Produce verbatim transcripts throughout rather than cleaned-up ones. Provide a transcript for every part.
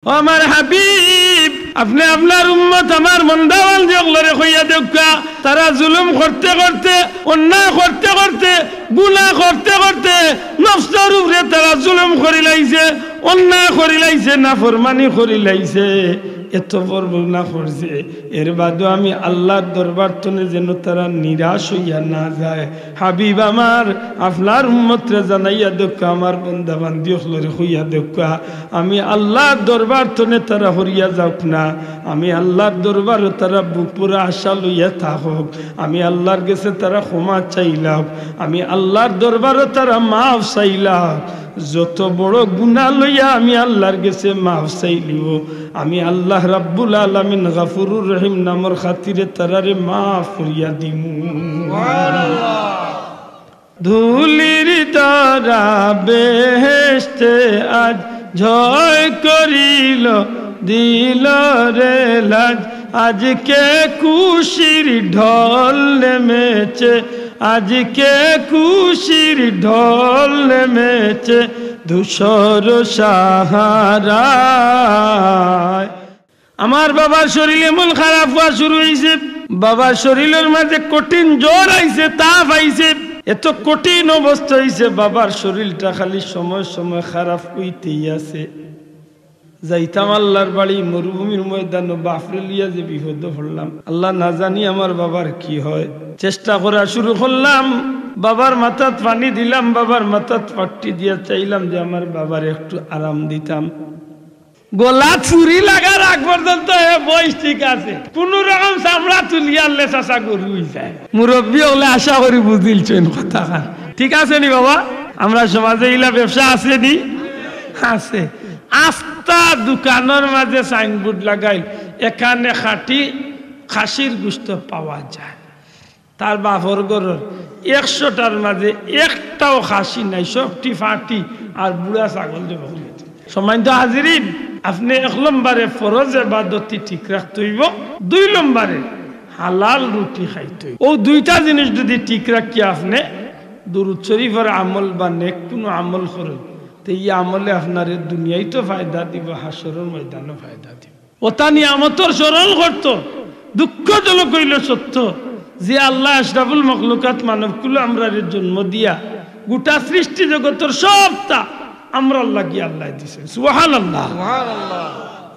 ও আমার হাবিব, আপনে আপনার উম্মত আমার বন্দাবান্দি অকলরে কইয়া দেউক্কা, তারা জুলুম করতে করতে, অন্যায় করতে করতে, গুনাহ করতে করতে নফসর উপরে তারা জুলুম করিলাইছে, অন্যায় করিলাইছে, নাফরমানি করিলাইছে, এত বড় গুনাহ করছে। এর বাদেও আমি আল্লার দরবার তনে যেন তারা নিরাশ অইয়া না যায়। হাবিব আমার, আপনার উম্মতরে জানাইয়া দেউক্কা, আমার বন্দাবান্দি অকলরে কইয়া দেউক্কা, আমি আল্লার দরবার তনে তারা হরিয়া যাউক না, আমি আল্লার দরবারো তারা বুক পুরা আশা লইয়া থাকউক, আমি আল্লার গেছে তারা ক্ষমা চাইলাউক, আমি আল্লার দরবারো তারা মাফ চাইলাউক। যত বড় গুনাহ লইয়া আমি আল্লার গেছে মাফ চাইলিও, আমি আল্লাহ রাব্বুল আলামিন গাফুরুর রহিম নামর খাতিরে তারারে মাফ করিয়া দিমু। ধুলির ধরা বেহেশতে আজ জয় করিল, দিল রে লাজ। আজকে খুশির ঢল নেমেছে, আজকে খুশির ঢল নেমেছে ধূসর সাহারায়। আমার বাবার শরীর এমন খারাপ অওয়া শুরু অইছে, বাবার শরীরর মাঝে কঠিন জ্বর আইছে, তাপ আইছে, এত কঠিন অবস্থা অইছে, বাবার শরীরটা খালি সময় সময় খারাপ অইতেই আছে। যাইতাম আল্লার বাড়ি, মরুভূমির ময়দানো বাফরে লইয়া যে বিপদো পড়লাম, আল্লাহ না জানি আমার বাবার কি হয়। চেষ্টা করা শুরু করলাম, বাবার মাথাত পানি দিলাম, বাবার মাথাত পাট্টি দিয়া চাইলাম যে আমার বাবারে একটু আরাম দিতাম। গলাত ছুরি লাগার আগ পর্যন্ত হে বইস ঠিক আছে, কুনু রকম চামড়া তুলিয়া আনলে চাচা গরু অইযায়। মুরব্বি অকলে আশা করি বুঝিলছইন কথাখান, ঠিক আছে নি বাবা? আমরার সমাজে ইলা ব্যবসা আছে নি? আছে। আস্তা দোকানর মাঝে সাইনবোর্ড লাগাইল, এখানে খাঁটি খাসির গোশত পাওয়া যায়। তার বাফর ঘরর একশোটার মাঝে একটাও খাসি নাই, সবটি ফাটি আর বুড়া ছাগল জবো করি। সম্মানিত হাজিরিন, আপনে এক নম্বরে ফরজ এবাদতটি ঠিক রাখতে অইবো, দুই নম্বরে হালাল রুটি খাইতে অইবো। অউ দুইটা জিনিস যুদি ঠিক রাখিয়া আপনে দুরুদ শরীফর আমল বা নেক কুনু আমল করইন, তে ই আমলে আপনারে দুনিয়াইতো ফায়দা দিবো, হাশরর ময়দানো ফায়দা দিবো। অতা নিয়ামতর স্মরণ করতো। দুঃখজনক অইলো সত্য যে আল্লায় আশরাফুল মখলুকাত মানবকুলো আমরারে জন্ম দিয়া গুটা সৃষ্টি জগতর সবতা আমরার লাগি আল্লায় দিছইন। সুবহানাল্লাহ।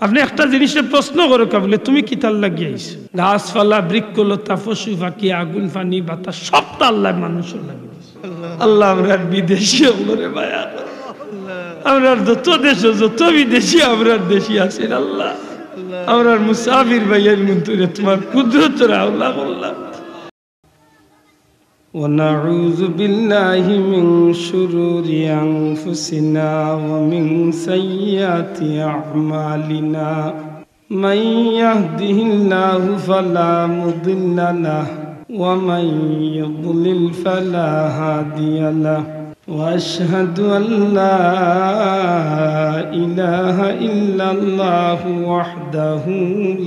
আপনে একটা জিনিসরে প্রশ্ন করউক্কা বুলে, "তুমি কিতার লাগি আইছো?" গাছপালা, বৃক্ষলতা, পশু পাখি, আগুন, পানি, বাতাস, সবতা আল্লায় মানুষর লাগি দিছইন। আল্লাহ, আমরার বিদেশি অকলরে মায়া করো। আমরার যত দেশো যত বিদেশি আমরার দেশি আছইন আল্লাহ, আমরার মুসাফির ভাইয়াইনগুনতরে তুমার কুদরতর হাওলা করলাম। ونعوذ بالله من شرور أنفسنا ومن سيئات أعمالنا. من يهده الله فلا مضل له، ومن يضلل فلا هادي له. وأشهد أن لا إله إلا الله وحده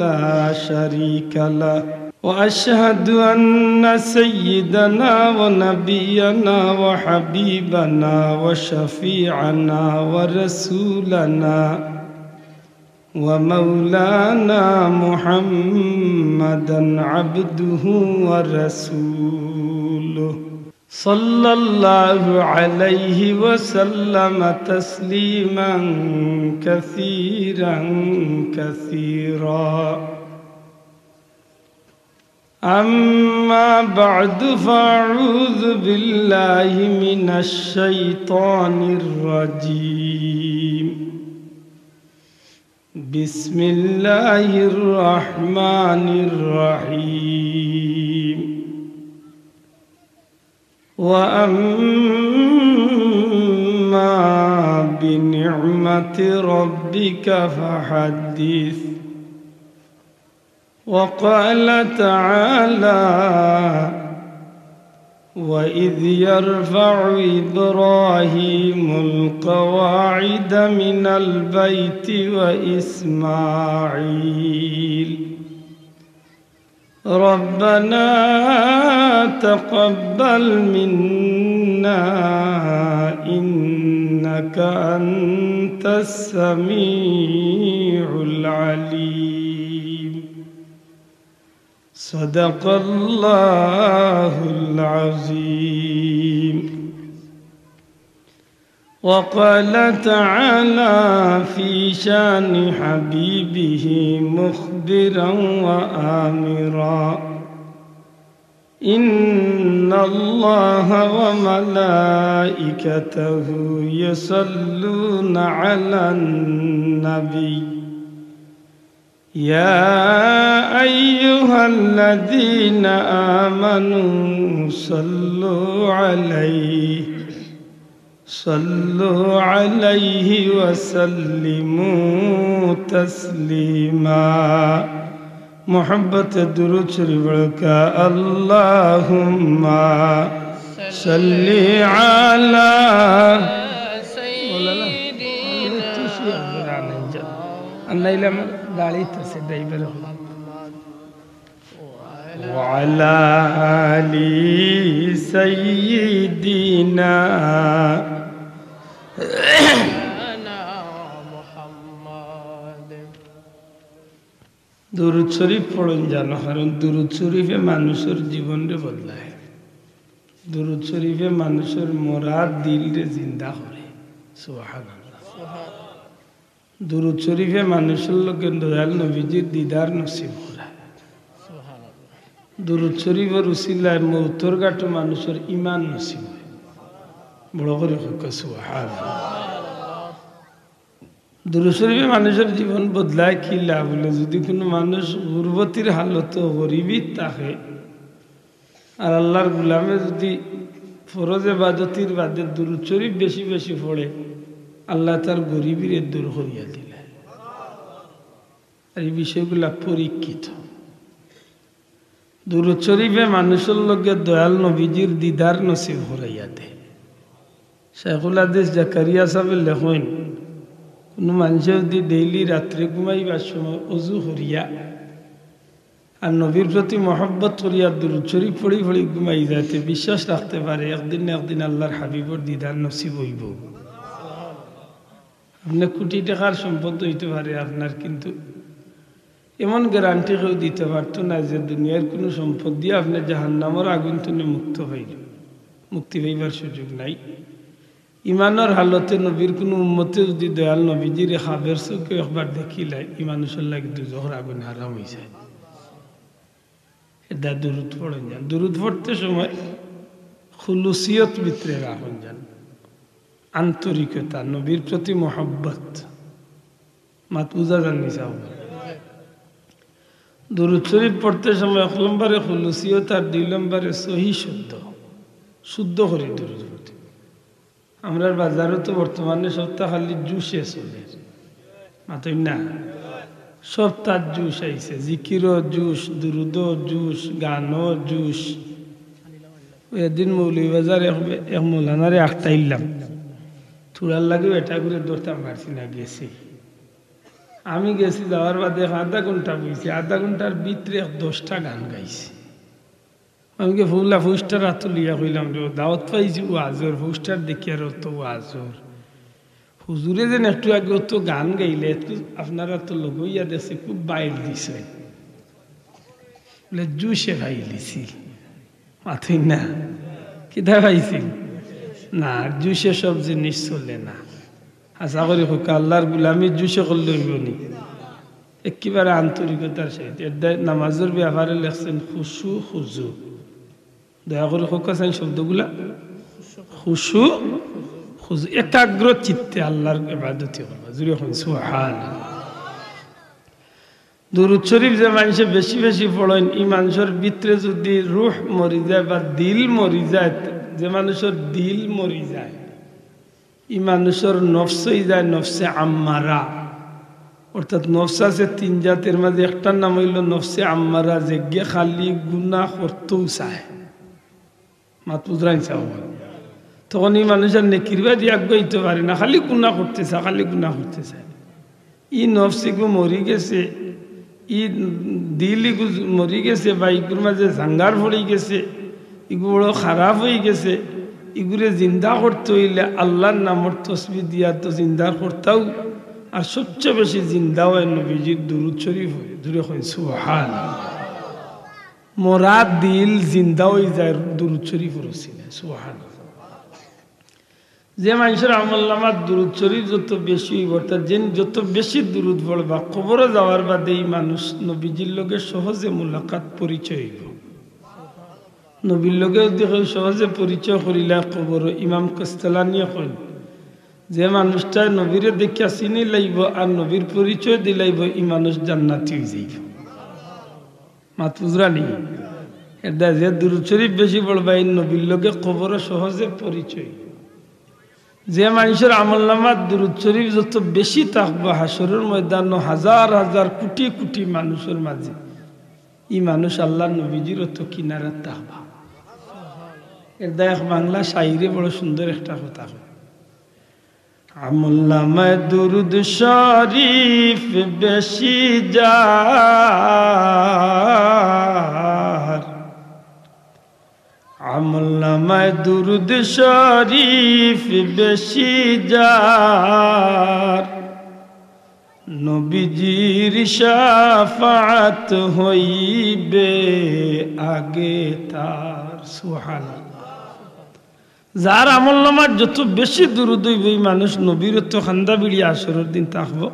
لا شريك له. وأشهد أن سيدنا ونبينا وحبيبنا وشفيعنا ورسولنا ومولانا محمدا عبده ورسوله، صلى الله عليه وسلم تسليما كثيرا كثيرا. أما بعد، فأعوذ بالله من الشيطان الرجيم. بسم الله الرحمن الرحيم. وأما بنعمة ربك فحدث. وقال تعالى: وإذ يرفع إبراهيم القواعد من البيت وإسماعيل، ربنا تقبل منا إنك أنت السميع العليم. صدق الله العظيم. وقال تعالى في شان حبيبه مخبرا وآمرا: إن الله وملائكته يصلون على النبي، يا أيها الذين آمنوا صلوا عليه، صلوا عليه وسلموا تسليما. محبت درود شريف بڑکا، اللهم صل على سيدنا। আর নাইলে আমার গাড়িত আছে, ড্রাইভার। وعلى آل سيدنا। দুরুদ শরীফ পড়ইন জানো, কারণ দুরুদ শরীফে মানুষর জীবনরে বদলায়। দুরুদ শরীফে মানুষর মরা দিলরে জিন্দা করে। সুবহানাল্লাহ। দুরুদ শরীফে মানুষর লগে দয়াল নবীজির দিদার নসিব করায়। দুরুদ শরীফর উসিলায় মউতর ঘাটো মানুষর ইমান নসিব অয়। বড় করি কউক্কা সুবহানাল্লাহ। দুরুদ শরীফে মানুষর জীবন বদলায় কিলা বুলে, যুদি কুনু মানুষ গুরবতির হালতো গরিবিত থাকে, আর আল্লার গুলামে যুদি ফরজ এবাদতির বাদে দুরুদ শরীফ বেশি বেশি পড়ে, আল্লায় তার গরিবিরে দূর করিয়া দিলা। আর ই বিষয়গুলা পরীক্ষিত। দুরুদ শরীফে মানুষর লগে দয়াল নবীজির দিদার নসিব করাইয়া দেয়। শাইখুল হাদিস জাকারিয়া সাবে লেখইন, কুনু মানষে যুদি ডেইলি রাত্রে ঘুমাইবার সময় অজু করিয়া আর নবীর প্রতি মহব্বত করিয়া দুরুদ শরীফ পড়ি পড়ি ঘুমাই যায়, তে বিশ্বাস রাখতে পারে একদিন না একদিন আল্লার হাবিবর দিদার নসিব অইবো। আপনে কুটি টেকার সম্পদ অইতে পারে আপনার, কিন্তু এমন গ্যারান্টি কেউ দিতে পারতো না যে দুনিয়ার কুনু সম্পদ দিয়া আপনে জাহান্নামর আগুন থনে মুক্ত পাইলে, মুক্তি পাইবার সুযোগ নাই। ইমানর হালতে নবীর কুনু উম্মতে যুদি দয়াল নবীজিরে খাবের চউখে একবার দেখিলায়, ই মানুষর লাগি দুজখর আগুন হারাম অইযায়। এরদায় দুরুদ পড়ইন যান। দুরুদ পড়তে সময় খুলুসিয়ত ভিতরে রাখইন যান, আন্তরিকতা, নবীর প্রতি মহব্বত। মাত বুঝা যার নি সাব? দুরুদ শরীফ পড়তে সময় এক নম্বরে খুলুসিয়ত আর দুই নম্বরে সহি শুদ্ধ, শুদ্ধ করি দুরুদ পড়তে। আমরার বাজারো তো বর্তমানে সবতা খালি জুশে চলের, মাতইন না? সবতাত জুশ আইছে, জিকিরও জুশ, দুরুদও জুশ, গানও জুশ। অউ এদিন মৌলভীবাজার এক, এক মৌলানারে আটকাইলাম, থুড়ার লাগি বেটাগুরে ধরতাম পারছি না, গেছি। আমি গেছি, যাওয়ার বাদে আধা ঘন্টা বইছি, আধা ঘন্টার ভিতরে এক দশটা গান গাইছে। আমি গিয়া ফুলা পোস্টার আতো লইয়া কইলাম, "রে, দাওয়াত পাইছি ওয়াজর, পোস্টার দেখিয়ার অত ওয়াজর। হুজুরে যেন একটু আগে অত গান গাইলে, একটু আপনারা তো লগইয়া দেখছি, খুব বাইল দিছে।" বুলে, "জুশে পাইলিছি।" মাতইন না? কিতা পাইছিল? না, জুশে সব জিনিস চলে না। আশা করি কউক্কা আল্লার গুলামি জুশে করলে অইবো নি? একেবারে আন্তরিকতার সহিত। এরদায় নামাজর ব্যাপারে লেখছেন খুশু খুজু। দয়া করি কউক্কা চাইন শব্দগুলা। খুশু খুজু, একাগ্র চিত্তে আল্লার ইবাদতি করবা। জুরে কইন সুবহানাল্লাহ। দুরুদ শরীফ যে মানষে বেশি বেশি পড়ইন, ই মানষর ভিতরে যুদি রুহ মরি যায় বা দিল মরি যায়, যে মানষর দিল মরি যায়, ই মানষর নফস অইযায় নফসে আম্মারা। অর্থাৎ নফস আছে তিন জাতর মাঝে একটার নাম অইলো নফসে আম্মারা, যেগিয়ে খালি গুনা করতেউ চায়। মাত বুঝরা নি সাব? তখন ই মানুষ আর নেকির বাদি আগুয়াইতে পারে না, খালি গুনা করতে চায়, খালি গুনা করতে চায়। ই নফস ইগু মরি গেছে, ই দিল ইগু মরি গেছে, বা ইগুর মাঝে জাঙ্গার পড়ি গেছে, ইগু বড় খারাপ অই গেছে। ইগুরে জিন্দা করতে অইলে আল্লার নামর তসবি দিয়া তো জিন্দা করতাউ, আর সবচেয়ে বেশি জিন্দা অয় নবীজির দুরুদ শরীফ অয়। জোরে কইন সুবহান। মরা দিল জিন্দা অই যায় দুরুদ শরীফর উসিলায়। সুবহান। যে মানষর আমলনামাত দুরুদ শরীফ যত বেশি অইবো, অর্থাৎ যেইন যত বেশি দুরুদ পড়বা, কবরো যাওয়ার বাদে ই মানুষ নবীজির লগে সহজে মুলাকাত, পরিচয় অইবো। নবীর লগে যদি কেউ সহজে পরিচয় করিলায় কবরো, ইমাম কাস্তালানিয়ে কইন, যে মানুষটায় নবীরে দেখিয়া চিনিলাইবো আর নবীর পরিচয় দিলাইবো, ই মানুষ জান্নাতি অইযাইবো। মাত বুঝরানি? এরদায় যে দুরুদ শরীফ বেশি পড়বা, ই নবীর লগে কবরো সহজে পরিচয়। যে মানষর আমলনামাত দুরুদ শরীফ যত বেশি থাকবো, হাশরর ময়দানো হাজার হাজার কুটি কুটি মানুষর মাঝে ই মানুষ আল্লার নবীজির অত কিনারাত থাকবা। এরদায় এক বাংলা শাইরে বড় সুন্দর একটা কথা কয়, আমলনামায় দুরুদ শরীফ বেশি যার, আমলনামায় দুরুদ শরীফ বেশি যার, নবীজির শাফাআত হইবে আগে তার। সুবহানাল্লাহ। যার আমলনামাত যত বেশি দুরুদ অইবো, ই মানুষ নবীর অত কান্দা ভিড়ি হাশরর দিন থাকবো।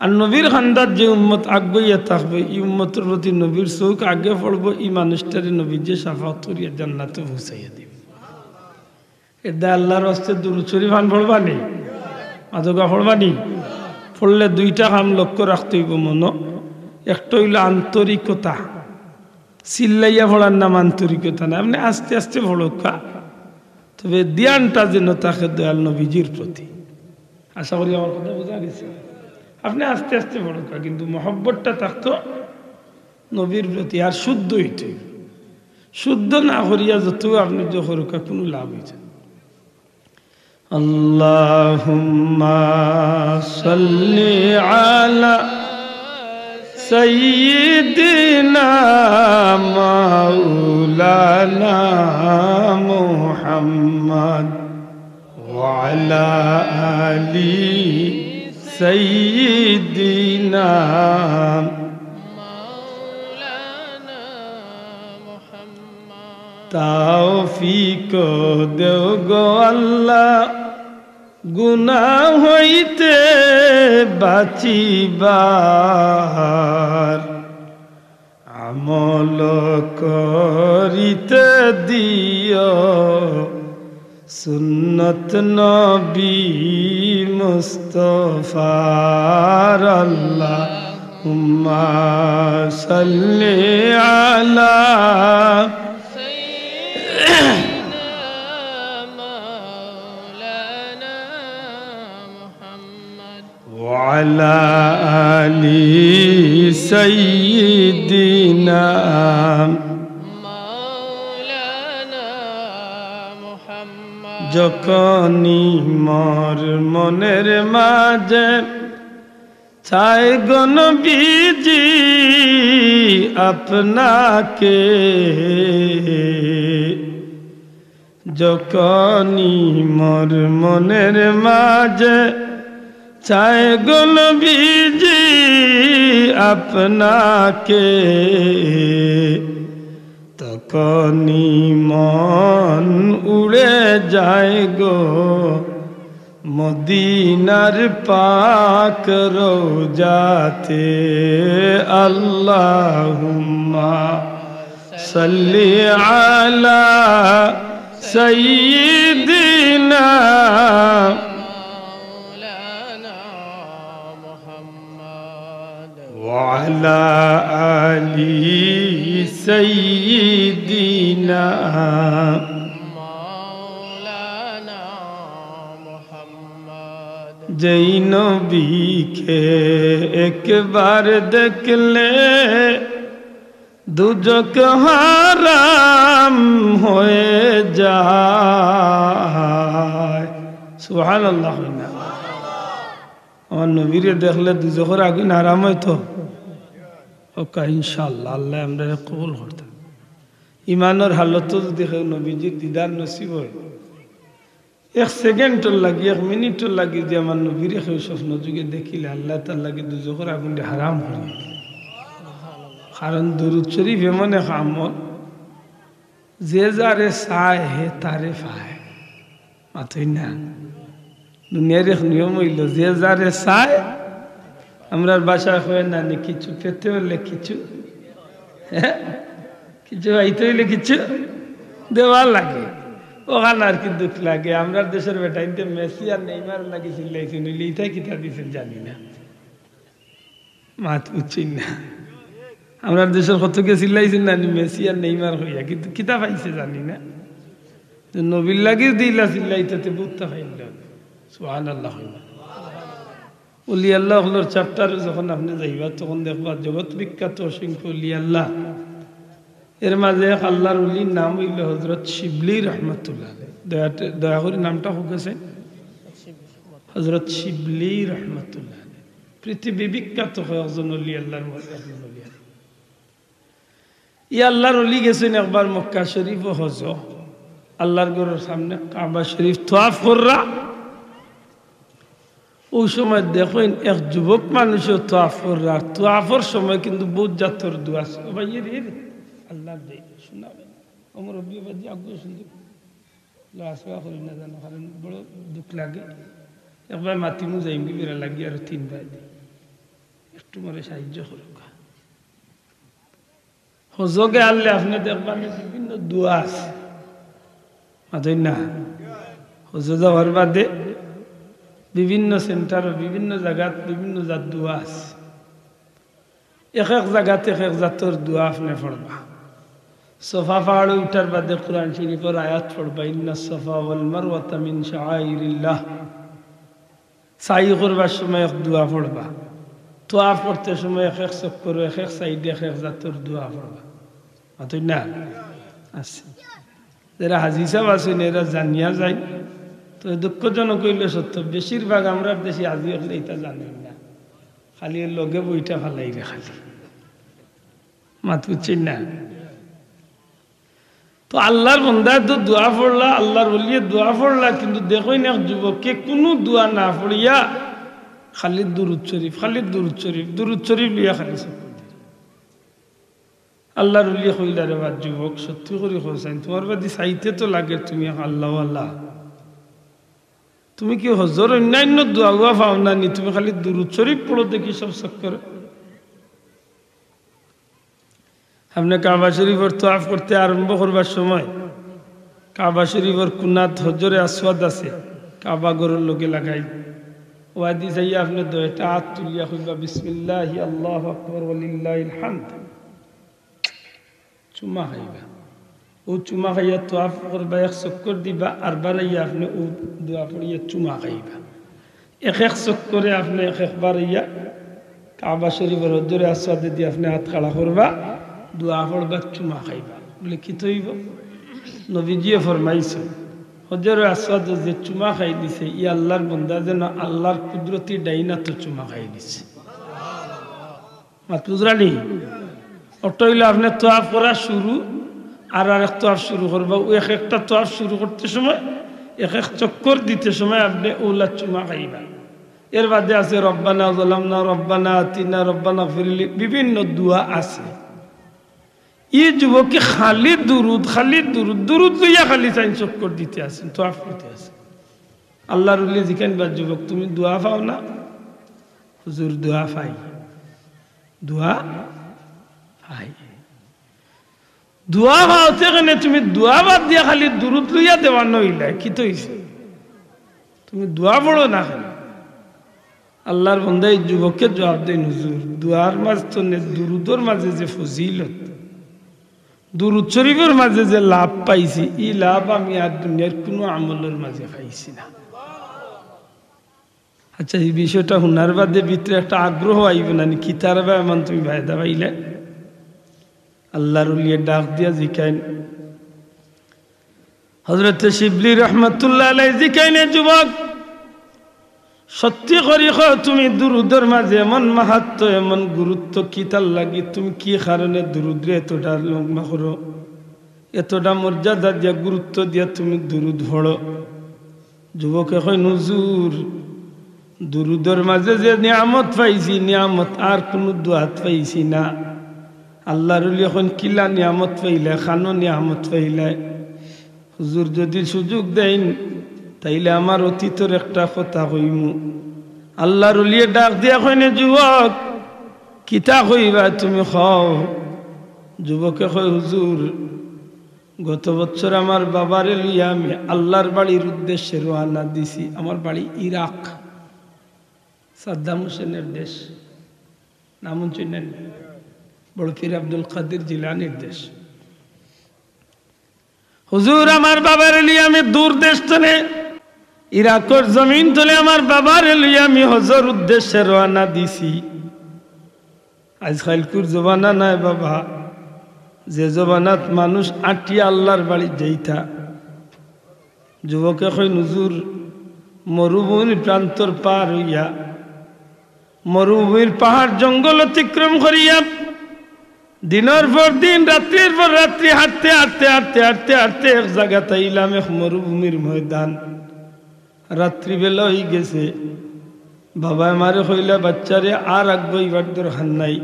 আর নবীর কান্দাত যে উম্মত আগুয়াইয়া থাকবো, ই উম্মতর প্রতি নবীর চউখ আগে পড়বো, ই মানুষটারে নবীজিয়ে শাফাআত করিয়া জান্নাতো পৌঁছাইয়া দিবা। এরদায় আল্লার ওয়াস্তে দুরুদ শরীফ আন পড়বানি? মাতউক্কা, পড়বানি? পড়লে দুইটা কাম লক্ষ্য রাখতে অইবো মনো। একটা অইলো আন্তরিকতা, চিল্লাইয়া পড়ার নাম আন্তরিকতা নায়। আপনে আস্তে আস্তে পড়উক্কা, তবে ধিয়ানটা যেন থাকে দয়াল নবীজির প্রতি। আশা করি আমার কথা বুঝা গেছে। আপনে আস্তে আস্তে পড়উক্কা, কিন্তু মহব্বতটা থাকতো নবীর প্রতি। আর শুদ্ধ অইতো অইবো, শুদ্ধ না করিয়া যত আপনে যে করউক্কা, কুনু লাভ অইতো না। اللهم صل على سيدنا مولانا محمد وعلى آل سيدنا। তৌফিক দেও গো আল্লাহ, গুনাহ হইতে বাঁচিবার, আমল করিতে দিও সুন্নত নবী মুস্তফার। আল্লাহুম্মা সাল্লি আলা وعلى آل سيدنا। যখনই মোর মনের মাঝে চাই গো নবীজি আপনাকে, যখনই মোর মনের মাঝে চাই গো নবীজি আপনাকে, তখনই মন উড়ে যায় গো মদিনার পাক রওজাতে। আল্লাহুম্মা সাল্লি আলা সাইয়্যিদিনা وعلى آل سيدنا। যেই নবীকে একবার দেখলে দুজখ হারাম হয়ে যায়। সুবহানাল্লাহ। আমার নবীরে দেখলে দুজখর আগুন হারাম অইতো? ওকা ইনশাআল্লাহ, আল্লায় আমরারে কবুল করতা। ইমানর হালতো যদি কেউ নবীজির দিদার নসিব অয়, এক সেকেন্ডর লাগি, এক মিনিটর লাগি যে আমার নবীরে কেউ স্বপ্ন যুগে দেখিলে, আল্লাহ তার লাগি দুজখর আগুনরে হারাম করি। কারণ দুরুদ শরীফ এমন এক আমল, যে যারে চায় হে তারে পায়। মাতই না। দুনিয়ার এক নিয়ম অইলো, যে যারে চায়, আমরার ভাষায় কয় না নি, কিছু পেতে অইলে কিছু, হ্যাঁ, কিছু পাইতে অইলে কিছু দেওয়া লাগে। অখান আর কি দুখ লাগে। আমরার দেশর বেটাইন্তে মেসি আর নেইমার লাগি চিল্লাইছইন, অইলে ইতায় কিতা দিছইন জানি না। মাত বুঝছইন না। আমরার দেশর কতকে চিল্লাইছইন না নি মেসি আর নেইমার কইয়া, কিন্তু কিতা পাইছে জানি না। যে নবীর লাগি দিলা চিল্লাইতে তে বুঝতা পাইল না। সুবহানাল্লাহ কইবা। অলি আল্লাহ অকলর চ্যাপ্টারো যখন আপনে যাইবা, তখন দেখবা জগৎ বিখ্যাত অসংখ্য অলি আল্লাহ। এর মাঝে এক আল্লাহর অলির নাম অইলো হযরত শিবলি রহমতুল্লাহ আলাইহি। দয়া, দয়া করি নামটা কউক্কা চাইন। হযরত শিবলি রহমতুল্লাহ আলাইহি। পৃথিবী বিখ্যাত কয়েকজন অলি আল্লাহর মধ্যে একজন অলি আল্লাহ। ই আল্লাহর অলি গেছইন একবার মক্কা শরীফো হজো, আল্লাহর ঘরর সামনে কাবা শরীফ তোয়াফ কররা। অউ সময় দেখইন এক যুবক মানুষেও তোয়াফ কররা। আর তোয়াফর সময় কিন্তু বউত জাতর দোয়া আছে। ও ভাই, এ রে, এ রে, আল্লাহর দে, শোনা ভাই। ও মুরব্বি ভাই, আগুয়ে শুনতে। লা আসওয়া করি না জানো, কারণ বড় দুখ লাগে। একবার মাতিমু যাইমগি বেড়া লাগি আরো তিন ভাই। একটু মরে সাহায্য করুক্কা। হজো গেলে আপনে দেখবা নি বিভিন্ন দোয়া আছে। মাতইন না। হজো যাওয়ার বাদে বিভিন্ন সেন্টারো, বিভিন্ন জাগাত, বিভিন্ন জাত দোয়া আছে। এক এক জাগাত এক এক জাতর দোয়া আপনে পড়বা। সফা পাহাড়ো উঠার বাদে কোরআন শরীফর আয়াত পড়বা, "ইন্নাস সাফা ওয়াল মারওয়াতা মিন শাআইরিল্লাহ।" সাই করবার সময় এক দোয়া পড়বা, তোয়াফ করতে সময় এক এক চক্করো এক এক সাইডে এক এক জাতর দোয়া পড়বা। মাতইন না? আচ্ছা, যেরা হাজি সাব আছইন, এরা জানিয়া যাইন। তো দুঃখজনক অইলো সত্য, বেশিরভাগ আমরার দেশি হাজি অকলে ইতা জানইন না, খালি এর লগে বইটা ফালাইরে খালি। মাত বুঝছইন না? তো আল্লাহর বন্দায় তো দোয়া পড়লা, আল্লাহর ওলিয়ে দোয়া পড়লা, কিন্তু দেখইন এক যুবকে কুনু দোয়া না পড়িয়া খালি দুরুদ শরীফ, খালি দুরুদ শরীফ, দুরুদ শরীফ লইয়া খালি চক্কর দিরা। আল্লাহর ওলিয়ে কইলা, "রে বা যুবক, সত্যি করি কও চাইন, তুমার বায়দি চাইতে তো লাগের তুমি এক আল্লাহওয়ালা। তুমি কি হজর অইন্যাইন্য দোয়া-উয়া পাও না নি? তুমি খালি দুরুদ শরীফ পড়ো দেখি সব চক্করে।" আপনে কাবা শরীফর তোয়াফ করতে আরম্ভ করবার সময় কাবা শরীফর কুনাত হজরে আসওয়াদ আছে, কাবা ঘরর লগে লাগাইল। ওয়াদি যাইয়া আপনে দুইটা আত তুলিয়া কইবা, "বিসমিল্লাহি আল্লাহু আকবার ওয়ালিল্লাহিল হামদ।" চুমা খাইবা। অউ চুমা খাইয়া তোয়াফ করবা, এক চক্কর দিবা, আর বারাইয়া আপনে অউ দোয়া পড়িয়া চুমা খাইবা। এক এক চক্করে আপনে এক একবার ইয়া কাবা শরীফর হজরে আসওয়াদে দি আপনে আত খাড়া করবা, দোয়া পড়বা, চুমা খাইবা। বুলে, "কিতা অইবো?" নবীজিয়ে ফরমাইছইন, হজরে আসওয়াদো যে চুমা খাই দিছে, ই আল্লাহর বন্দা যেন আল্লাহর কুদরতি ডাইন আতো চুমা খাই দিছে। মাত বুঝরা নি? অটা অইলো আপনে তোয়াফ করা শুরু, আর আরেক তোয়াফ শুরু করবা। অউ এক একটা তোয়াফ শুরু করতে সময়, এক এক চক্কর দিতে সময় আপনে অউলা চুমা খাইবা। এর বাদে আছে, "রব্বানা যালামনা, রব্বানা আতিনা, রব্বানা গফিরলি", বিভিন্ন দোয়া আছে। ই যুবকে খালি দুরুদ, খালি দুরুদ, দুরুদ লইয়া খালি চাইন চক্কর দিতে আছইন, তোয়াফ করতে আছইন। আল্লাহর ওলি জিকাইন, "বা যুবক, তুমি দোয়া পাও না?" "হুজুর, দোয়া পাই, দোয়া পাই।" দোয়া পাওতে কেনে তুমি দোয়া বাদ দিয়া খালি দুরুদ লইয়া দেওয়ান অইলায়, কিতা অইছে? তুমি দোয়া পড়ো না কেনে? আল্লাহর বন্দায় ই যুবকে জুয়াব দেইন, "হুজুর, দোয়ার মাঝে তো নে, দুরুদর মাঝে যে ফজিলত, দুরুদ শরীফর মাঝে যে লাভ পাইছি, ই লাভ আমি আর দুনিয়ার কুনু আমলর মাঝে পাইছি না।" আচ্ছা, ই বিষয়টা হুনার বাদে ভিতরে একটা আগ্রহ আইবো না নি? কিতার বা এমন তুমি ফায়দা পাইলে? আল্লাহর ওলিয়ে ডাক দিয়া জিকাইন, হজরতে শিবলি রহমতুল্লাহ আলাইহি জিকাইন, "এ যুবক, সত্যি করি কও, তুমি দুরুদর মাঝে এমন মাহাত্ম্য, এমন গুরুত্ব কিতার লাগি? তুমি কি কারণে দুরুদরে এতটা লম্বা করো, এতটা মর্যাদা দিয়া, গুরুত্ব দিয়া তুমি দুরুদ পড়ো?" যুবকে কইন, "হুজুর, দুরুদর মাঝে যে নিয়ামত পাইছি, নিয়ামত আর কুনু দুয়াত পাইছি না।" আল্লাহর ওলি কইন, "কিলা নিয়ামত পাইলায়, কানো নিয়ামত পাইলায়?" "হুজুর, যুদি সুযোগ দেইন, তাইলে আমার অতীতর একটা কথা কইমু।" আল্লাহর ওলিয়ে ডাক দিয়া কইন, "এ যুবক, কিতা কইবা তুমি কও?" যুবকে কয়, "হুজুর, গত বছর আমার বাবারে লইয়া আমি আল্লাহর বাড়ির উদ্দেশ্যে রওয়ানা দিছি।" আমার বাড়ি ইরাক, সাদ্দাম হোসেনের দেশ, নাম হুনছইন নি? বড় পীর আব্দুল কাদির জিলানীর দেশ। "হুজুর, আমার বাবারে লইয়া আমি দূর দেশ তনে, ইরাকর জমিন তনে আমার বাবারে লইয়া আমি হজর উদ্দেশ্যে রওয়ানা দিছি।" আইজকাইলকুর জমানা নায় বাবা, যে জমানাত মানুষ আটিয়া আল্লাহর বাড়ি যাইতা। যুবকে কইন, "হুজুর, মরুভূমির প্রান্তর পার অইয়া, মরুভূমির পাহাড় জঙ্গল অতিক্রম করিয়া, দিনর পর দিন, রাত্রির পর রাত্রি হাঁটতে, হাঁটতে, হাঁটতে, হাঁটতে, হাঁটতে এক জাগাত আইলাম, এক মরুভূমির ময়দান। রাত্রিবেলা অইগেছে। বাবায় আমারে কইলা, 'বাচ্চারে, আর আগুয়াইবার দরকার নাই।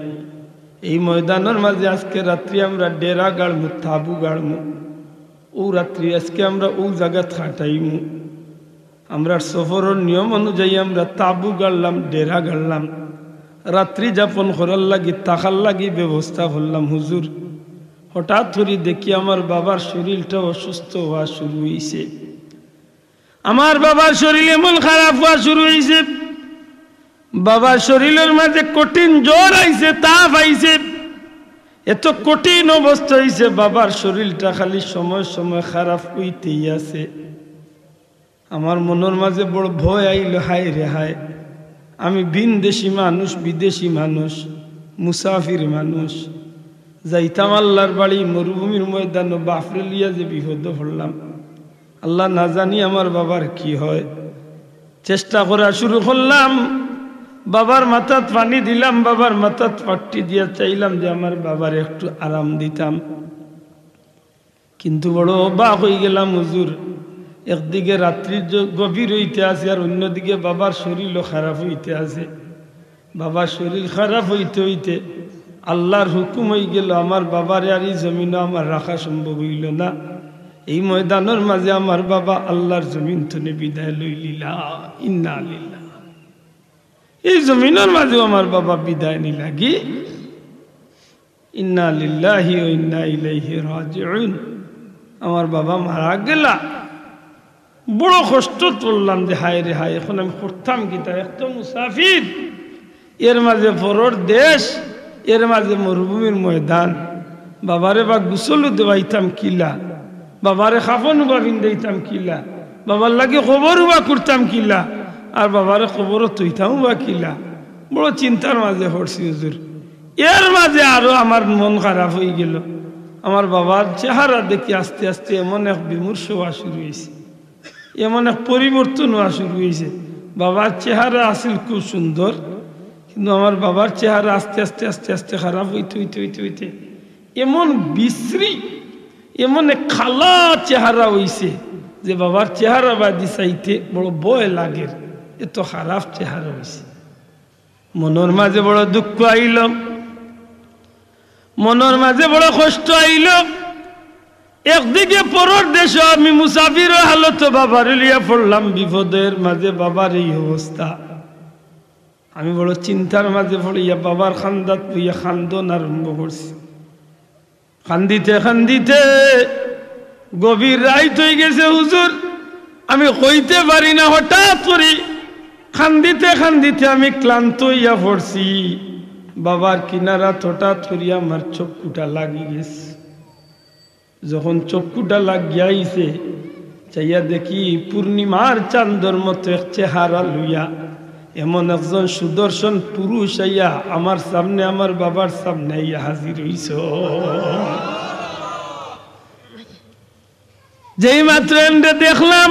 এই ময়দানর মাঝে আজকে রাত্রি আমরা ডেরা গাড়মু, তাবু গাড়মু। অউ রাত্রি আজকে আমরা অউ জাগাত কাটাইমু।' আমরার সফরর নিয়ম অনুযায়ী আমরা তাবু গাড়লাম, ডেরা গাড়লাম, রাত্রি যাপন করার লাগি, থাকার লাগি ব্যবস্থা করলাম। হুজুর, হঠাৎ করি দেখি আমার বাবার শরীরটা অসুস্থ অওয়া শুরু অইছে। আমার বাবার শরীর এমন খারাপ অওয়া শুরু অইছে, বাবার শরীরর মাঝে কঠিন জ্বর আইছে, তাপ আইছে, এত কঠিন অবস্থা অইছে, বাবার শরীরটা খালি সময় সময় খারাপ অইতেই আছে। আমার মনর মাঝে বড় ভয় আইলো, হায় রে হায়, আমি ভিনদেশি মানুষ, বিদেশি মানুষ, মুসাফির মানুষ, যাইতাম আল্লাহর বাড়ি, মরুভূমির ময়দানো বাফরে লইয়া যে বিপদো পড়লাম, আল্লাহ না জানি আমার বাবার কি হয়। চেষ্টা করা শুরু করলাম, বাবার মাথাত পানি দিলাম, বাবার মাথাত পাট্টি দিয়া চাইলাম যে আমার বাবার একটু আরাম দিতাম। কিন্তু বড় অবাক অইগেলাম হুজুর, একদিকে রাত্রি জ-, গভীর অইতে আছে, আর অইন্যদিকে বাবার শরীরও খারাপ অইতে আছে। বাবার শরীর খারাপ অইতে অইতে আল্লাহর হুকুম অইগেলো, আমার বাবারে আর ই জমিনো আমার রাখা সম্ভব অইলো না। এই ময়দানর মাঝে আমার বাবা আল্লাহর জমিন তনে বিদায় লইলিলা। ইন্না লিল্লাহ। এই জমিনর মাঝেও আমার বাবা বিদায় নিলাগি। ইন্না লিল্লাহি ওয়া ইন্না ইলাইহি রাজিউন। আমার বাবা মারা গেলা, বড় কষ্টত পড়লাম যে হায় রে হায়, এখন আমি করতাম কিতা? এক তো মুসাফির, এর মাঝে পরর দেশ, এর মাঝে মরুভূমির ময়দান। বাবারে বা গোসল দেওয়াইতাম কিলা, বাবারে কাফন উবা পিন্দাইতাম কিলা, বাবার লাগি কবর উবা করতাম কিলা, আর বাবারে কবরো থইতাম উবা কিলা। বড় চিন্তার মাঝে পড়ছি হুজুর। এর মাঝে আরো আমার মন খারাপ অইগেলো। আমার বাবার চেহারা দেখি আস্তে আস্তে এমন এক বিমর্ষ অওয়া শুরু অইছে, এমন এক পরিবর্তন অওয়া শুরু অইছে। বাবার চেহারা আছিল খুব সুন্দর, কিন্তু আমার বাবার চেহারা আস্তে আস্তে, আস্তে আস্তে খারাপ অইতে, অইতে, অইতে, অইতে এমন বিশ্রী, এমন এক কালা চেহারা অইছে যে বাবার চেহারা বাদি চাইতে বড় ভয় লাগের, এত খারাপ চেহারা অইছে। মনর মাঝে বড় দুঃখ আইলো, মনর মাঝে বড় কষ্ট আইলো। একদিকে পরর দেশো আমি মুসাফিরর হালতো বাবারে লইয়া পড়লাম বিপদো, এর মাঝে বাবার এই অবস্থা। আমি বড় চিন্তার মাঝে পড়িয়া বাবার কান্দাত বইয়া কান্দন আরম্ভ করছি। কান্দিতে কান্দিতে গভীর রাইত অইগেছে হুজুর, আমি কইতে পারি না, হঠাৎ করি কান্দিতে কান্দিতে আমি ক্লান্ত অইয়া পড়ছি। বাবার কিনারাত হঠাৎ করি আমার চক্ষুটা লাগি গেছে। যখন চক্ষুটা লাগিয়া আইছে, চাইয়া দেখি পূর্ণিমার চান্দর মতো এক চেহারা লইয়া এমন একজন সুদর্শন পুরুষ আইয়া আমার সামনে, আমার বাবার সামনে আইয়া হাজির অইছে। যেই মাত্র এনরে দেখলাম,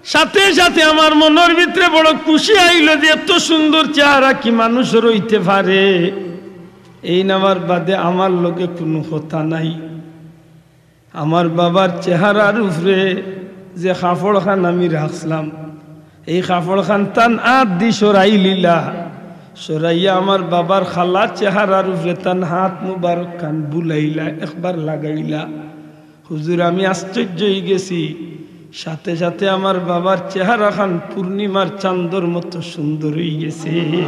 সাথে সাথে আমার মনর ভিতরে বড় খুশি আইলো যে এত সুন্দর চেহারা কি মানুষর অইতে পারে। এইন আমার বাদে আমার লগে কুনু কথা নাই। আমার বাবার চেহারার উপরে যে কাপড় খান আমি রাখছিলাম, এই কাপড় খান তান আত দি সরাইলিলা। সরাইয়া আমার বাবার কালা চেহারার উপরে তান আত মুবারক খান বুলাইলা, একবার লাগাইলা। হুজুর, আমি আশ্চর্য অইগেছি। সাথে সাথে আমার বাবার চেহারা খান পূর্ণিমার চান্দর মতো সুন্দর অইগেছে।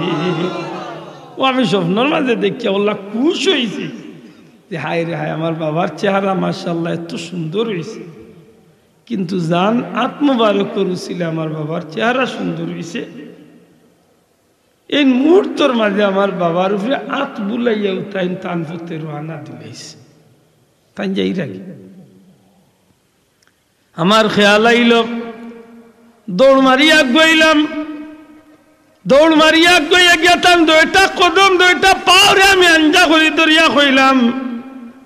ও, আমি স্বপ্নর মাঝে দেখিয়া অলা খুশ অইছি যে, "হায় রে হায়, আমার বাবার চেহারা মাশাআল্লাহ এত সুন্দর অইছে।" কিন্তু যান আত মুবারকর উছিলায় আমার বাবার চেহারা সুন্দর অইছে। এই মুহূর্তর মাঝে আমার বাবার উপরে আত বুলাইয়া উতাইন তান পথে রওয়ানা দিলাইছে। তাইন যাইরা গি। আমার খেয়াল আইল, দৌড় মারি আগুয়াইলাম। দৌড় মারি আগুয়াইয়া গিয়া তান দুইটা কদম, দুইটা পাওরে আমি আঞ্জা করি ধরিয়া কইলাম,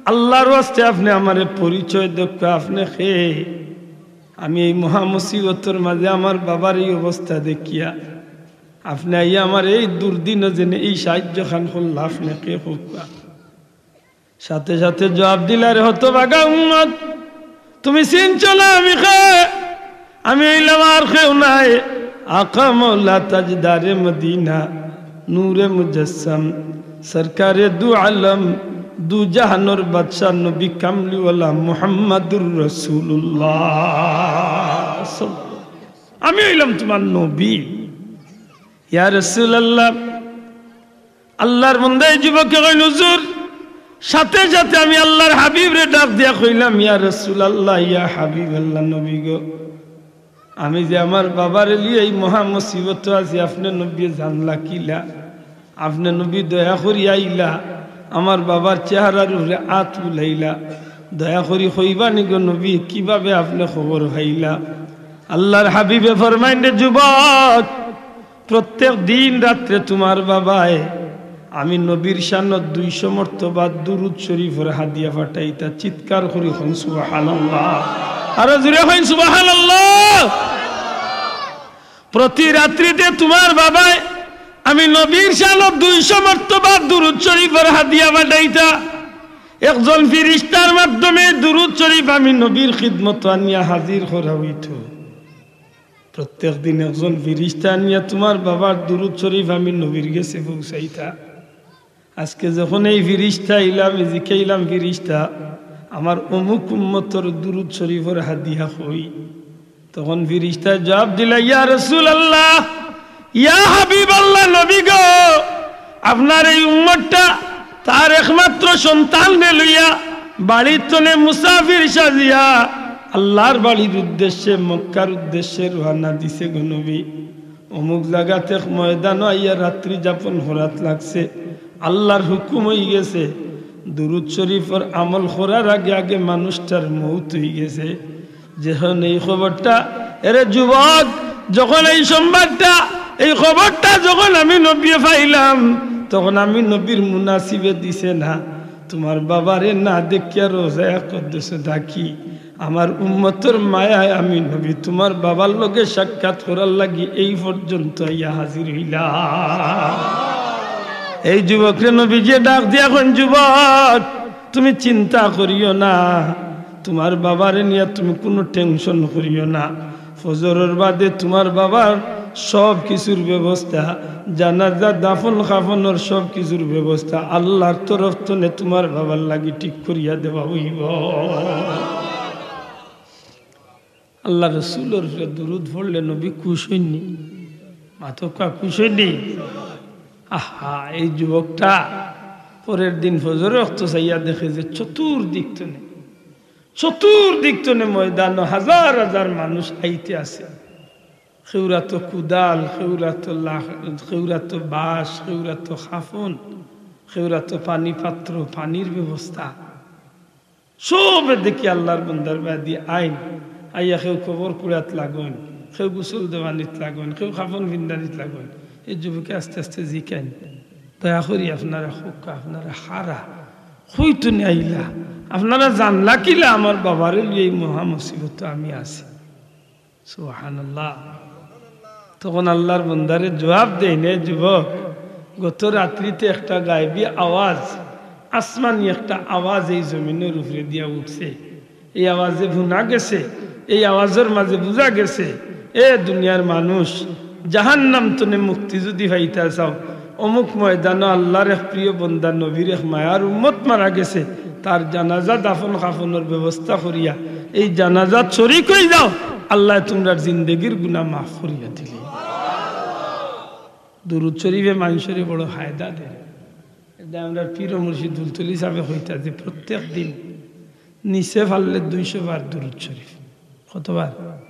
"আল্লাহর ওয়াস্তে আপনে আমারে পরিচয় দেউক্কা, আপনে কে?" আমি এই মহা মুসিবতর মাঝে আমার বাবার এই অবস্থা দেখিয়া আপনে আইয়া আমার এই দুর্দিন যেনে এই সাহায্য খান করলা, আপনে কে কউক্কা? সাথে সাথে জবাব দিলা, "রে হতভাগা উম্মত, তুমি চিনছো না আমি কে? আমি অইলাম আর কেউ নায়, আকা মৌলা তাজদারে মদিনা, নূরে মুজাসসাম, সরকারে দু আলম, দু জাহানর বাদশা নবী কামলিওয়ালা মুহাম্মাদুর রাসূলুল্লাহ।" আমি অইলাম তুমার নবী। ইয়া রাসূলুল্লাহ, আল্লাহর বান্দা এই যুবকে কইন, "হুজুর, সাথে সাথে আমি আল্লাহর হাবিবরে ডাক দিয়া কইলাম, ইয়া রাসূলুল্লাহ, ইয়া হাবিবাল্লাহ, নবী গো, আমি যে আমার বাবারে লইয়া এই মহা মুসিবতো আছি, আপনে নবীয়ে জানলা কিলা? আপনে নবী দয়া করি আইলা, আমার বাবার চেহারার উপরে আত বুলাইলা, দয়া করি কইবা নি গো নবী, কিভাবে আপনে খবর পাইলা?" আল্লাহর হাবিবে ফরমাইন, "রে যুবক, প্রত্যেক দিন রাত্রে তুমার বাবায় আমি নবীর শানত দুইশো মর্তবা দুরূদ শরীফর হাদিয়া পাঠাইতা।" চিৎকার করি কইন সুবহানাল্লাহ, আরো জোরে কইন সুবহানাল্লাহ। প্রতি রাত্রিতে তুমার বাবায় আমি নবীর শানত দুইশো মর্তবা দুরূদ শরীফর হাদিয়া পাঠাইতা। একজন ফিরিস্তার মাধ্যমে দুরূদ শরীফ আমি নবীর খিদমতো আনিয়া হাজির করা অইতো। প্রত্যেক দিন একজন ফিরিস্তা আনিয়া তুমার বাবার দুরূদ শরীফ আমি নবীর গেছে পৌঁছাইতা। আজকে যখন এই ফিরিস্তা আইলা, আমি জিকাইলাম, "ফিরিস্তা, আমার অমুক উম্মতর দুরূদ শরীফর হাদিয়া কই?" তখন ফিরিস্তায় জবাব দিলা, "ইয়া রাসূলুল্লাহ, ইয়া হাবিবাল্লাহ, নবী গো, আপনার এই উম্মতটা তার একমাত্র সন্তানরে লইয়া বাড়ির তনে মুসাফির সাজিয়া আল্লাহর বাড়ির উদ্দেশ্যে, মক্কার উদ্দেশ্যে রওয়ানা দিছে গো নবী। অমুক জাগাত এক ময়দানো আইয়া রাত্রি যাপন করাত লাগছে, আল্লাহর হুকুম অইগেছে, দুরূদ শরীফর আমল করার আগে আগে মানুষটার মউত অইগেছে।" যখন এই খবরটা, এরে যুবক, যখন এই সংবাদটা, এই খবরটা যখন আমি নবীয়ে পাইলাম, তখন আমি নবীর মুনাসিবে দিছে না, তুমার বাবারে না দেখিয়া রওজায়ে আকদসো থাকি, আমার উম্মতর মায়ায় আমি নবী তুমার বাবার লগে সাক্ষাৎ করার লাগি এই পর্যন্ত আইয়া হাজির অইলাম। এই যুবকরে নবীজিয়ে ডাক দিয়া কইন, "যুবক, তুমি চিন্তা করিও না, তুমার বাবারে নিয়া তুমি কুনু tension করিও না। ফজরর বাদে তুমার বাবার সব কিছুর ব্যবস্থা, জানাজা, দাফন কাফনর সব কিছুর ব্যবস্থা আল্লাহর তরফ তনে তুমার বাবার লাগি ঠিক করিয়া দেওয়া অইবো।" আল্লাহর রসুলর উপরে দুরূদ পড়লে নবী খুশ অইন নি? মাতউক্কা, খুশ অইন নি? আহা, এই যুবকটা পরের দিন ফজরর অক্ত চাইয়া দেখে যে চতুর্দিক তনে, চতুর্দিক তনে ময়দানো হাজার হাজার মানুষ আইতে আছে। কেউরাতো কুদাল, কেউরাতো লাখ-, কেউরাতো বাঁশ, কেউরাতো কাফন, কেউরাতো পানি পাত্র, পানির ব্যবস্থা। সবে দেখি আল্লাহর বান্দার বায়দি আইন। আইয়া কেউ কবর কুড়াত লাগইন, কেউ গোসল দেওয়ানিত লাগইন, কেউ কাফন ফিন্দানিত লাগইন। এই যুবকে আস্তে আস্তে জিকাইন, "দয়া করি আপনারা কউক্কা, আপনারা কারা? কই তনে আইলা? আপনারা জানলা কিলা আমার বাবারে লইয়া এই মহা মুসিবতো আমি আছি?" সুবহানাল্লাহ। তখন আল্লাহর বান্দারে জবাব দেইন, "এ যুবক, গত রাত্রিতে একটা গায়েবী আওয়াজ, আসমানি একটা আওয়াজ এই জমিনর উপরে দিয়া উঠছে। এই আওয়াজে হুনা গেছে, এই আওয়াজর মাঝে বুঝা গেছে, এ দুনিয়ার মানুষ, জাহান্নাম তনে মুক্তি যুদি পাইতা চাও, অমুক ময়দানো আল্লাহর এক প্রিয় বন্দা, নবীর এক মায়ার উম্মত মারা গেছে, তার জানাজা দাফন কাফনর ব্যবস্থা করিয়া এই জানাজাত শরিক অই যাও, আল্লায় তুমরার জিন্দেগির গুনা মাফ করিয়া দিলে। দুরুদ শরিফে মানষরে বড় ফায়দা দেয়। এটা আমরার পীর ও মুর্শিদ ফুলতলি সাহেবে কইতা যে প্রত্যেক দিন নিচে পারলে দুইশো বার দুরুদ শরিফ। কতবার?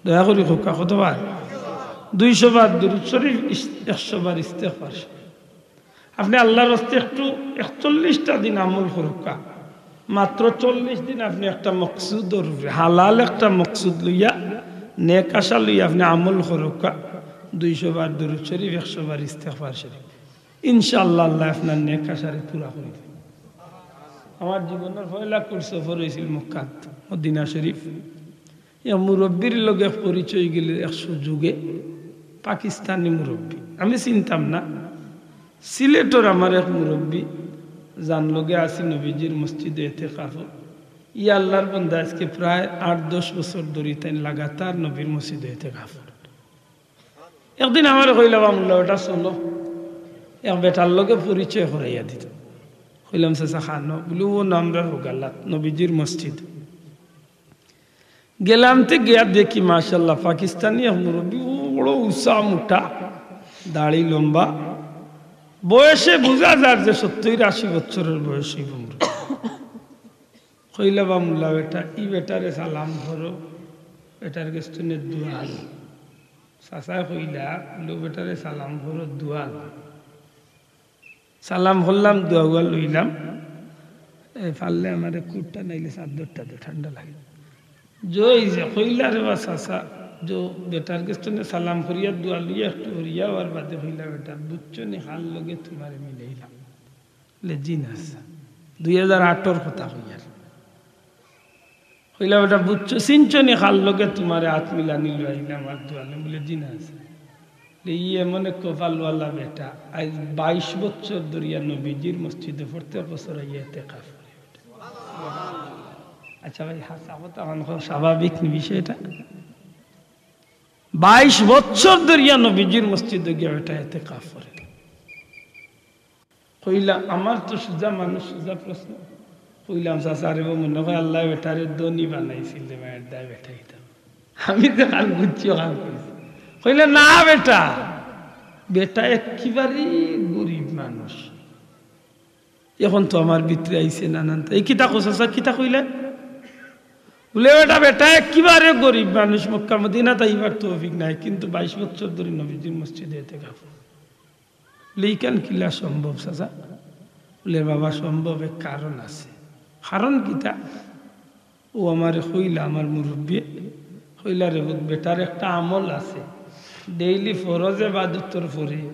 দয়া করি কউক্কা, কতবার? দুইশো বার দুরুদ শরিফ, ইস-, একশো বার ইস্তেগফার শরিফ। আপনে আল্লাহর ওয়াস্তে একটু একচল্লিশটা দিন আমল করউক্কা, মাত্র চল্লিশ দিন আপনে একটা মকসুদর উপরে, হালাল একটা মকসুদ লইয়া, নেক আশা লইয়া আপনে আমল করউক্কা, দুইশো বার দুরুদ শরিফ, একশো বার ইস্তেগফার শরিফ, ইনশাআল্লাহ আল্লায় আপনার নেক আশারে পুরা করি দিবা। আমার জীবনর পয়লা কুর সফর অইছিল মক্কাত, মদিনা শরিফ। এক মুরব্বির লগে পরিচয় গেলে এক সুযোগে, পাকিস্তানি মুরব্বি, আমি চিনতাম না। সিলেটর আমার এক মুরব্বি, যান লগে আছি নবীজির মসজিদে এতেকাফো। ই আল্লাহর বন্দা আজকে প্রায় আট দশ বছর ধরি তাইন লাগাতার নবীর মসজিদে এতেকাফো। একদিন আমারে কইলা, "বা মুল্লা বেটা চলো, এক বেটার লগে পরিচয় করাইয়া দিত।" কইলাম, "চাচা, কানো?" বুলে, "ও নামরা রোগালাত নবীজির মসজিদ।" গেলাম তে গিয়া দেখি, মাশাআল্লাহ, পাকিস্তানি এক মুরব্বি, ও বড় উচা মুটা, দাড়ি লম্বা, বয়সে বুঝা যার যে সত্তইর আশি বছরর বয়স অইবো মুরব্বি। কইলা, "বা মুল্লা বেটা, ই বেটারে সালাম করো, বেটার গেছ তনে দোয়া লও।" চাচায় কইলা, "লো বেটারে সালাম করো, দোয়া লও।" সালাম করলাম, দোয়া উয়া লইলাম। এ, পারলে আমারে কুটটা নাইলে চাদরটা দে, ঠান্ডা লাগে। জয় যে কইলা রে বা চাচা, যে বেটার গেছ তনে সালাম করিয়া দোয়া লইয়া একটু হরিয়া অওয়ার বাদে কইলা, "বেটা, বুঝছো নি, কার লগে তুমারে মিলাইলাম?" বুলে, "জি না চাচা।" দুই হাজার আটর কথা কইয়ার। কইলা, "বেটা, বুঝছো, চিনছো নি কার লগে তুমারে আত মিলানি লইলাম আর দোয়া লইলাম?" বুলে, "জি না চাচা।" বুলে, "ই এমন এক কপালওয়ালা বেটা, আইজ বাইশ বছর ধরিয়া নবীজির মসজিদো প্রত্যেক বছর আইয়া এতেকাফ করে।" আচ্ছা ভাই, হাছা কথা অখন কও, স্বাভাবিক নি বিষয়টা? বাইশ বছর ধরিয়া নবীজির মসজিদো গিয়া বেটা এতেকাফ করে। কইলা, "আমার তো সুজা মানুষ, সুজা প্রশ্ন।" কইলাম, "চাচা রে, ও মনে কয় আল্লায় বেটারে ধনী বানাইছিল রে, মায়ের দায় বেটা অইতাম।" আমি যে কান বুঝছি, ও কান কইছি। কইলা, "না বেটা, বেটা একেবারে গরিব মানুষ। অখন তো আমার ভিতরে আইছে নানান তা।" "এই কিতা কও চাচা, কিতা কইলা?" বুলে, "বেটা, বেটা একেবারে গরিব মানুষ, মক্কা মদিনাত আইবার তৌফিক নাই, কিন্তু বাইশ বছর ধরি নবীজির মসজিদে এতেকাফ।" বুলে, "ইখান কিলা সম্ভব চাচা?" বুলে, "বাবা, সম্ভব, এক কারণ আছে।" "কারণ কিতা?" ও আমারে কইলা, আমার মুরব্বিয়ে কইলা, "রে পুত, বেটার একটা আমল আছে, ডেইলি ফরজ এবাদতর পরে,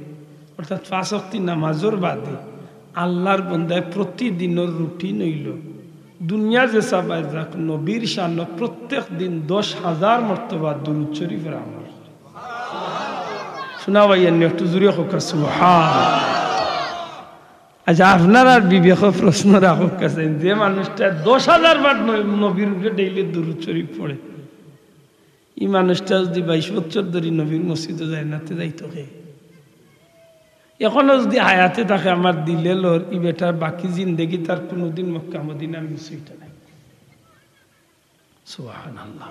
অর্থাৎ পাঁচ ওয়াক্তি নামাজর বাদে আল্লাহর বন্দায় প্রতিদিনর রুটিন অইলো, দুনিয়া যে চাবায় যাক, নবীর শানো প্রত্যেক দিন দশ হাজার মর্তবা দুরুদ শরিফর আমল।" শুনা ভাই, এমনি একটু জুরে কউক্কা, সুবহান। আচ্ছা, আপনারার বিবেকো প্রশ্ন রাখউক্কা চাইন, যে মানুষটা দশ হাজার বার ন-, নবীর উপরে ডেইলি দুরুদ শরিফ পড়ে, ই মানুষটা যুদি বাইশ বছর ধরি নবীর মসজিদো যায় না, তে যাইতো কে? অখনো যুদি হায়াতে থাকে, আমার দিলে লর, ই বেটার বাকি জিন্দেগি তার কুনুদিন মক্কা মদিনার মিস অইতো নায়। সুবহানাল্লাহ।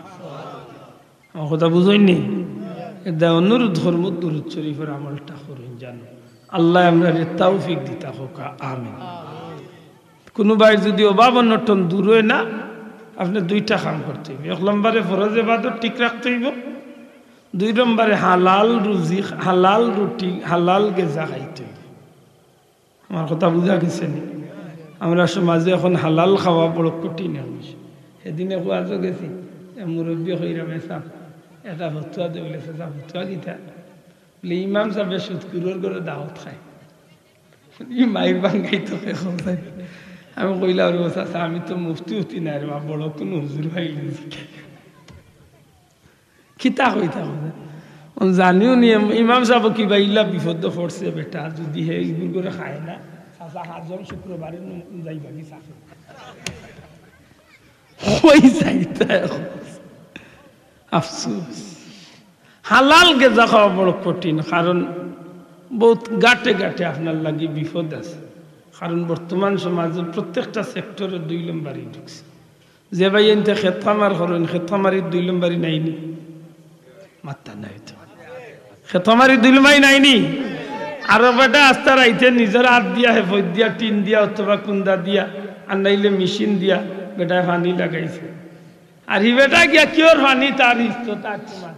আমার কথা বুঝইন নি? এরদায় অনুরোধ করমু, দুরুদ শরিফর আমলটা করইন জানো। আল্লায় আমরারে তৌফিক দিতা কউক্কা, আমিন। কুনু ভাইর যুদি অভাব অনটন দূর অয় না, আপনে দুইটা কাম করতে অইবো। এক নম্বরে ফরজ এবাদত ঠিক রাখতে অইবো, দুই নম্বরে হালাল রুজি, হালাল রুটি, হালাল গেজা খাইতে অইবো। আমার কথা বুঝা গেছে নি? আমরার সমাজো অখন হালাল খাওয়া বড় কঠিন অইছে। সেদিন এক ওয়াজো গেছি, এক মুরব্বিয়ে কইরা, "মেসাব, একটা ফতুয়া দে।" বুলে, "চাচা, ফতুয়া কিতা?" বুলে, "ইমাম সাবে সুদখুরর ঘরো দাওয়াত খায়।" ই মাইর ভাঙ্গাইতো কে কইছে। আমি কইলাম, "রে চাচা, আমি তো মুফতি উফতি নায় রে বা, বড় কুনু হুজুর পাইলে।" কিতা কইতা কইতা। অন জানিও নি, ইম-, ইমাম সাব কিবা ইলা বিপদো পড়ছে বেটা, যুদি হে ইগুর ঘরো খায় না, চাচা হাজর শুক্রবারে নু-, যাইবা কি চাচা? কই যাইতা এখন? আফসোস, হালাল গেজা খাওয়া বড় কঠিন, কারণ বউত গাটে গাটে আপনার লাগি বিপদ আছে। কারণ বর্তমান সমাজর প্রত্যেকটা সেক্টরো দুই লম্বারি ঢুকছে। যে ভাইয়াইন্তে খেত খামার করইন, খেত খামারির দুই লম্বারি নাইনি? মাত্তা নাই তো। খেত খামারির দুই লম্বারি নাইনি? আরো বেটা আস্তা রাইতে নিজর আত দিয়া, হেফত দিয়া, টিন দিয়া অথবা কুন্দা দিয়া, আর নাইলে মেশিন দিয়া বেটায় পানি লাগাইছে। আর হি বেটা গিয়া কিওর পানি তার ইস্তো তার তোমার।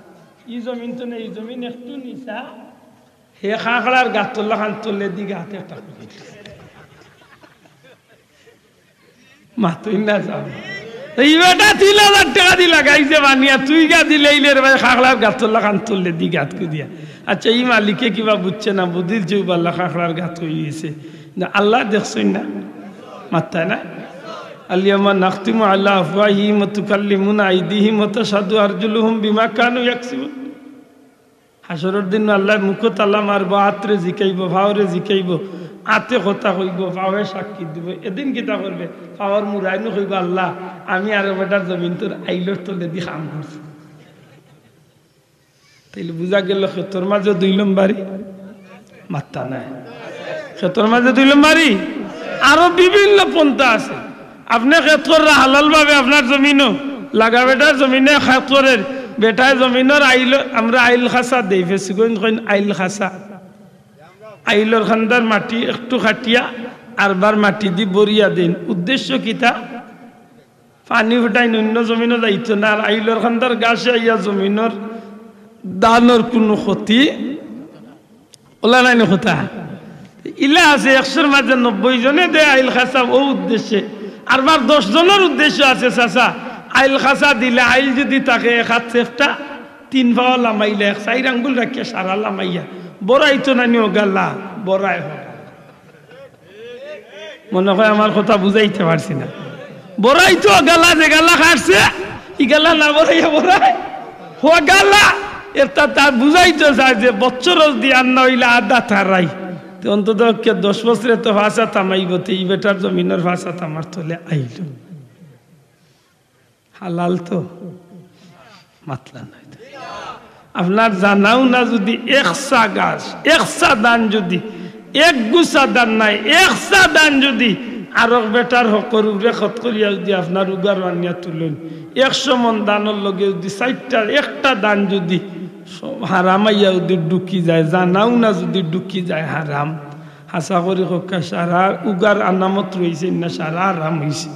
ই জমিন তো না, ই জমিন একটু নিচা। হে খাঁকড়ার গাতর লাখান তলেদি গাত একটা করে। মাতইন না যাও। ই বেটা তিন হাজার টেকা দি লাগাইছে পানি, আর তুই গা দিলে ইলে রে ভাই খাঁকড়ার গাতর লাখান তলেদি গাত করিয়া। আচ্ছা, ই মালিকে কিবা বুঝছে না, বুঝিল যে উবাল্লা খাঁকড়ার গাত অই গেছে। না, আল্লায় দেখছইন না? মাত্তায় না? আল ইয়াউমা নাখতিমু আলা আফওয়াহিহিম ওয়া তুকাল্লিমুনা আইদিহিম ওয়া তাশহাদু আরজুলুহুম বিমা কানু ইয়াকসিবুন। হাশরর দিন আল্লায় মুখো তালা মারবো, আতরে জিকাইবো, ফাওরে জিকাইবো, আতে কথা কইবো, ফাওয়ে সাক্ষী দিবো। এদিন কিতা করবে? ফাওর মুড়াইনু কইবো, "আল্লাহ, আমি আরো বেটার জমিনতর আইলর তলেদি কাম করছি।" তাইলে বুঝা গেল খেতর মাঝে দুই লম্বারি? মাত্তা নাই। খেতর মাঝে দুই লম্বারি? আরো বিভিন্ন পন্থা আছে। আপনে খেত কররা হালাল ভাবে আপনার জমিনো, লাগা বেটার জমিনে খেত করের, বেটায় জমিনর আইল, আমরা আইল খাসা দেই, ফেসুগঞ্জ কইন আইল খাসা। আইলর খান্দার মাটি একটু কাটিয়া আরবার মাটি দি ভরিয়া দেইন। উদ্দেশ্য কিতা? পানি ফুটাইন অইন্য জমিনো যাইতো না, আর আইলর খান্দার গাছে আইয়া জমিনর ধানর কুনু ক্ষতি অলা নায়নি কথা। ইলা আছে একশোর মাঝে নব্বই জনে দেয় আইল খাসা অউ উদ্দেশ্যে, আরবার দশ জনর উদ্দেশ্য আছে চাচা। আইল খাসা দিলে আইল যুদি থাকে এক আত চেফটা, তিন পাও লামাইলে এক চাইর আঙ্গুল রাখিয়া সারা লামাইয়া, বড়াইতো নানি অগালা, বড়ায় অগালা। মনে হয় আমার কথা বুঝাইতে পারছি না। বড়াইতো অগালা, যেগালা কাটছে, ইগালা না বড়াইয়া বড়ায় অগালা। এটা তার বুঝাইতে চায় যে বছর দিয়া না অইলে আদা তারাই। তে অন্তত পক্ষে দশ বছরে তো পাঁচ আত হামাইবো, তে ই বেটার জমিনর পাঁচ আত আমার তলে আইল। হালাল তো? মাতলা নাই তো। আপনার জানা উনা যুদি এক সা গাছ, এক সা ধান যুদি, এক গুছা ধান নায়, এক সা ধান যুদি আরক বেটার হকর উপরে খত করিয়া যুদি আপনার উগার আনিয়া তুলইন, একশো মন ধানর লগে যুদি চাইরটা, একটা ধান যুদি হারাম আইয়া যুদি ঢুকি যায়, জানা উনা যুদি ঢুকি যায় হারাম, হাছা করি কউক্কা, সারা উগার আনামত রইছে না, সারা হারাম অইছে।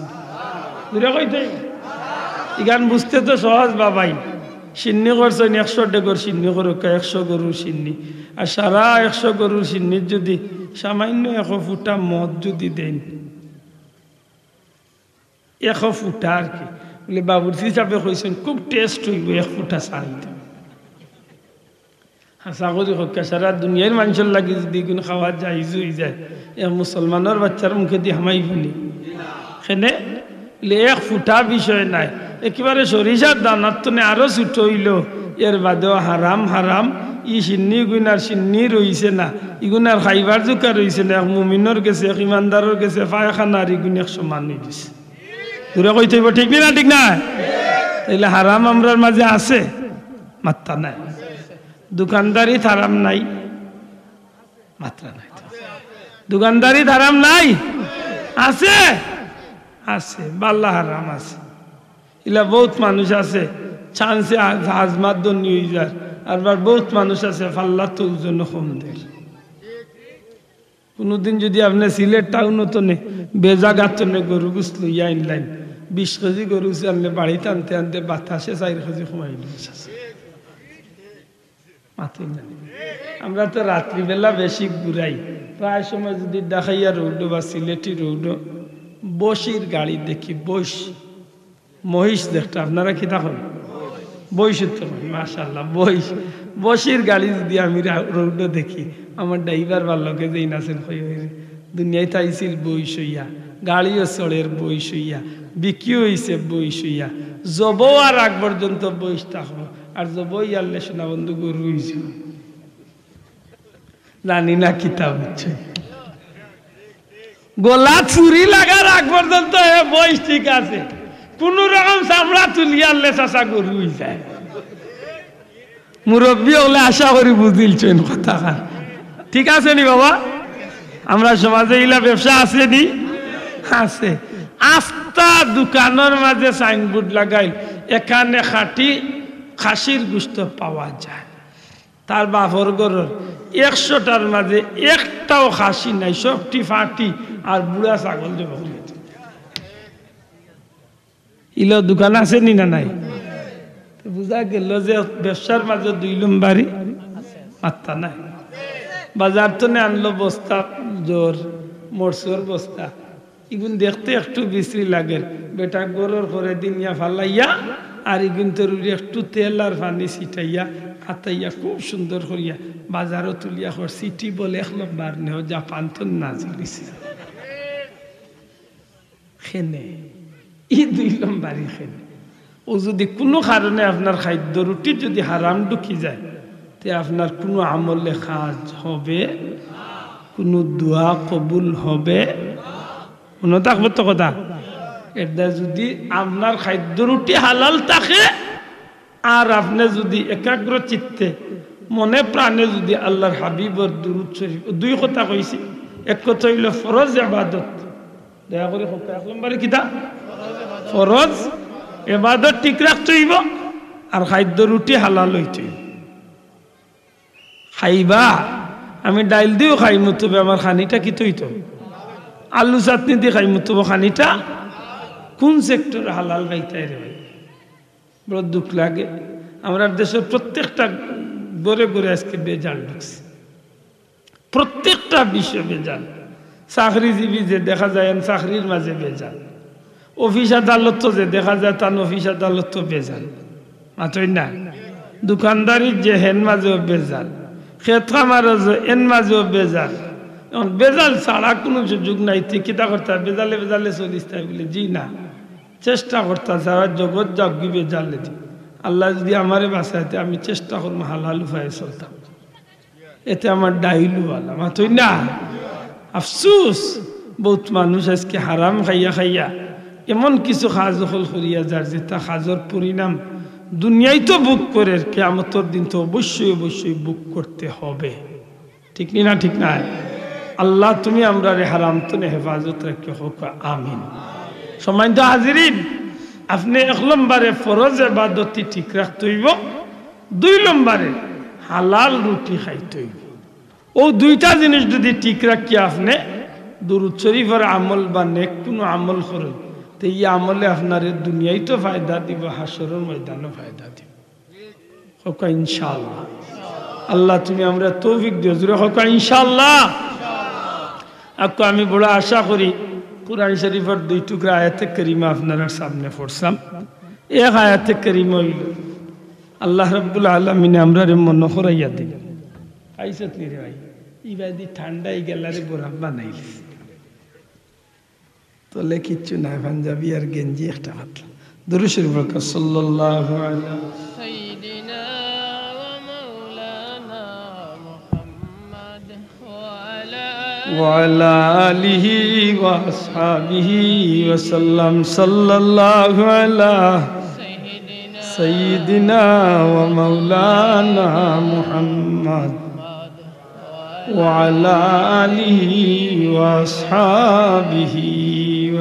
জুরে কইতে অইবো। ইখান বুঝতে তো সহজ বাবাই। শিন্নি করছইন একশো ডেগর শিন্নি করউক্কা, একশো গরুর শিন্নি। আর সারা একশো গরুর শিন্নির যুদি সামান্য এক ফুটা মদ যুদি দেইন, এক ফুটা আর কি। বলে, বাবুর্চি সাবে কইছইন, খুব টেস্ট অইবো, এক ফুটা ছাড়ি দেও। হাছা করি কউক্কা, সারা দুনিয়ার মানষর লাগি যুদি ইগুন খাওয়া জাইজ অই যায়, এক মুসলমানর বাচ্চার মুখেদি হামাইবো নি? কেনে? বলে, এক ফুটা বিষয় নায়, একেবারে সরিষার দানার তনে আরো ছোট অইলো, এর বাদেও হারাম, হারাম। ই শিন্নি ইগুন আর শিন্নি রইছে না, ইগুন আর খাইবার জুকা রইছে না। এক মুমিনর গেছে, এক ইমানদারর গেছে, পায়খানা আর ইগুন এক সমান অই গেছে। জুরে কইতে অইবো, ঠিক নি না? ঠিক না? তাইলে হারাম আমরার মাঝে আছে? মাত্তা নাই। দোকানদারিত হারাম নাই? মাত্তা নাই তো। দোকানদারিত হারাম নাই? আছে? আছে, বালা হারাম আছে। ইলা বউত মানুষ আছে, চান্সে আ-, আজমাত ধনী অই যার, আরবার বউত মানুষ আছে, ফাল্লাত ওজনো কম দের। কুনুদিন যুদি আপনে সিলেট টাউনো তনে বেজাগা তনে গরু গুস লইয়া আইনলাইন, বিশ কেজি গরু গুস আনলে বাড়িত আনতে আনতে বাতাসে চাইর কেজি কমাই লইছে। মাতইন না। আমরা তো রাত্রিবেলা বেশি ঘুরাই, প্রায় সময় যুদি ঢাকাইয়া রোডো বা সিলেটি রোডো বইশর গাড়ি দেখি, বইশ মহিষ দেখতা, আপনারা কিতা কইন? বইশ তো কইন, মাশাআল্লাহ, বইশ। বইশর গাড়ি যুদি আমি রা-, রোডো দেখি, আমার ড্রাইভার বার লগে যেইন আছইন কই, "ওই রে, দুনিয়াত আইছিল বইশ অইয়া, গাড়িও চড়ের বইশ অইয়া, বিক্রিও অইছে বইশ অইয়া, জবো আর আগ পর্যন্ত বইশ থাকবো, আর জবো ইয়ারলে সোনা বন্ধু গরু অইছে।" জানি না কিতা বুঝছে। গলাত ছুরি লাগার আগ পর্যন্ত হে বইশ ঠিক আছে, কুনু রকম চামড়া তুলিয়ারলে চাচা গরু অই যায়। মুরব্বি অকলে আশা করি বুঝিলছইন কথাখান। ঠিক আছে নি বাবা? আমরার সমাজে ইলা ব্যবসা আছে নি? আছে। আস্তা দোকানর মাঝে সাইনবোর্ড লাগাইল, "এখানে খাঁটি খাসির গোশত পাওয়া যায়।" তার বাপর ঘরর একশোটার মাঝে একটাও খাসি নাই, সবটি ফাটি আর বুড়া ছাগল জবাই করি। ইলা দোকান আছে নি না নাই? তো বুঝা গেল যে ব্যবসার মাঝে দুই লম্বারি মাত্তা নাই। বাজার তনে আনলো বস্তা, জোর মরচর বস্তা, ইগুন দেখতে একটু বিশ্রী লাগের। বেটা ঘরর করে দিনিয়া ফালাইয়া, আর ইগুন তরুরি একটু তেল আর পানি ছিটাইয়া, আতাইয়া খুব সুন্দর করিয়া বাজারো তুলিয়া কর, "সিটি বলে এক লম্বার নেও, জাপান তো নাজিল হইছে।" খেনে, ই দুই লম্বারি খেনে। ও যদি কুনু কারণে আপনার খাদ্য রুটি যদি হারাম ঢুকি যায়, তে আপনার কুনু আমলে কাজ হবে, কুনু দোয়া কবুল হবে, মনো থাকবো তো কথা। এরদায় যদি আপনার খাদ্য রুটি হালাল থাকে, আর আপনে যদি একাগ্র চিত্তে মনে প্রাণে যদি আল্লাহর হাবিবর দুরূদ শরীফ, দুই কথা কইছি, এক কথা অইলো ফরজ ইবাদত, দয়া করি কউক্কা, এক নম্বরে কিতা? ফরজ ইবাদত ঠিক রাখতে অইবো, আর খাদ্য রুটি হালাল অইতে অইবো। খাইবা, আমি ডাইল দিও খাইমু, তবে আমার খানিটা কিতা অইতো? আলু চাটনি দি খাইমু, তবে খানিটা কোন সেক্টরে হালাল খাইতায় রে ভাই? বড় দুঃখ লাগে। আমরার দেশর প্রত্যেকটা ঘরে ঘরে আজকে ভেজাল ঢুকছে, প্রত্যেকটা বিষয়ে ভেজাল। চাকরিজীবী যে দেখা যায়, এন চাকরির মাঝে ভেজাল। অফিস আদালত যে দেখা যায়, তান অফিস আদালত ভেজাল। মাতইন না? দোকানদারির যে হেন মাঝেও ভেজাল, খেত খামারও যে এন মাঝেও ভেজাল। এখন ভেজাল ছাড়া কুনু সুযোগ নাই। তে কিতা করতা? ভেজালে ভেজালে চলিস তাই বলে? জি না, চেষ্টা করতা সারা জগৎ যাউকগি ভেজালে দি। আল্লায় যদি আমারে বাঁচাইতে, আমি চেষ্টা করমু হালাল উপায়ে চলতাম। এতে আমার ডাইলু বালা, মাতইন না? আফসুস, বউত মানুষ আজকে হারাম খাইয়া খাইয়া এমন কিছু কাজ অকল করিয়া যার, যেটা কাজর পরিণাম দুনিয়ায় তো ভোগ করের, কিয়ামতর দিন তো অবশ্যই অবশ্যই ভোগ করতে হবে। ঠিক নি না? ঠিক নায়? আল্লাহ, তুমি আমরারে হারাম তনে হেফাজত রাখিও, কউক্কা আমিন। সম্মানিত হাজিরিন, আপনে এক নম্বরে ফরজ ইবাদতি ঠিক রাখতে অইবো, দুই নম্বরে হালাল রুটি খাইতে অইবো। অউ দুইটা জিনিস যদি ঠিক রাখিয়া আপনে দুরূদ শরীফর আমল বা নেক কুনু আমল করইন, তে ই আমলে আপনারে দুনিয়ায় তো ফায়দা দিবো, হাশরর ময়দানও ফায়দা দিবো। কউক্কা ইনশাআল্লাহ। আল্লাহ, তুমি আমরারে তৌফিক দিও। জোরে কউক্কা ইনশাআল্লাহ। আক্কু আমি বড় আশা করি, কোরআন শরীফর দুই টুকরা আয়াতে কারিমা আপনারার সামনে পড়ছাম। এক আয়াতে কারিমা অইলো, আল্লাহ রাব্বুল আলামিনে আমরারে মনো করাইয়া দিন। আইছত নি রে ভাই? ইবাদি ঠান্ডা ই গেলারে বরফ বানাইলিছে। তলে কিচ্ছু নাই, পাঞ্জাবি আর গেঞ্জি একটা মাত্র। দুরূদ শরীফ পড়ো, সাল্লাল্লাহু আলা سيدنا ومولانا محمد وعلى وعلى آله وأصحابه وسلم. صلى الله على سيدنا سيدنا ومولانا محمد وعلى آله وأصحابه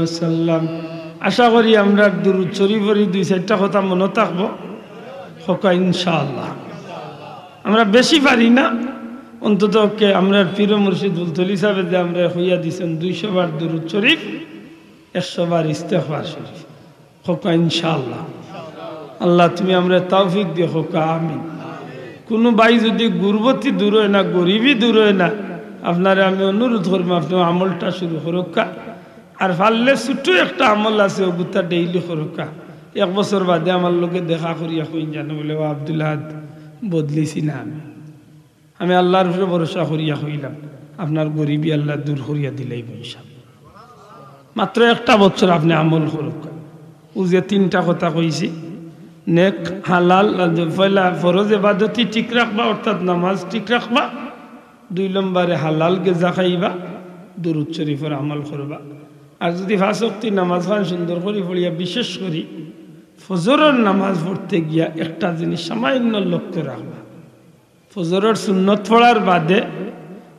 وسلم. আশা করি আমরার দুরূদ শরীফর ই দুই চাইরটা কথা মনো থাকবো। কউক্কা ইনশাআল্লাহ। আমরা বেশি পারি না, অন্তত পক্ষে আমরার পীর মুর্শিদ ফুলতলি সাহেবে যে আমরারে কইয়া দিছইন, দুইশো বার দুরূদ শরীফ, একশো বার ইস্তেগফার শরীফ। কউক্কা ইনশাআল্লাহ। আল্লাহ, তুমি আমরারে তৌফিক দিও, কউক্কা আমিন। কুনু ভাই যদি গুরবতি দূর অয় না, গরিবি দূর অয় না, আপনারে আমি অনুরোধ করমু, আপনে আমলটা শুরু করউক্কা। আর পারলে ছোট একটা আমল আছে, অগুতা daily করউক্কা। এক বছর বাদে আমার লগে দেখা করিয়া কইন জানো, বলে, "ও আব্দুল আহাদ, বদলিছি না আমি।" আমি আল্লাহর উপরে ভরসা করিয়া কইলাম, আপনার গরিবি আল্লায় দূর করিয়া দিলাইবো ইনশাআল্লাহ। মাত্র একটা বছর আপনে আমল করউক্কা। অউ যে তিনটা কথা কইছি, নেক, হালাল, পয়লা ফরজ ইবাদতি ঠিক রাখবা, অর্থাৎ নামাজ ঠিক রাখবা, দুই নম্বরে হালাল গেজা খাইবা, দুরূদ শরীফর আমল করবা। আর যদি পাঁচ ওয়াক্তি নামাজ খান সুন্দর করি পড়িয়া, বিশেষ করি ফজরর নামাজ পড়তে গিয়া একটা জিনিস সামান্য লক্ষ্য রাখবা, ফজরর সুন্নত পড়ার বাদে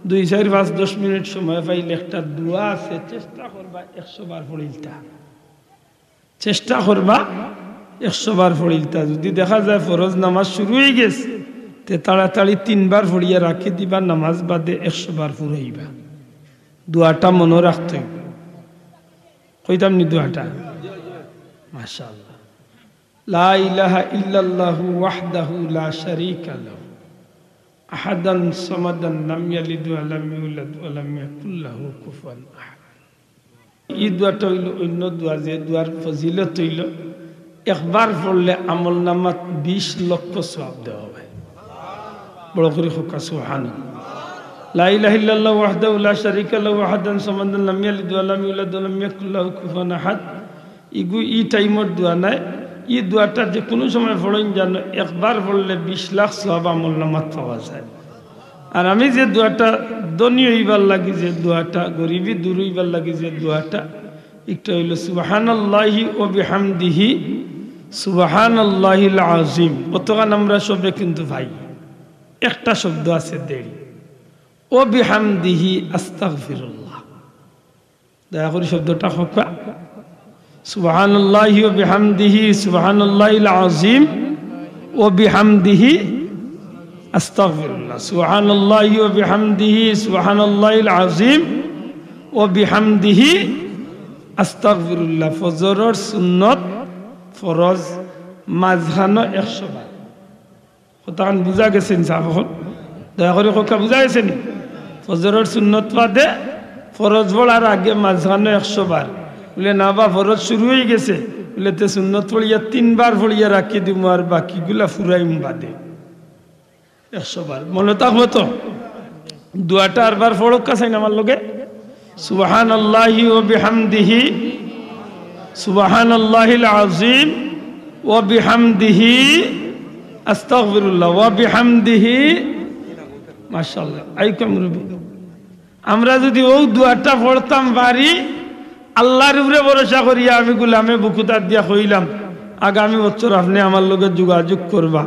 দুই, চাইর, পাঁচ, দশ মিনিট সময় পাইলে একটা দোয়া আছে, চেষ্টা করবা একশো বার পড়িলতা। চেষ্টা করবা একশো বার পড়িলতা। যদি দেখা যায় ফরজ নামাজ শুরু অইগেছে, তে তাড়াতাড়ি তিনবার পড়িয়া রাখি দিবা, নামাজ বাদে একশো বার পড়িবা। দোয়াটা মনো রাখতে অইবো। কইতাম নি দোয়াটা? মাশাআল্লাহ। লা ইলাহা ইল্লাল্লাহু ওয়াহদাহু লা শারীকা লাহু, আহাদান সামাদান, লাম ইয়ালিদ ওয়া লাম ইউলাদ ওয়া লাম ইয়াকুল লাহু কুফুয়ান আহাদ। ই দোয়াটা অইলো অইন্য দোয়া, যে দোয়ার ফজিলত অইলো একবার পড়লে আমলনামাত বিশ লক্ষ সওয়াব দেওয়া অয়। বড় করি কউক্কা সুবহানাল্লাহ। লা ইলাহা ইল্লাল্লাহু ওয়াহদাহু লা শারীকা লাহু, আহাদান সামাদান, লাম ইয়ালিদ ওয়া লাম ইউলাদ ওয়া লাম ইয়াকুল লাহু কুফুয়ান আহাদ। ইগু ই টাইমর দোয়া নায়, ই দোয়াটা যে কুনু সময় পড়ইন জানো, একবার পড়লে বিশ লাখ সওয়াব আমলনামাত পাওয়া যায়। আর আমি যে দোয়াটা ধনী অইবার লাগি, যে দোয়াটা গরিবি দূর অইবার লাগি, যে দোয়াটা, একটা অইলো সুবহানাল্লাহি ওয়া বিহামদিহি সুবহানাল্লাহিল আযীম। অতখান আমরা সবে কিন্তু পাই, একটা শব্দ আছে দেরি, ওয়া বিহামদিহি আস্তাগফিরুল্লাহ। দয়া করি শব্দটা কউক্কা। সুবহানাল্লাহি ওয়া বিহামদিহি সুবহানাল্লাহিল আযীম ওয়া বিহামদিহি আস্তাগফিরুল্লাহ। সুবহানাল্লাহি ওয়া বিহামদিহি সুবহানাল্লাহিল আযীম ওয়া বিহামদিহি আস্তাগফিরুল্লাহ। ফজরর সুন্নত, ফরজ, মাঝখানো একশো বার। কথাখান বুঝা গেছে নি সাব অকল? দয়া করি কউক্কা, বুঝা গেছে নি? ফজরর সুন্নত বাদে ফরজ পড়ার আগে মাঝখানো একশো বার। বুলে, "না বা, ফরজ শুরু অইগেছে।" বুলে, "তে সুন্নত পড়িয়া তিনবার পড়িয়া রাখি দিমু, আর বাকিগুলা ফুরাইমু বাদে।" একশো বার। মনো থাকবো তো? দোয়াটা আরবার পড়উক্কা চাইন আমার লগে। সুবহানাল্লাহি ওয়া বিহামদিহি, সুবহানাল্লাহিল আযীম ওয়া বিহামদিহি, আস্তাগফিরুল্লাহ, ওয়া বিহামদিহি। মাশাআল্লাহ, আইকম রুবি। আমরা যদি অউ দোয়াটা পড়তাম পারি, আল্লার উপরে ভরসা করিয়া আমি গুলামে বুকুত আত দিয়া কইলাম, আগামী বছর আপনে আমার লগে যোগাযোগ করবা,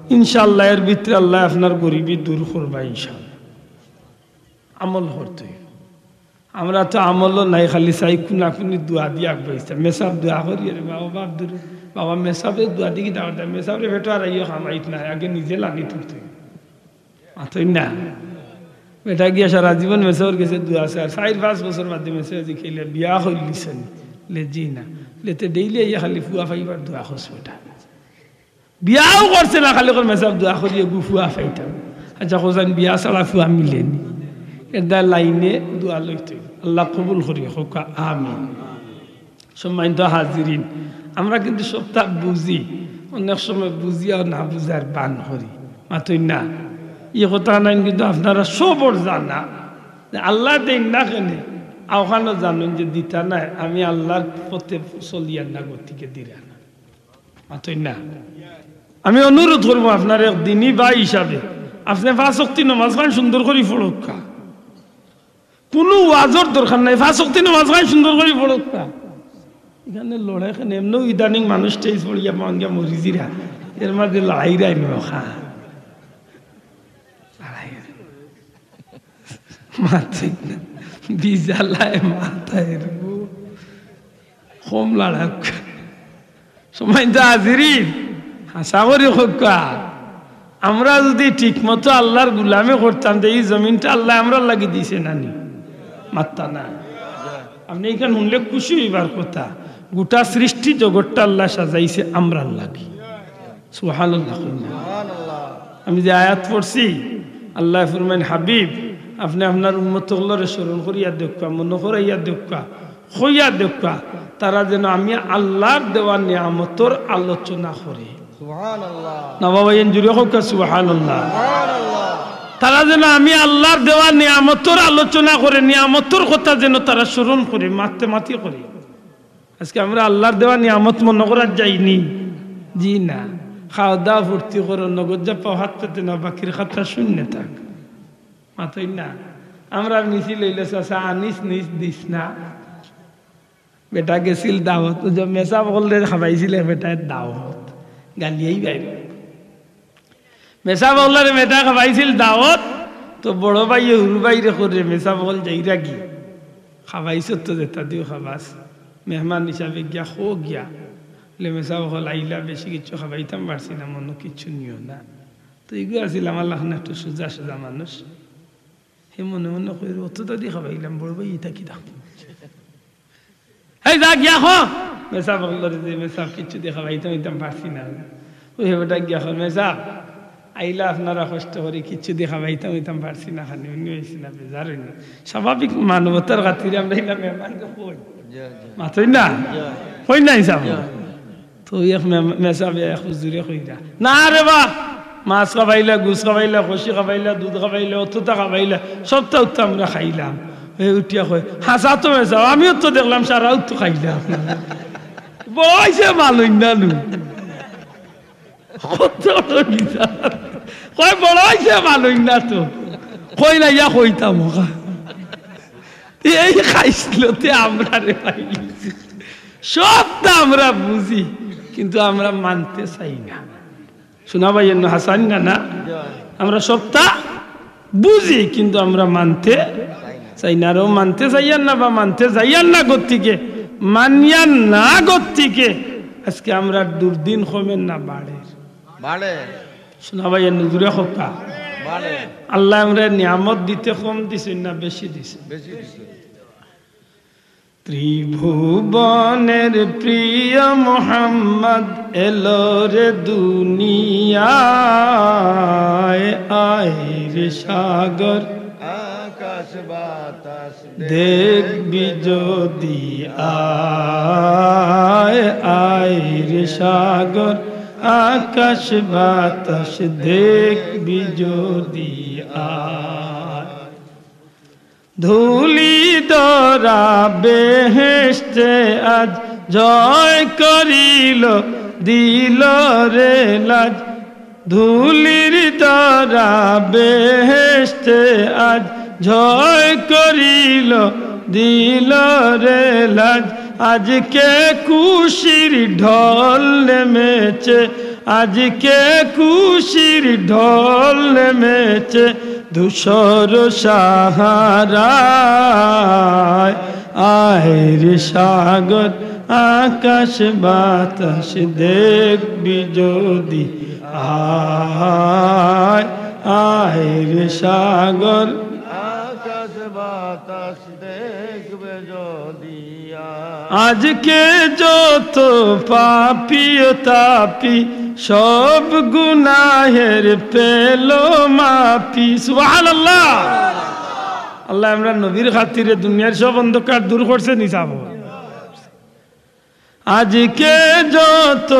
ইনশাআল্লাহ এর ভিতরে আল্লায় আপনার গরিবি দূর করবা ইনশাআল্লাহ। আমল করতে অইবো। আমরা তো আমলও নাই, খালি চাই কুনাকুনি দোয়া দিয়া আগুয়াইতাম। মেসাব দোয়া করি, আরে বাবা, বাপ দূর, বাবা, মেসাবে দোয়া দি কিতা করতাম? মেসাবরে পেটো আর আইও কামাইত নাই, আগে নিজে লাগি তুলতে অইবো। মাতইন না। বেটা গিয়া সারা জীবন মেসাবর গেছে দোয়া চায়, আর চাইর পাঁচ বছর বাদে মেসাবে জিকাইলে, "বিয়া করিলিছনি?" লে, "জি না।" লে, "তে ডেইলি আইয়া খালি ফুয়া পাইবার দোয়া করছ বেটা।" বিয়াও করছে না, খালি কর, "মেসাব দোয়া করি এগু ফুয়া পাইতাম।" আচ্ছা, কইছইন বিয়া ছাড়া ফুয়া মিলেনি। এরদায় লাইনে দোয়া লইতে অইবো। আল্লায় কবুল করি, কউক্কা আমিন। সম্মানিত হাজিরিন, আমরা কিন্তু সবটা বুঝি, অনেক সময় বুঝিয়াও না বুঝার ভান করি। মাতইন না, ই কথাখান কিন্তু আপনারা সবর জানা যে আল্লায় দেইন না কেনে, অউখানও জানইন যে দিতা নায়, আমি আল্লার পথে চলিয়ার না, গতিকে দিরা না। মাতইন না। আমি অনুরোধ করমু আপনার এক দিনী ভাই হিসাবে, আপনে পাঁচ ওয়াক্তি নমাজখান সুন্দর করি পড়উক্কা। কুনু ওয়াজর দরকার নাই, পাঁচ ওয়াক্তি নমাজখান সুন্দর করি পড়উক্কা। ইখানে লড়াই কেনে? এমনেও ইদানিং মানুষ stage পড়িয়া মন গিয়া মরি যিরা, এর মাঝে লড়াই রাই নি অখা। লড়াই। মাতইন না। বিজালায় মাতায় রু। কম লড়উক্কা। সম্মানিত হাজিরিন, হাছা করি কউক্কা, আমরা যদি ঠিকমতো আল্লার গুলামি করতাম, তে ই জমিনটা আল্লায় আমরার লাগি দিছে না নি? মাতইন না। আপনে ইখান হুনলে খুশি অইবার কথা। গোটা সৃষ্টি জগতটা আল্লায় সাজাইছে আমরার লাগি। সুবহানাল্লাহ কইন না। আমি যে আয়াত পড়ছি, আল্লায় ফরমাইন, "হাবিব, আপনে আপনার উম্মত অকলরে স্মরণ করিয়া দেউক্কা, মনো করাইয়া দেউক্কা, কইয়া দেউক্কা, তারা যেন আমি আল্লার দেওয়া নিয়ামতর আলোচনা করে।" সুবহানাল্লাহ। না বাবা, এন জুরে কউক্কা সুবহানাল্লাহ। সুবহানাল্লাহ। তারা যেন আমি আল্লার দেওয়া নিয়ামতর আলোচনা করে, নিয়ামতর কথা যেন তারা স্মরণ করে, মাততে মাতি করে। আজকে আমরা আল্লার দেওয়া নিয়ামত মনো করার যাইনি? জি না। খাওয়া দাওয়া ফুর্তি করো, নগদ যা পাও হাত পেতে নাও, বাকির খাতা শূন্য থাক। মাতইন না। আমরার মিছিল অইলো, "চাচা, আনিস নিস দিস না।" বেটা গেছিল দাওয়াত, ওই যে মেসাব অকলরে খাবাইছিল বেটায় দাওয়াত, গালিয়াই বাইর। মেসাব অকলরে মেটা খাবাইছিল দাওত, তো বড় ভাইয়ে হুরু ভাইরে কইরে, মেসাব অকল যাইরা গি, খাবাইছত তো যেতা দিও খাবাস, মেহমান হিসাবে গিয়া খো গিয়া। বলে, মেসাব অকল আইলা, বেশি কিচ্ছু খাবাইতাম পারছি না, মনো কিচ্ছু নিও না। তো ইগু আছিল আমার লাখান একটু সুজা সুজা মানুষ। হে মনে মনে কইর, অততা দি খাবাইলাম, বড় ভাই ইতা কি ডাক? এই যা গিয়া ক, মেসাব অকলরে যে, মেসাব কিচ্ছু দি খাবাইতাম ইতাম পারছি না। ওই হে বেটা গিয়া ক, মেসাব আইলা আপনারা কষ্ট করি, কিচ্ছু দি খাবাইতাম ইতাম পারছি না, খানি উনি হইছি না, বেজার হইনি। স্বাভাবিক মানবতার খাতিরে আমরা ইলা মেহমানরে কই। জি, জি। মাতই না? জি। কই না হিসাব? জি। তো এক মে-, মেসাবে এক হুজুরে কইরা, "না রে বা, মাছ খাবাইলা, গুস খাবাইলা, খসি খাবাইলা, দুধ খাবাইলা, অততা খাবাইলা, সবতা উত্তা আমরা খাইলাম।" হে উঠিয়া কয়, "হাছা তো মেসাব, আমিও তো দেখলাম সারা উত্তু খাইলাম।" বড় অইছে মালইন না নু। কত বড় কিতাব। কয়, "বড় অইছে মালইন না তো।" কই না, ইয়া কইতাম ওকা। এই খাইছলতে আমরারে পাইলিছে। সবতা আমরা বুঝি, কিন্তু আমরা মানতে চাই না। শোনা ভাই, এন্ন হাসান না, না? আমরা সবতা বুঝি, কিন্তু আমরা মানতে চাই না। আর ও মানতে চাইয়ার না বা মানতে যাইয়ার না গতিকে, মানিয়ার না গতিকে, আজকে আমরা দুর্দিন কমের না বাড়ের? বাড়ে। শোনা ভাই, এ নজরে খোকা। বাড়ে। আল্লায় আমরারে নিয়ামত দিতে কম দিছইন না বেশি দিছইন? বেশি দিছইন। ত্রিভুবনের প্রিয় মোহাম্মদ এলো রে দুনিয়ায়, আয় রে সাগর, আকাশ বাতাস দেখবি যদি আয়, আয় রে সাগর, আকাশ বাতাস দেখবি যদি আয়। ধুলি ধরা বেহেশতে আজ জয় করিল, দিল রে লাজ। ধুলির ধরা বেহেশতে আজ জয় করিল, দিল রে লাজ। আজকে খুশির ঢল নেমেছে, আজকে খুশির ঢল নেমেছে ধূসর সাহারায়। আয় রে সাগর, আকাশ বাতাস দেখবি যদি আয়, আয় রে সাগর, আকাশ বাতাস দেখবে যদি আয়। আজকে যত পাপী ও তাপী সব গুনাহের পেল মাফি। সুবহানাল্লাহ। আল্লায় আমরার নবীর খাতিরে দুনিয়ার সব অন্ধকার দূর করছে নি সাব? আজকে যত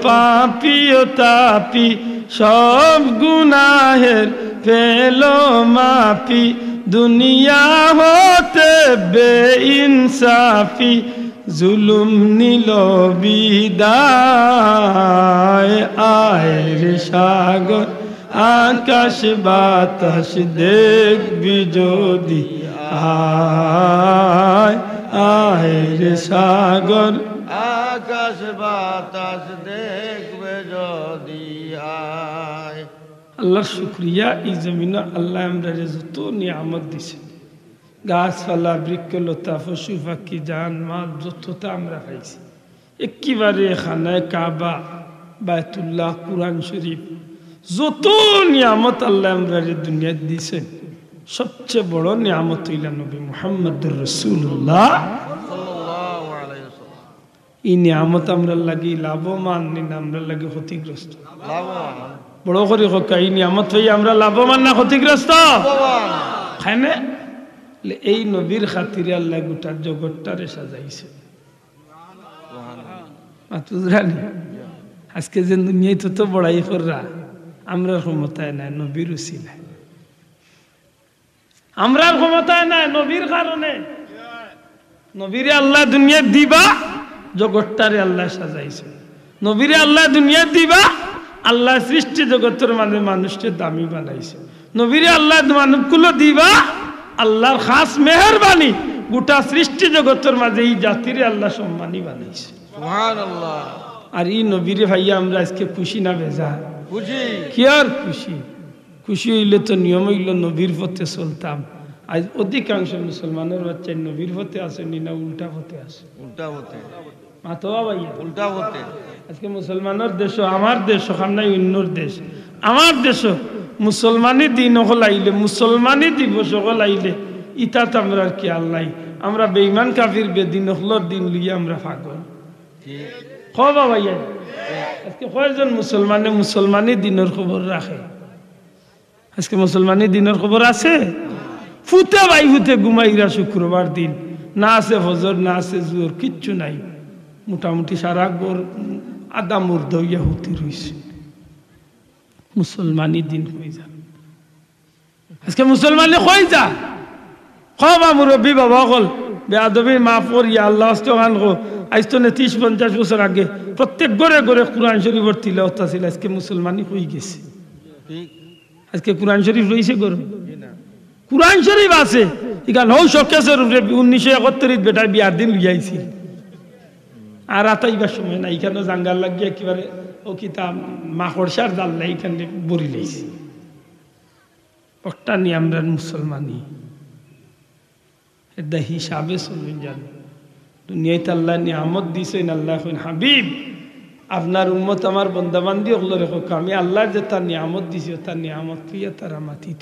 পাপী ও তাপী সব গুনাহের পেল মাফি। দুনিয়া হতে বেইনসাফি জুলুম নিল বিদায়। আয় রে সাগর, আকাশ বাতাস দেখবি যদি আয়, আয় রে সাগর, আকাশ বাতাস দেখবে যদি আয়। আল্লাহর শুকরিয়া, এই জমিনো আল্লায় আমরারে যত নিয়ামত দিছে, গাছপালা, বৃক্ষলতা, পশু পাখি, জান মাল, যততা আমরা পাইছি, একেবারে খানায়ে কাবা, বায়তুল্লাহ, কুরআন শরীফ, যত নিয়ামত আল্লায় আমরারে দুনিয়াত দিছইন, সবচেয়ে বড় নিয়ামত অইলা নবী মুহাম্মদুর রাসূলুল্লাহ। ই নিয়ামত আমরার লাগি লাভবান নি না আমরার লাগি ক্ষতিগ্রস্ত? লাভবান। বড় করি কউক্কা, ই নিয়ামত পাইয়া আমরা লাভবান না ক্ষতিগ্রস্ত? লাভবান। কেনে? এই নবীর খাতিরে আল্লায় গোটা জগৎটারে সাজাইছে। মাত বুঝরা নি? আজকে যে দুনিয়াত তো বড়াই কররা, আমরার ক্ষমতায় নাই, নবীর উসিলায়। আমরার ক্ষমতায় নাই, নবীর কারণে। নবীরে আল্লায় দুনিয়াত দিবা, জগৎটারে আল্লায় সাজাইছে। নবীরে আল্লায় দুনিয়াত দিবা, আল্লায় সৃষ্টি জগতর মাঝে মানুষরে দামি বানাইছে। নবীরে আল্লায় মানবকুলো দিবা, আল্লার খাস মেহেরবানি, গোটা সৃষ্টি জগতর মাঝে ই জাতিরে আল্লায় সম্মানী বানাইছে। সুবহানাল্লাহ। আর ই নবীরে পাইয়া আমরা আজকে খুশি না বেজার? খুশি। কিয়ার খুশি? খুশি অইলে তো নিয়ম অইলো নবীর পথে চলতাম। আইজ অধিকাংশ মুসলমানর বাচ্চাইন নবীর পথে আছইন নি না উল্টা পথে আছইন? উল্টা পথে। মাতো বা ভাইয়া। উল্টা পথে। আজকে মুসলমানর দেশো, আমার দেশো, খান নাই অইন্যর দেশ, আমার দেশো মুসলমানি দিন অকল আইলে, মুসলমানি দিবস অকল আইলে, ইতাত আমরার খিয়াল নাই। আমরা বেইমান কাফির বেদিন অকলর দিন লইয়া আমরা পাগল। ঠিক। কও বা ভাইয়া, আজকে কয়জন মুসলমানে মুসলমানি দিনর খবর রাখে? আজকে মুসলমানি দিনর খবর আছে? ফুতে বাই ফুতে ঘুমাইরা শুক্রবার দিন, না আছে ফজর, না আছে জোহর, কিচ্ছু নাই। মোটামুটি সারা ঘর আধা মুর্দা অইয়া হুতি রইছে। মুসলমানি দিন কই যা? আজকে মুসলমানি কই যা? কও বা মুরব্বি বাবা অকল, বেয়াদবি মাফ করিয়া আল্লার ওয়াস্তে অখান কও। আইজ তনে ত্রিশ পঞ্চাশ বছর আগে প্রত্যেক ঘরে ঘরে কোরআন শরীফর তিলাওয়াত আছিল, আজকে মুসলমানি কই গেছে? ঠিক। আজকে কোরআন শরীফ রইছে ঘরো? জি না। কোরআন শরীফ আছে, ইখান হউ শোকেসর উপরে উনিশশো একাত্তরিত বেটায় বিয়ার দিন লইয়া আইছিল। আর আতাইবার সময় নাই, ইখানো জাঙ্গার লাগিয়া একেবারে অউ কিতা মাকড়সার জাল নাই, ইখান ভরি লাইছে। অটা নি আমরার মুসলমানি। এরদা হিসাবে চলইন যান। দুনিয়াত আল্লায় নিয়ামত দিছইন, আল্লায় কইন, "হাবিব, আপনার উম্মত আমার বন্দাবান্দি অকলরে কউক্কা, আমি আল্লায় যেতা নিয়ামত দিছি, অতা নিয়ামত লইয়া তারা মাতিত।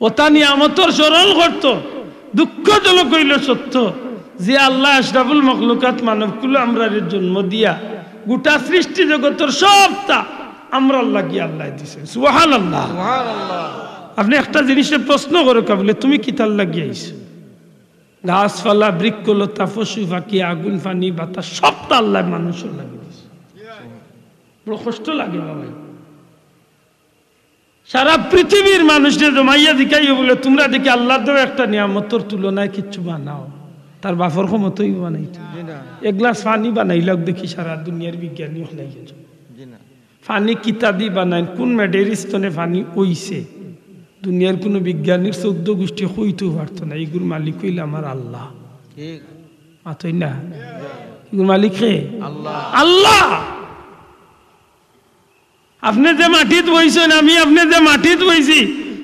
অতা নিয়ামতর স্মরণ করত।" দুঃখজনক অইলো সত্য যে আল্লায় আশরাফুল মখলুকাত মানবকুলো আমরারে জন্ম দিয়া গোটা সৃষ্টি জগতর সবতা আমরার লাগি আল্লায় দিছে। সুবহানাল্লাহ। সুবহানাল্লাহ। আপনে একটা জিনিসরে প্রশ্ন করউক্কা বুলে, "তুমি কিতার লাগি আইছো?" গাছপালা, বৃক্ষলতা, পশু পাখি, আগুন, পানি, বাতাস, সবতা আল্লায় মানুষর লাগি দিছে। বড় কষ্ট লাগে বাবা। সারা পৃথিবীর মানুষরে জমাইয়া জিকাইও বুলে, "তুমরা দেখি আল্লার দেওয়া একটা নিয়ামতর তুলনায় কিচ্ছু বানাও।" তার বাপর ক্ষমতা অইবো বানাইতো? জি না। এক গ্লাস পানি বানাইলাউক দেখি, সারা দুনিয়ার বিজ্ঞানী অকল আইয়া যাউক। জি না। পানি কিতাদি বানাইন, কুন মেডেরিস্তনে পানি অইছে? দুনিয়ার কুনু বিজ্ঞানীর চৌদ্দ গুষ্টি কইতেও পারতো না। ইগুর মালিক অইলা আমার আল্লাহ। ঠিক। মাতইন না? ইগুর মালিক কে? আল্লাহ। আল্লাহ। আপনে যে মাটিত বইছইন, আমি আপনে যে মাটিত বইছি,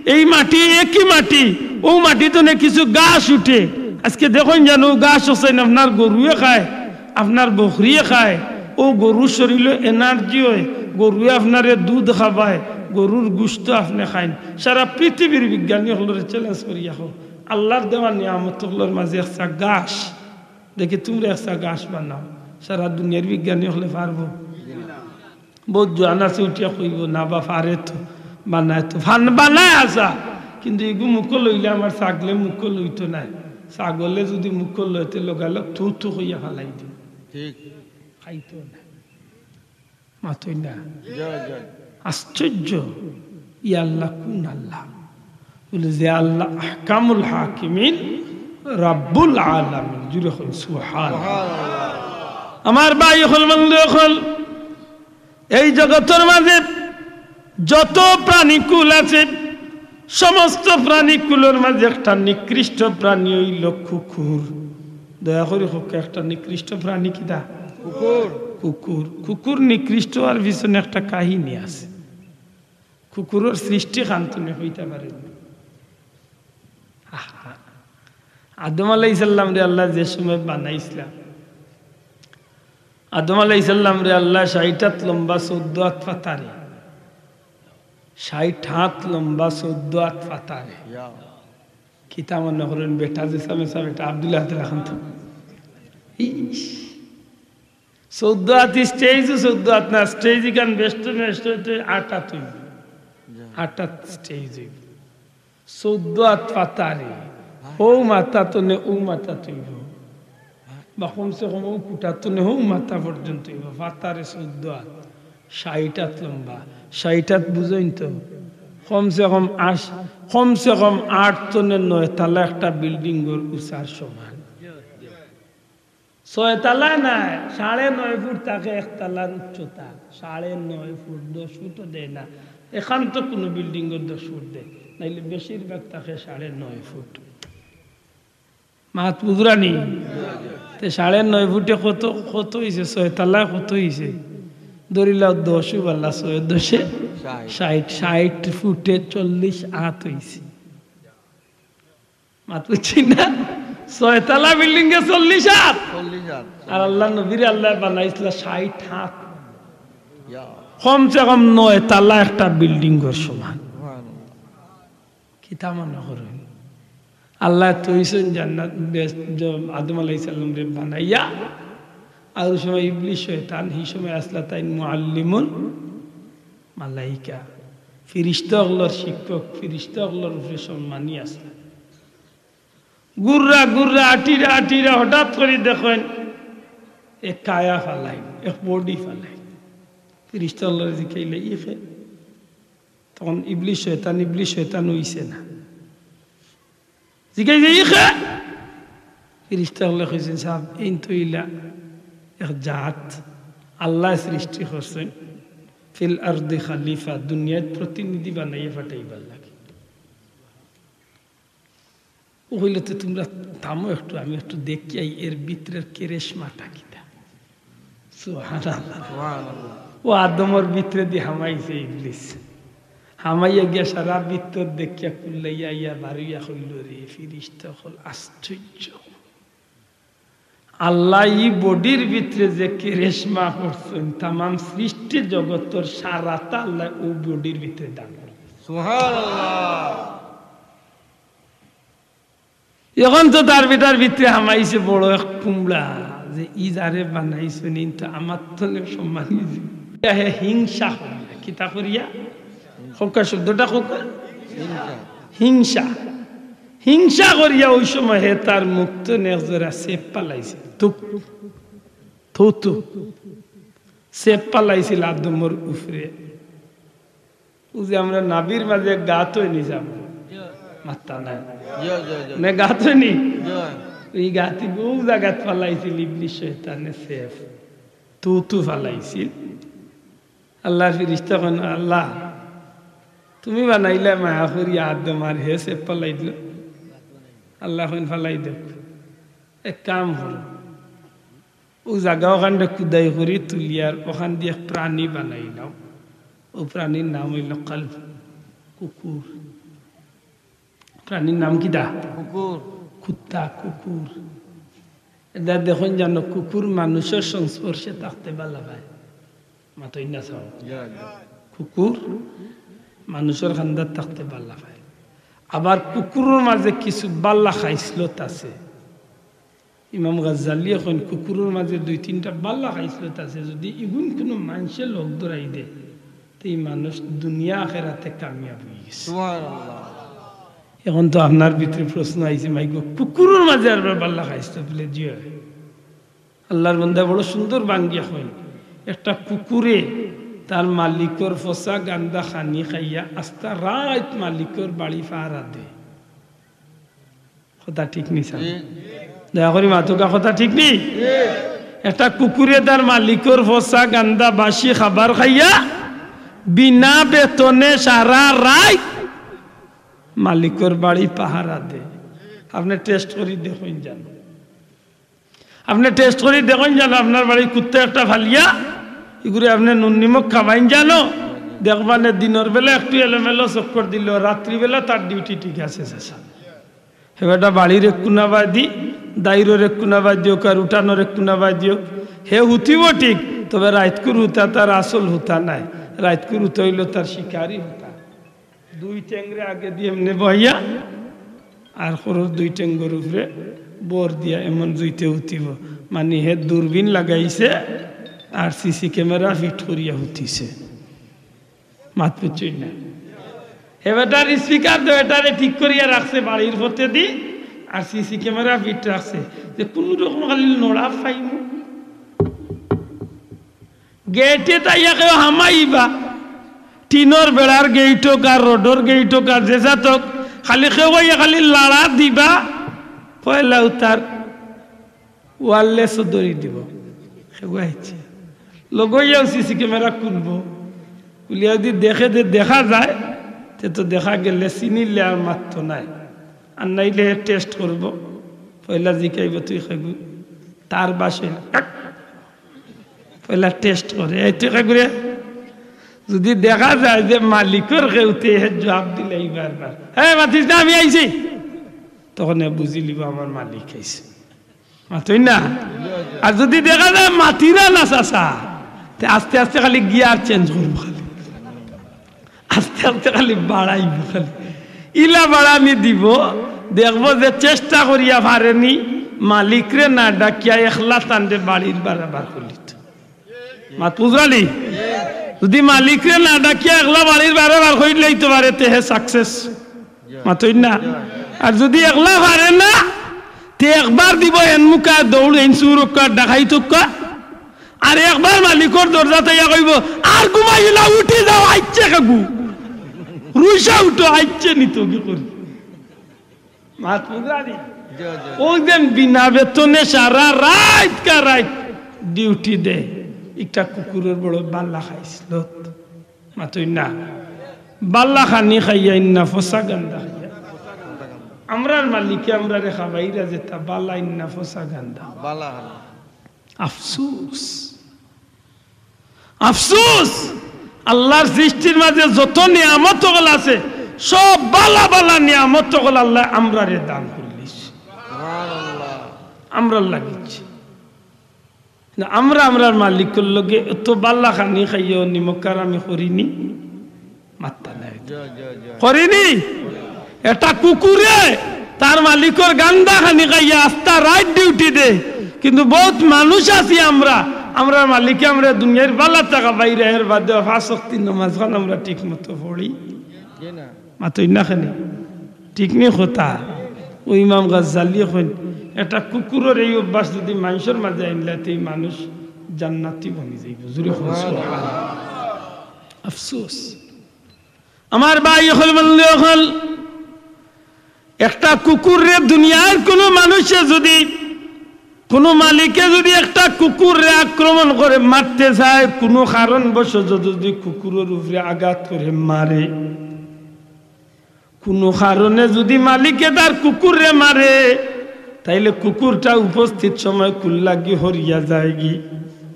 এই মাটি একই মাটি। অউ মাটি তনে কিছু গাছ উঠে। আজকে দেখইন যান, অউ গাছ অকল আপনার গরুয়ে খায়, আপনার বকরিয়ে খায়। অউ গরুর শরীলো energy অয়, গরুয়ে আপনারে দুধ খাবায়, গরুর গুস্ত আপনে খাইন। সারা পৃথিবীর বিজ্ঞানী অকলরে challenge করিয়া কও, আল্লার দেওয়া নিয়ামত অকলর মাঝে একটা গাছ দেখি তুমরা একটা গাছ বানাও। সারা দুনিয়ার বিজ্ঞানী অকলে পারবো? বউত জোয়ান আছে উঠিয়া কইবো, "না বা, পারে তো, বানায় তো, বানায় আছা, কিন্তু ইগু মুখো লইলে আমার ছাগলে মুখো লইতো নায়। ছাগলে যুদি মুখো লয়, তে লগালগ থু থু কইয়া ফালাই দিবো।" ঠিক। খাইতো না। মাতইন না। জয়, জয়। আশ্চর্য, ই আল্লাহ কুন আল্লাহ? বুলে যে আল্লাহ আহকামুল হাকিমিন, রাব্বুল আলামিন। জুরে কইন সুবহানাল্লাহ। সুবহানাল্লাহ। আমার ভাই অকল, বন্ধু অকল, এই জগতর মাঝে যত প্রাণীকুল আছে, সমস্ত প্রাণীকুলর মাঝে একটা নিকৃষ্ট প্রাণী অইলো কুকুর। দয়া করি কউক্কা, একটা নিকৃষ্ট প্রাণী কিতা? কুকুর। কুকুর। কুকুর নিকৃষ্ট অওয়ার পিছনে একটা কাহিনী আছে। কুকুরর সৃষ্টি খান তুমরা কইতা পারো নি? আহা। আদম আলাইহিস সালামরে আল্লায় যে সময় বানাইছলা, আদম আলাইহিস সালামরে আল্লায় ষাইট আত লম্বা, চৌদ্দ আত ফাতারে, ষাইট আত লম্বা, চৌদ্দ আত ফাতারে। ইয়া। কিতা মনে করইন, বেটা যে সামে সামে বেটা আব্দুল্লাহ আব্দুল্লাহ খান তো। ইস। চৌদ্দ আত stage, চৌদ্দ আত না, stage ইখান বেহেস্ত, বেহেস্ত অইতে আট আত অইবো। আট আত stage অইবো। চৌদ্দ আত ফাতারে, হউ মাথা তনে অউ মাথা অইবো, বা কমসে কম অউ খুটা তনে হউ মাথা পর্যন্ত অইবো, ফাতারে চৌদ্দ আত, ষাইট আত লম্বা, ষাইট আত বুঝইন তো, কমসে কম আশ-, কমসে কম আট তনে নয় তালা একটা building ঘর উচার সমান। ছয় তালা নায়, সাড়ে নয় ফুট থাকে এক তালার উচ্চতা। সাড়ে নয় ফুট, দশ ফুটও দেয় না। এখান তো কুনু building-ও দশ ফুট দেয়, নাইলে বেশিরভাগ থাকে সাড়ে নয় ফুট। মাত বুঝরা নি? তে সাড়ে নয় ফুটে কত, কত অইছে? ছয় তালায় কত অইছে? ধরিলাও দশ উবালা ছয় দশে ষাইট। ষাইট, ষাইট ফুটে চল্লিশ আত অইছে। মাত বুঝছি না? ছয়তলা বিল্ডিং এ চল্লিশ আত। চল্লিশ আত। আর আল্লাহর নবীরে আল্লায় বানাইছলা ষাইট আত। ইয়া। কমসে কম নয় তালা একটা বিল্ডিং এর সমান। সুবহানাল্লাহ। কিতা মনে করইন? আল্লায় থইছইন জান্নাত, বেহেস্ত, জ-, আদম আলাইহিস সালামরে বানাইয়া। আর ওই সময় ইবলিস শয়তান, হি সময় আছলা তাইন মুআল্লিমুল মালাইকা, ফিরিস্তা অকলর শিক্ষক, ফিরিস্তা অকলর উপরে সম্মানী আছলা। ঘুররা ঘুররা, আটিরা আটিরা, হঠাৎ করি দেখইন এক কায়া ফালাইন, এক বডি ফালাইন। ফিরিস্তা অকলরে জিকাইলা, "ই কে?" তখন ইবলিস শয়তান, ইবলিস শয়তান অইছে না। জিকাইছে, "ই কে?" ফিরিস্তা অকলে কইছইন, "সাব, এইন তো অইলা এক জাত, আল্লায় সৃষ্টি করছইন, ফিল আরদি খালিফা, দুনিয়াত প্রতিনিধি বানাইয়া পাঠাইবার লাগি।" ও কইলো, "তে তুমরা থামো একটু, আমি একটু দেখি আই এর ভিতরের কেরেশমাটা কিতা।" সুবহানাল্লাহ। সুবহানাল্লাহ। ও আদমর ভিতরেদি হামাইছে ইবলিস। হামাইয়া গিয়া সারা ভিতর দেখিয়া কুল্লাইয়া আইয়া বারইয়া কইলো, "রে ফিরিস্তা অকল, আশ্চর্য। আল্লায় ই বডির ভিতরে যে কেরেশমা করছইন, তামাম সৃষ্টি জগতর সারাটা আল্লায় অউ বডির ভিতরে দান করছইন।" সুবহানাল্লাহ। এখন তো তার বেটার ভিতরে হামাইছে বড় এক কুমড়া, যে ই যারে বানাইছইন, ইন তো আমার তনে সম্মানী। হে হিংসা করিয়া, কিতা করিয়া? কউক্কা শব্দটা কউক্কা। হিংসা। হিংসা। হিংসা করিয়া ওই সময় হে তার মুখ তনে এক জোড়া সেপ ফালাইছিল। তুক, থু, থু। সেপ ফালাইছিল আদমর উপরে। ও যে আমরা নাভির মাঝে গাত অয়নি যাব, মাত্তা নাই। জি, জি, জি। না, গাত অয়নি? জি। ই গাতি বউ জাগাত ফালাইছিল ইবলিস শয়তানে সেপ। থু, থু ফালাইছিল। আল্লাহর ফিরিস্তা কইন, "আল্লাহ, তুমি বানাইলা মায়া করি আদম, আর হে সেপ ফালাই দিল।" আল্লাহ কইন, "ফালাই দেউক, এক কাম করো, অউ জাগা অখানরে খুদাই করি তুলিয়ার অখানদি এক প্রাণী বানাইলাও। অউ প্রাণীর নাম অইলো কালব, কুকুর।" প্রাণীর নাম কিতা? কুকুর। কুত্তা, কুকুর। এটা দেখইন জানো, কুকুর মানুষর সংস্পর্শে থাকতে ভালা পায়। মাতইন না চাও। জি, জি। কুকুর মানুষর কান্দাত থাকতে ভালা পায়। আবার কুকুরর মাঝে কিছু ভালা খাইছলত আছে। ইমাম গাজ্জালিয়ে কইন, কুকুরর মাঝে দুই তিনটা ভালা খাইছলত আছে, যদি ইগুন কুনু মানষে লগ ধরাই দে, তে ই মানুষ দুনিয়া আখেরাতে কামিয়াব অইগেছে। সুবহানাল্লাহ। এখন তো আপনার ভিতরে প্রশ্ন আইছে, মাইগো, কুকুরর মাঝে আরবার ভালা খাইছলত বুলে? জি অয়। আল্লাহর বান্দা বড় সুন্দর বাঙ্গিয়া কইন, একটা কুকুরে তার মালিকর ফসা গান্দা খানি খাইয়া আস্তা রাইত মালিকর বাড়ি পাহারা দেয়। কথা ঠিক নি স্যার? জি। দয়া করি মাতুক্কা, কথা ঠিক নি? জি। একটা কুকুরে তার মালিকর ফসা গান্দা বাসি খাবার খাইয়া বিনা বেতনে সারা রাইত মালিকর বাড়ি পাহারা দেয়। আপনে টেস্ট করি দেখইন জানো। আপনে টেস্ট করি দেখইন জানো, আপনার বাড়ি কুত্তা একটা ফালিয়া, ইগুরে আপনে নুন নিমক খাবাইন জানো, দেখবা নে দিনর বেলা একটু এলোমেলো চক্কর দিল, রাত্রিবেলা তার ডিউটি ঠিক আছে, চাচা। হে বেটা বাড়ির এক কুনাবায় দি, দাইরর এক কুনাবায় দিউক, আর উঠানর এক কুনাবায় দিউক, হে হুতিব ঠিক, তবে রাইতকুর হুতা তার আসল হুতা নায়, রাইতকুর হুতা অইলো তার শিকারি হুতা। দুই ঠেংরে আগেদি এমনে বওয়াইয়া, আর খরর দুই ঠেংর উপরে বর দিয়া এমন জুইতে হুতিব। মানি হে দূরবীন লাগাইছে আর সিসি ক্যামেরা ফিট করিয়া হুতিছে। মাত বুঝছইন না? হে বেটার স্পিকার তো এটারে ঠিক করিয়া রাখছে বাড়ির ফতেদি, আর সিসি ক্যামেরা ফিট রাখছে, যে কুনু রকম খালি নড়া পাইমু। গেইটে তাইয়া কেউ হামাইবা, টিনর বেড়ার গেইট অউক আর রডর গেইট অউক আর যে জাত অউক, খালি কেউ আইয়া খালি লাড়া দিবা, পয়লা উতার ওয়্যারলেসও ধরি দিব। কেউ আইছে, লগইয়াও সিসি ক্যামেরা খুলবো, খুলিয়া যদি দেখে যে দেখা যায়, তে তো দেখা গেলে চিনিলে আর মাততো নায়, আর নাইলে হে টেস্ট করবো। পয়লা জিকাইবো, "তুই খাইবি?" তার বাসে বেলা টেস্ট করে, এই টেকা করে। যদি দেখা যায় যে মালিকর কেউতে হে জবাব দিলে এইবার বার, "হে, মাতিস না, আমি আইছি", তখন হে বুঝিলিব আমার মালিক আইছে। মাতইন না? আর যদি দেখা যায় মাতিরা না চাচা, তে আস্তে আস্তে খালি গিয়ার চেঞ্জ করবো খালি। আস্তে আস্তে খালি বাড়াইবো খালি। ইলা বাড়ানি দিব, দেখবো যে চেষ্টা করিয়া পারেনি, মালিকরে না ডাকিয়া একলা তানরে বাড়ির বারা বার করিলিতো। মাত বুঝরানি? যদি মালিকরে না ডাকিয়া একলা বাড়ির বারা বার করিলাইতো পারে, তে হে সাকসেস। মাতইন না? আর যদি একলা পারে না, তে একবার দিব এন মুখা দৌড়, এন চুর অক্কা, ডাকাইত অক্কা। আর একবার মালিকর দরজাত আইয়া কইবো, "আর ঘুমাইও না, উঠি যাও, আইচ্ছে কেগু। রুইসা উঠো, আইচ্ছে নিতো কি করি।" মাত বুঝরানি? জি, জি। ওই যে বিনা বেতনে সারা রাইত কা রাইত ডিউটি দেয়, একটা কুকুরর বড় বাল্লা খাইছিল। মাতইন না? বাল্লা খানি খাইয়া ইন্না ফসা গান্দা খাইয়া। আমরার মালিকে আমরারে খাবাইরা যেতা বালা ইন্না ফসা গান্দা। বালা খানি। আফসুস, আফসুস। আল্লাহর সৃষ্টির মাঝে যত নিয়ামত অকল আছে, সব বালা বালা নিয়ামত অকল আল্লাহ আমরারে দান করিলিছে। সুবহানাল্লাহ। আমরার লাগিছে। না, আমরা আমরার মালিকর লগে এত বালা খানি খাইয়াও নিমক হারামি করিনি? মাত্তা নাই। জি, জি, জি। করিনি? এটা কুকুরে তার মালিকর গান্দা খানি খাইয়া আস্তা রাইত ডিউটি দে। কিন্তু বহুত মানুষ আছি আমরা, আমরার মালিকে আমরারে দুনিয়ার বালা থাকা বাইরে, এর বাদে পাঁচ ওয়াক্ত নমাজ খান আমরা ঠিক মতো পড়ি। জি না। মাতইন না খানি। ঠিক নি কথা? ও ইমাম গাজ্জালিয়ে কইন, এটা কুকুরর এই অভ্যাস যদি মানুষর মাঝে আনলে, তে এই মানুষ জান্নাতি বনি যাইবো। জোরে কইন সুবহানাল্লাহ। আফসোস। আমার ভাই অকল, বন্ধু অকল, একটা কুকুররে দুনিয়ার কোনো মানুষে যদি, কোনো মালিকে যদি একটা কুকুররে আক্রমণ করে মারতে চায়, কোনো কারণবশত যদি কুকুরর উপরে আঘাত করে মারে, কোনো কারণে যদি মালিকে তার কুকুররে মারে, তাইলে কুকুরটা উপস্থিত সময় কুল্লাগি হরিয়া যায়গি,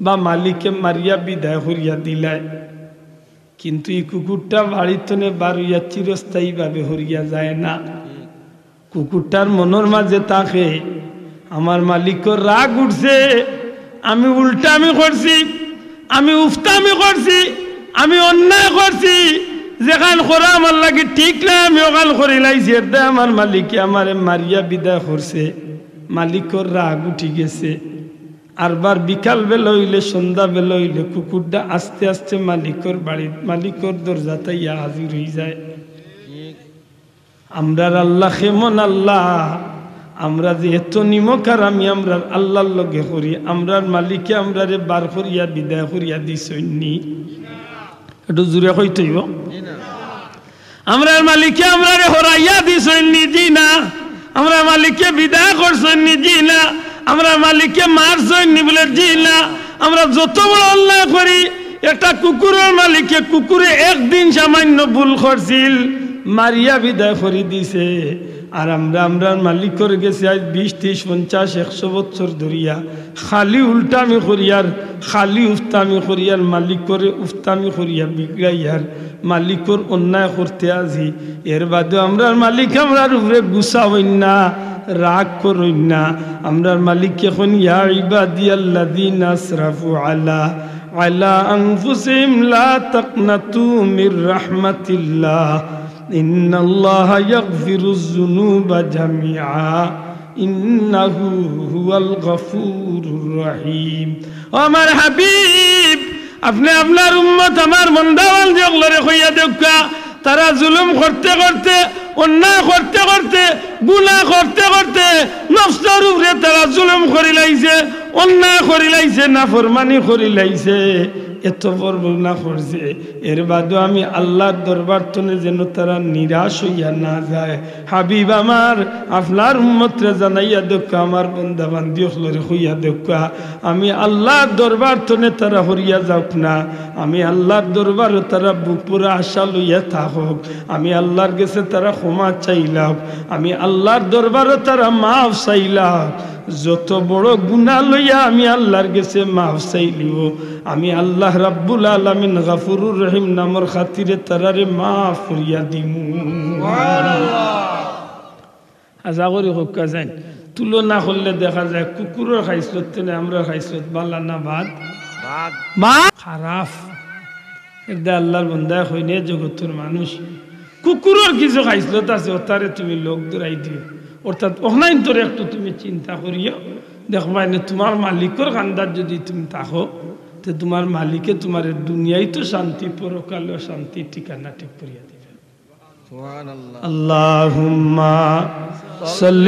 বা মালিকে মারিয়া বিদায় হরিয়া দিলায়। কিন্তু এই কুকুরটা বাড়ির তনে বার হইয়া চিরস্থায়ীভাবে হরিয়া যায় না। কুকুরটার মনর মাঝে থাকে, আমার মালিকর রাগ উঠছে, আমি উল্টামি করছি, আমি উফতামি করছি, আমি অন্যায় করছি, যেখান করা আমার লাগি ঠিক না, আমি ওখান করিলাইছি, এর দায় আমার মালিকে আমারে মারিয়া বিদায় করছে, মালিকর রাগ উঠি গেছে। আরবার বিকাল বেলা হইলে, সন্ধ্যা বেলা হইলে কুকুরটা আস্তে আস্তে মালিকর বাড়ি, মালিকর দরজাত আইয়া হাজির হই যায়। আমরার আল্লাহ কেমন আল্লাহ? আমরা যে এত নিমক হারামি আমরার আল্লাহর লগে করি, আমরার মালিকে আমরারে বার করিয়া বিদায় করিয়া দিছইন নি? একটু জোরে কইতে অইবো। আমরার মালিকে আমরারে হরাইয়া দিছইন নি? জি না। আমরার মালিকে বিদায় করছইন নি? জি না। আমরার মালিকে মারছইন নি? বলে জি না। আমরা যত বড় অন্যায় করি, একটা কুকুরর মালিকে, কুকুরে একদিন সামান্য ভুল করছিল, মারিয়া বিদায় করি দিছে। আর আমরা আমরার মালিকর গেছে আজ বিশ, ত্রিশ, পঞ্চাশ, একশো বছর ধরিয়া খালি উল্টামি করিয়ার, খালি উফতামি করিয়ার, মালিকরে উফতামি করিয়া বিগড়াইয়ার, মালিকর অন্যায় করতে আজি। এর বাদে আমরার মালিক আমরার উপরে গুসা হইন না, রাগ করইন না। আমরার মালিক এখন, ইয়া ইবাদিয়াল্লাযীনা আসরাফু আলা, আলা আনফুসিহিম লা তাকনাতু মির রাহমাতিল্লাহ, ইন্নাল্লাহা ইয়াগফিরুয যুনুবা জামিআ, ইন্নাহু হুয়াল গফুরুর রহিম। ও আমার হাবিব, আপনে আপনার উম্মত, আমার বন্দাবান্দি অকলরে কইয়া দেউক্কা, তারা জুলুম করতে করতে, অন্যায় করতে করতে, গুনাহ করতে করতে, নফসর উপরে তারা জুলুম করিলাইছে, অন্যায় করিলাইছে, নাফরমানি করিলাইছে, এত বড় গুনাহ করছে। এর বাদেও আমি আল্লাহর দরবার তনে যেন তারা নিরাশ হইয়া না যায়। হাবিব আমার, আপনার উম্মতরে জানাইয়া দেউক্কা, আমার বন্দা বান্দি অকলরে কইয়া দেউক্কা, আমি আল্লাহর দরবার তনে তারা হরিয়া যাউক না, আমি আল্লাহর দরবারো তারা বুক পুরা আশা লইয়া থাকুক, আমি আল্লাহর গেছে তারা ক্ষমা চাইলাউক, আমি আল্লাহর দরবারো তারা মাফ চাইলাউক। যত বড় গুনাহ লইয়া আমি আল্লাহর গেছে মাফ চাইলিও, আমি আল্লাহ রাব্বুল আলামিন গাফুরুর রহিম নামর খাতিরে তারারে মাফ করিয়া দিমু। আশা করি কউক্কা যাইন। তুলনা করলে দেখা যায় কুকুরর খাইছলত থনে আমরার খাইছলত বালা না বাদ? বাদ। খারাপ। এরদায় আল্লাহর বন্দায় কইন, জগতর মানুষ, কুকুরর কিছু খাইছলত আছে, অতারে তুমি লগ ধরাই দিও। অর্থাৎ অখনাইন্তরে একটু তুমি চিন্তা করিও। দেখবায় নে, তুমার মালিকর কান্দাত যুদি তুমি থাকো, তে তুমার মালিকে তুমারে দুনিয়াইত শান্তি, পরকালেও শান্তি ঠিকানা ঠিক করিয়া দিবা। সুবহানাল্লাহ। اللهم صل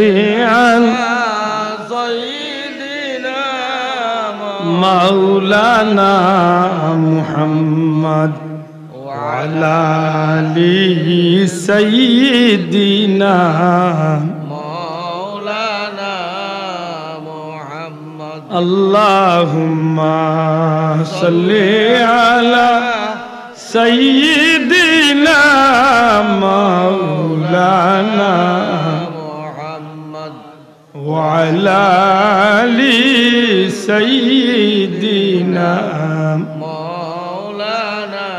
على سيدنا مولانا محمد وعلى آل سيدنا مولانا محمد. اللهم صل على سيدنا مولانا محمد وعلى آل سيدنا مولانا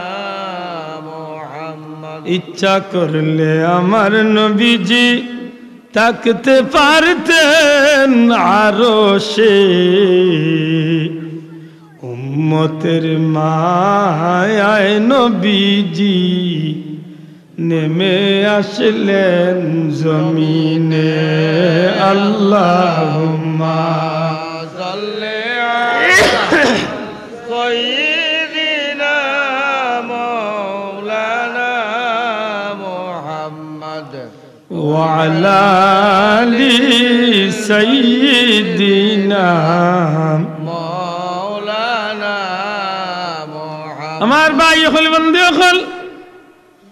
محمد. ইচ্ছা করলে আমার নবীজি থাকতে পারতেন আরশে, উম্মতের মায়ায় নবীজি নেমে আসলেন জমিনে। اللهم صل على سيدنا مولانا محمد وعلى آل سيدنا مولانا محمد. আমার ভাই অকল, বন্ধু অকল,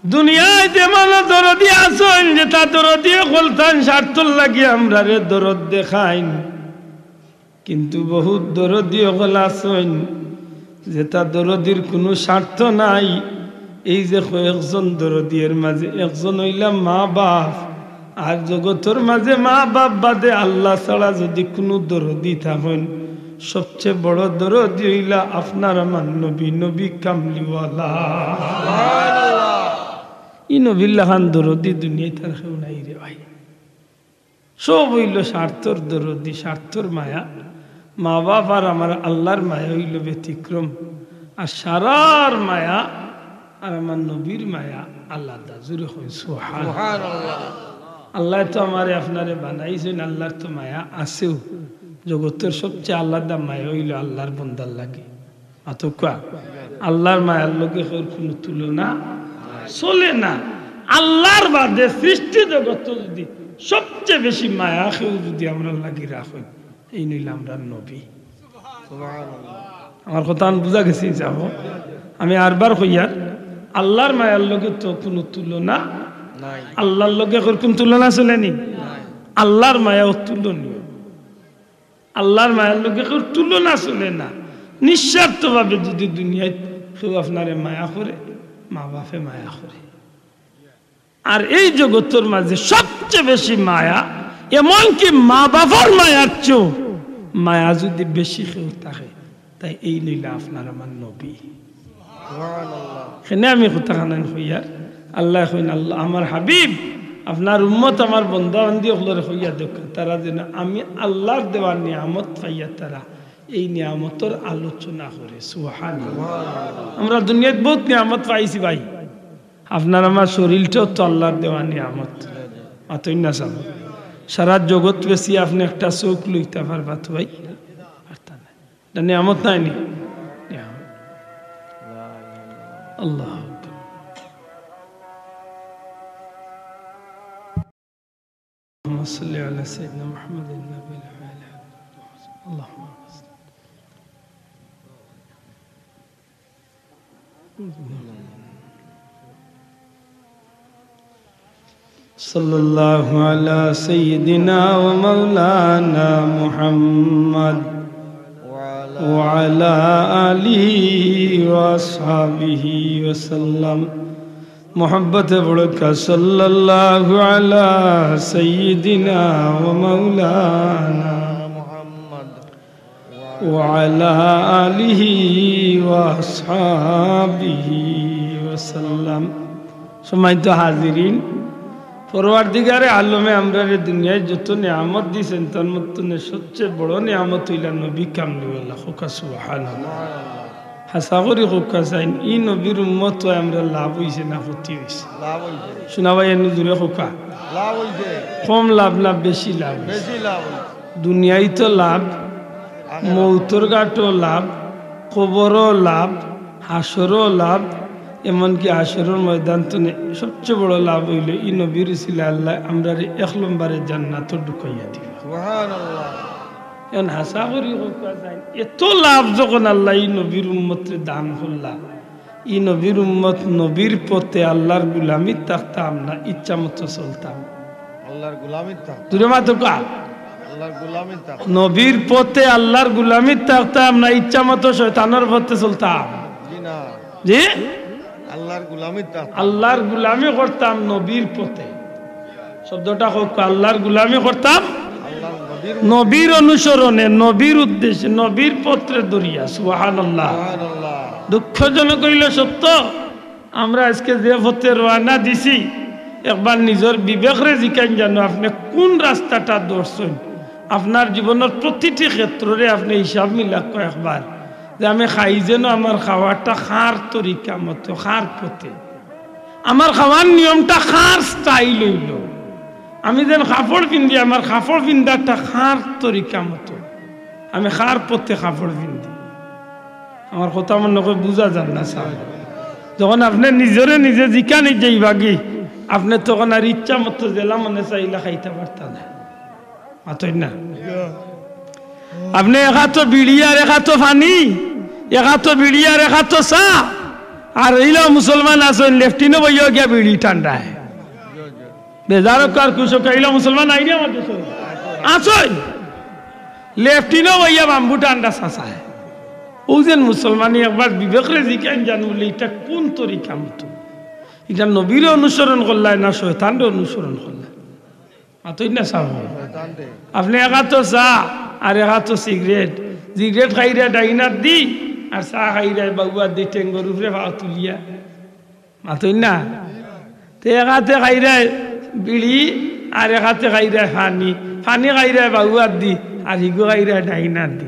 দুনিয়াত এমন দরদি আছইন, যেতা দরদি অকলতান স্বার্থর লাগি আমরারে দরদ দেখাইন। কিন্তু বহুত দরদি অকল আছইন, যেতা দরদির কুনু স্বার্থ নাই। এই যে কয়েকজন দরদি, এর মাঝে একজন অইলা মা বাপ। আর জগতর মাঝে মা বাপ বাদে আল্লাহ ছাড়া যুদি কুনু দরদি থাকইন, সবচে বড় দরদি অইলা আপনার আমার নবী, নবী কামলিওয়ালা। ই নবীর লাখান দরদি দুনিয়াত আর কেউ নাই রে ভাই। সব অইলো স্বার্থর দরদি, স্বার্থর মায়া। মা বাপ আর আমার আল্লাহর মায়া অইলো ব্যতিক্রম। আর সারার মায়া আর আমার নবীর মায়া আলাদা। জোরে কইন সুবহানাল্লাহ। সুবহানাল্লাহ। আল্লায় তো আমারে আপনারে বানাইছইন, আল্লাহর তো মায়া আছেও। জগতর সবচে আলাদা মায়া অইলো আল্লাহর বন্দার লাগি। মাতউক্কা। আল্লাহর মায়ার লগে কেউর কুনু তুলনা চলে না। আল্লাহর বাদে সৃষ্টি জগতো যুদি সবচে বেশি মায়া কেউ যুদি আমরার লাগি রাখইন, এইন অইলা আমরার নবী। সুবহানাল্লাহ। আমার কথাখান বুঝা গেছে ইনশাআল্লাহ? আমি আরবার কইয়ার, আল্লাহর মায়ার লগে তো কুনু তুলনা নাই। আল্লাহর লগে কেউর কুনু তুলনা চলে নি? নাই। আল্লাহর মায়া অতুলনীয়। আল্লাহর মায়ার লগে কেউর তুলনা চলে না। নিঃস্বার্থভাবে যুদি দুনিয়াত কেউ আপনারে মায়া করে, মা বাপে মায়া করে। আর এই জগতর মাঝে সবচে বেশি মায়া, এমনকি মা বাপর মায়ার চেয়েও মায়া যুদি বেশি কেউ থাকে, তে এইন অইলা আপনার আমার নবী। সুবহানাল্লাহ। কেনে আমি কথাখান কইয়ার, আল্লায় কইন, আল্লাহ, আমার হাবিব, আপনার উম্মত, আমার বন্দা বান্দি অকলরে কইয়া দেউক্কা, তারা যেন আমি আল্লাহর দেওয়া নিয়ামত পাইয়া তারা এই নিয়ামতর আলোচনা করে। সুবহানাল্লাহ। আমরা দুনিয়াত বহুত নিয়ামত পাইছি ভাই, আপনার আমার শরীরটাও তো আল্লাহর দেওয়া নিয়ামত। মাতইন না সাব। সারা জগত বেচিয়া আপনে একটা চউখ লইতা পারবা তো ভাই? পারতা না। ইটা নিয়ামত নায় নি? নিয়ামত। আল্লাহু আকবার। اللهم صل على سيدنا محمد النبي الأعلى. اللهم صل. صلى الله على سيدنا ومولانا محمد وعلى آله وأصحابه وسلم. محبت بڑھ کر صلى الله على سيدنا ومولانا وعلى آله وأصحابه وسلم. সম্মানিত হাজিরিন, পরওয়ারদিগারে আলমে আমরারে দুনিয়াত যত নিয়ামত দিছইন, তার মধ্যে সবচেয়ে বড় নিয়ামত অইলা নবী কামলিওয়ালা। কউক্কা সুবহানাল্লাহ। হাছা করি কউক্কা চাইন, ই নবীর উম্মত অইয়া আমরার লাভ অইছে না ক্ষতি অইছে? লাভ অইছে। শুনা ভাই, এনু জুরে কউক্কা। লাভ অইছে। কম লাভ না বেশি লাভ অইছে? বেশি লাভ অইছে। দুনিয়াইত লাভ, আখেরাত। মউতর ঘাটো লাভ, কবরো লাভ, হাশরো লাভ, এমনকি হাশরর ময়দান তনে সবচেয়ে বড় লাভ অইলো ই নবীর উছিলায় আল্লায় আমরারে এক লম্বরে জান্নাতো ঢুকাইয়া দিবা। সুবহানাল্লাহ। এখন হাছা করি কউক্কা চাইন, এত লাভ যখন আল্লায় ই নবীর উম্মতরে দান করলা, ই নবীর উম্মত নবীর পথে আল্লার গুলামিত থাকতাম না ইচ্ছা মতো চলতাম? আল্লার গুলামিত থাকতাম। জুরে মাতউক্কা। আল্লার গুলামিত থাকতাম। নবীর পথে আল্লার গুলামিত থাকতাম না ইচ্ছা মতো শয়তানর পথে চলতাম? জি না। জি? আল্লার গুলামিত থাকতাম। আল্লার গুলামি করতাম নবীর পথে। শব্দটা কউক্কা, আল্লার গুলামি করতাম আল্লার নবীর নবীর অনুসরণে, নবীর উদ্দেশ্যে, নবীর পথরে ধরিয়া। সুবহানাল্লাহ। সুবহানাল্লাহ। দুঃখজনক অইলো সত্য, আমরা আইজকে যে পথে রওয়ানা দিছি, একবার নিজর বিবেকরে জিকাইন জানো, আপনে কুন রাস্তাটা ধরছইন? আপনার জীবনর প্রতিটি ক্ষেত্ররে আপনে হিসাব মিলাউক্কা একবার, যে আমি খাই যেন আমার খাওয়াটা কার তরিকা মতো, কার পথে, আমার খাওয়ার নিয়মটা কার style অইলো, আমি যেন কাপড় পিন্দি আমার কাপড় পিন্দাটা কার তরিকা মতো, আমি কার পথে কাপড় পিন্দি। আমার কথা মনে কয় বুঝা যার না সাব। যখন আপনে নিজরে নিজে জিকানি যাইবাগি, আপনে তখন আর ইচ্ছা মতো যেলা মনে চায় ইলা খাইতা পারতা না। মাতইন না। আপনে এক আতো বিড়ি আর এক আতো পানি, এক আতো বিড়ি আর এক আতো চা, আর ইলা মুসলমান আছইন লেফটিনো বইয়া গিয়া বিড়ি টান্ডায়। বেজার কার কুশো কাইলা মুসলমান আইনি আমার দেশো। আছইন। লেফটিনো বইয়া বাম্বু টান্ডা চাচায়। অউ যেন মুসলমানি একবার বিবেকরে জিকাইন জানো বুলে, ইটা কুন তরিকা মতো? ইটা নবীরে অনুসরণ করলায় না শয়তানরে অনুসরণ করলায়? মাতইন না সাব। শয়তানরে। আপনে এক আতো চা আর এক আতো সিগারেট, সিগারেট খাইরা ডাইন আত দি আর চা খাইরা বাউ আত দি টেঙ্গর উপরে পাও তুলিয়া। মাতইন না? তে এক আতে খাইরায় বিড়ি, আর এক আতে খাইরায় পানি। পানি খাইরায় বাউ আত দি, আর হিগু খাইরায় ডাইন আত দি।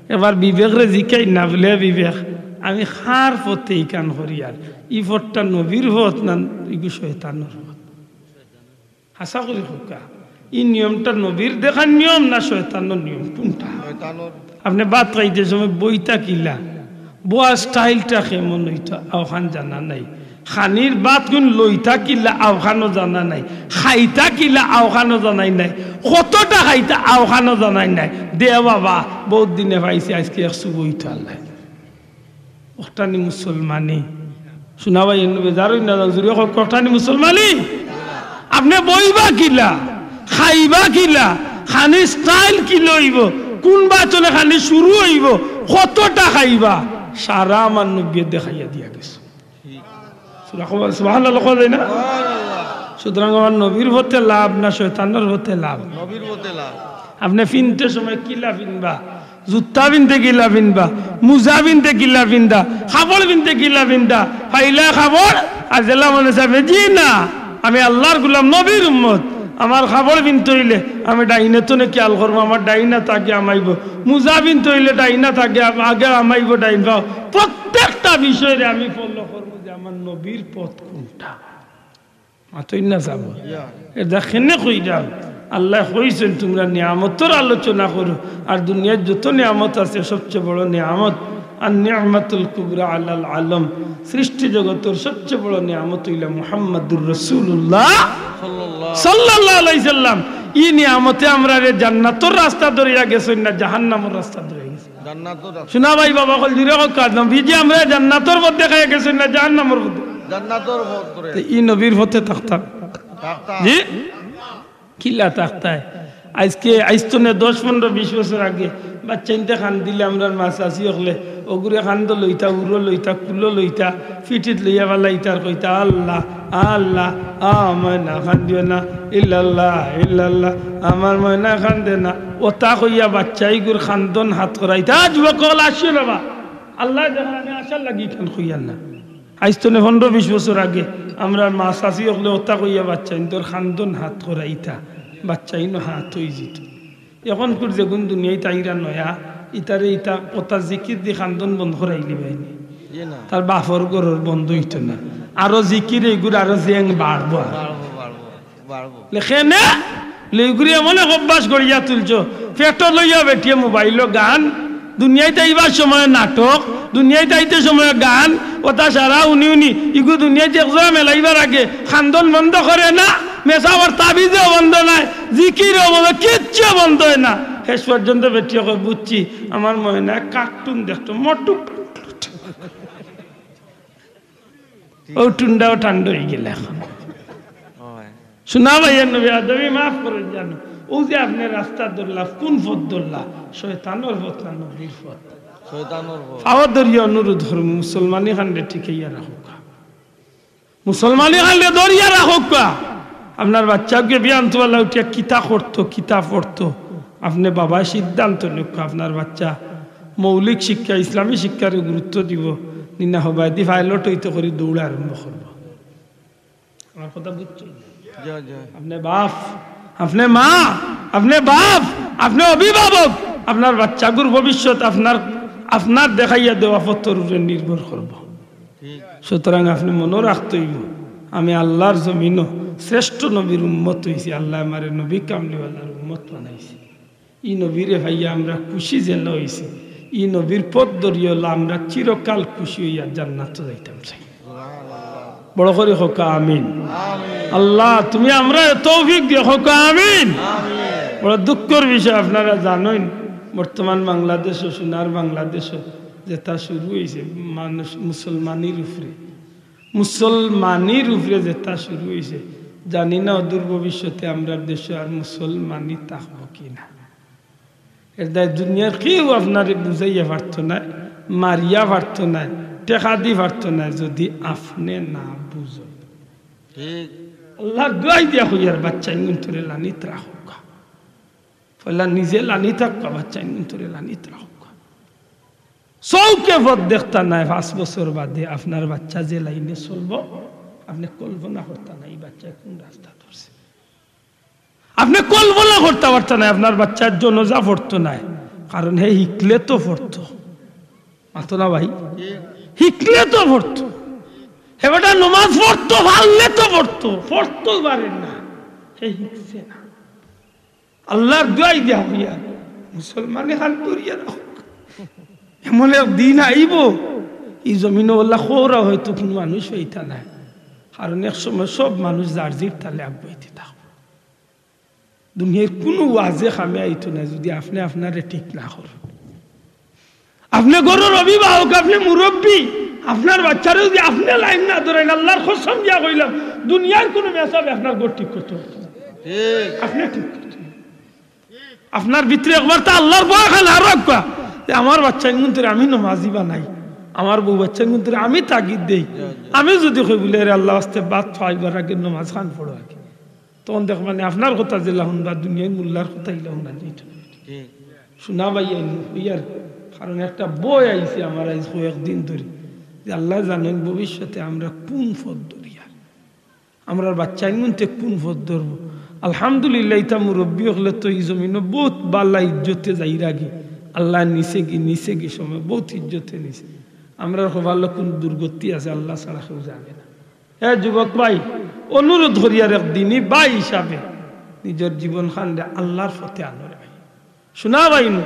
এবার বিবেকরে জিকাইন না বুলে, "বিবেক, আমি কার পথে ইখান করিয়ার? ই পথটা নবীর পথ না ইগু শয়তানর পথ?" হাছা করি কউক্কা, ই নিয়মটা নবীর দেখার নিয়ম না শয়তানর নিয়ম? কুনটা? শয়তানর। আপনে ভাত খাইতে সময় বইতা কিলা, বওয়ার style টা কেমন অইতো, অউখান জানা নাই। খানির ভাত কুন লইতা কিলা, অউখানও জানা নাই। খাইতা কিলা, অউখানও জানাই নাই। কতটা খাইতা, অউখানও জানাই নাই। দে বাবা, বউত দিনে পাইছি, আইজকে এক চুমুক অইতো আল্লায়। অখটানি মুসলমানি। শুনা ভাই, এনু বেজার অইন না, জুরে কউক্কা, অখটানি মুসলমানি। আপনে বইবা কিলা, খাইবা কিলা, খানির style কিলা অইবো, কুন বাচনে খানি শুরু অইবো, কতটা খাইবা, সারা আমার নবীয়ে দেখাইয়া দিয়া গেছে। সুবহানাল্লাহ কওয়া যায় না? সুতরাং আমার নবীর পথে লাভ না শয়তানর পথে লাভ? নবীর পথে লাভ। আপনে পিনতে সময় কিলা পিনবা? জুতা পিনতে কিলা পিনবা? মুজা পিনতে কিলা পিনতা? কাপড় পিনতে কিলা পিনতা? পাইলা কাপড় আর যেলা মনে চায়, জি না, আমি আল্লার গুলাম, নবীর উম্মত। আমার কাপড় পিনতে অইলে আমি ডাইনে তনে খিয়াল করমু, আমার ডাইন আত আগে হামাইবো। মুজা পিনতে অইলে ডাইন আত আগে, আগে হামাইবো ডাইন পাও। প্রত্যেকটা বিষয়রে আমি follow করমু যে আমার নবীর পথ কুনটা। মাতইন না সাব। ইয়া। এরদায় কেনে কইরাম? আল্লায় কইছইন, তুমরা নিয়ামতর আলোচনা করো, আর দুনিয়ার যত নিয়ামত আছে, সবচেয়ে বড় নিয়ামত, আর নিয়ামাতুল কুবরা আলাল আলম, সৃষ্টি জগতর সবচেয়ে বড় নিয়ামত অইলা মুহাম্মাদুর রাসূলুল্লাহ সাল্লাল্লাহু আলাইহি সাল্লাম। ই নিয়ামতে আমরারে জান্নাতর রাস্তা ধরাইয়া গেছইন না জাহান্নামর রাস্তা ধরাইয়া গেছইন? জান্নাতর রাস্তা। শুনা ভাই, বাবা অকল, জুরে কউক্কা, নবীজি আমরারে জান্নাতর পথ দেখাইয়া গেছইন না জাহান্নামর পথ? জান্নাতর পথ ধরে। তে ই নবীর পথে থাকতাম। থাকতাম। জি? কিলা থাকতায়? আইজকে, আইজ তনে দশ, পনরো, বিশ বছর আগে বাচ্চাইন্তে কান্দিলে আমরার মা চাচি অকলে অগুরে কান্দো লইতা, উরো লইতা, কুলো লইতা, পিঠিত লইয়া ফালাইতা আর কইতা, "আল্লাহ, আল্লাহ, আমার ময়না কান্দিও না, ইল্লাল্লাহ, ইল্লাল্লাহ, আমার ময়না কান্দে না।" অতা কইয়া বাচ্চাইগুর কান্দন হাত করাইতা। আজ বকল আসিও না বা, আল্লায় দেখইন, আমি আশার লাগি ইখান কইয়ার না। আইজ তনে পনরো বিশ বছর আগে আমরার মা চাচি অকলে অতা কইয়া বাচ্চাইন্তর কান্দন হাত করাইতা, বাচ্চাইনও হাত অইযিতো। অখনকুর যেগুন দুনিয়াইত আইরা নয়া, ইতারে ইতা অতা জিকির দি কান্দন বন্ধ করাইলিবায়নি। জি না। তার বাফর ঘরর বন্ধ অইতো না। আরো জিকির এইগুর আরো জেং বাড়বো আর। বাড়বো, বাড়বো, বাড়বো। লেখে না? লেগুরি এমন এক অভ্যাস গড়িয়া তুলছো। পেটো লইয়া বেটিয়ে মোবাইলো গান, দুনিয়াইত আইবার সময় নাটক, দুনিয়াইত আইতে সময় গান, অতা সারা উনি উনি, ইগু দুনিয়াইত এক জোড়া মেলাইবার আগে কান্দন বন্ধ করে না, মেসাবর তাবিজও বন্ধ নায়, জিকিরও বন্ধ, কিচ্ছু বন্ধ অয় না। শেষ পর্যন্ত বেটিয়ে কয়, "বুঝছি, আমার ময়নায় কার্টুন দেখতো, মোটু পাতলু।" অউ টুন্ডাও ঠান্ডা অইগেল অখন। অয়। শোনা ভাই, নবী আদমি মাফ করে জানো। অউ যে আপনে রাস্তা ধরলা, কুন পথ ধরলা? শয়তানর পথ না নবীর পথ? শয়তানর পথ। পাও ধরিয়া অনুরোধ করমু, মুসলমানি খানরে টিকাইয়া রাখউক্কা। মুসলমানি খানরে ধরিয়া রাখউক্কা। আপনার বাচ্চাগুয়ে বিয়ান তুয়ালা উঠিয়া কিতা করতো, কিতা পড়তো, আপনে বাবায় সিদ্ধান্ত নেউক্কা। আপনার বাচ্চা মৌলিক শিক্ষা, ইসলামী শিক্ষারে গুরুত্ব দিবো, নি না হবায়দি পাইলট অইতো করি দৌড় আরম্ভ করবো। আমার কথা বুঝছো? জি, জি। আপনে বাফ, আপনে মা, আপনে বাফ, আপনে অভিভাবক, আপনার বাচ্চাগুর ভবিষ্যৎ আপনার, আপনার দেখাইয়া দেওয়া পথর উপরে নির্ভর করবো। ঠিক। সুতরাং আপনে মনো রাখতে অইবো, আমি আল্লার জমিনো শ্রেষ্ঠ নবীর উম্মত অইছি, আল্লায় আমারে নবী কামলিওয়ালার উম্মত বানাইছে। ই নবীরে পাইয়া আমরা খুশি যেলা অইছি, ই নবীর পথ ধরিয়া অইলা আমরা চিরকাল খুশি অইয়া জান্নাতো যাইতাম চাই। বড় করি কউক্কা আমিন। আল্লাহ, তুমি আমরারে তৌফিক দিও, কউক্কা আমিন। বড় দুঃখর বিষয়, আপনারা জানইন, বর্তমান বাংলাদেশো, সোনার বাংলাদেশো যেটা শুরু অইছে মানুষ মুসলমানির উপরে, মুসলমানির উপরে যেটা শুরু অইছে, জানি না অদূর ভবিষ্যতে আমরার দেশো আর মুসলমানি থাকবো কি না। এর দায় দুনিয়ার কেউ আপনারে বুঝাইয়া পারতো নায়, মারিয়া পারতো নায়, টেকা দি পারতো নায়, যদি আপনে না বুঝো। ঠিক। আল্লার দোয়াই দিয়া কইয়ার, বাচ্চাইনগুন্তরে লানিত রাখউক্কা। পয়লা নিজে লানিত থাকউক্কা, বাচ্চাইনগুন্তরে লানিত রাখউক্কা। চউখে পথ দেখতা নায়, পাঁচ বছর বাদে আপনার বাচ্চা যে লাইনে চলবো, আপনে কল্পনা করতা নায়, ই বাচ্চায় কুন রাস্তা ধরছে। আপনে কল্পনা করতা পারতা নায়, আপনার বাচ্চার জনাজা পড়তো নায়, কারণ হে হিকলে তো পড়তো। মাতো না ভাই? হিকলে তো পড়তো। হে বেটা নমাজ পড়তো, পারলে তো পড়তো, পড়তো পারে না, হে হিকছে না। আল্লার দোয়াই দিয়া কইয়ার, মুসলমানি খান ধরিয়া রাখউক্কা। এমন এক দিন আইবো, ই জমিনো অলা খওরা হয়তো কুনু মানুষ পাইতা নায়, কারণ এক সময় সব মানুষ যার জির তালে আগুয়াইতে থাকবো। দুনিয়ার কুনু ওয়াজে কামে আইতো নায়, যদি আপনে আপনারে ঠিক না করইন। আপনে ঘরর অভিভাবক, আপনে মুরব্বি, আপনার বাচ্চারে যদি আপনে লাইন না ধরাইন, আল্লার কসম দিয়া কইলাম, দুনিয়ার কুনু মেসাবে আপনার ঘর ঠিক করতো পারতো নায়। ঠিক। আপনে ঠিক করতো। আপনার ভিতরে একবার তো আল্লার ভয় খান আর রাখবা যে আমার বাচ্চাইনগুন্তরে আমি নমাজি বানাই, আমার বউ বাচ্চাইনগুন্তরে আমি তাগিদ দেই। আমি যদি কই বুলে, "এরে আল্লার ওয়াস্তে ভাত খাইবার আগে নমাজ খান পড়ো আগে।" তখন দেখবা নি আপনার কথা যেলা হুনবা, দুনিয়ার মুল্লার কথা ইলা হুনা যাইতো নায়। ঠিক। শোনা ভাই, আইন কইয়ার, কারণ একটা ভয় আইছে আমার আইজ কয়েকদিন ধরি, যে আল্লায় জানইন ভবিষ্যতে আমরা কুন পথ ধরিয়ার, আমরার বাচ্চাইনগুন্তে কুন পথ ধরবো। আলহামদুলিল্লাহ, ইতা মুরব্বি অকলে তো ই জমিনো বউত বালা ইজ্জতে যাইরাগি, আল্লায় নিছেগি, নিছেগি সময় বউত ইজ্জতে নিছে। আমরার কপালো কুন দুর্গতি আছে, আল্লা ছাড়া কেউ জানে না। হে যুবক ভাই, অনুরোধ করিয়ার একদিনই ভাই হিসাবে নিজর জীবন খানরে আল্লার পথে আনো রে ভাই। শোনা ভাই নু,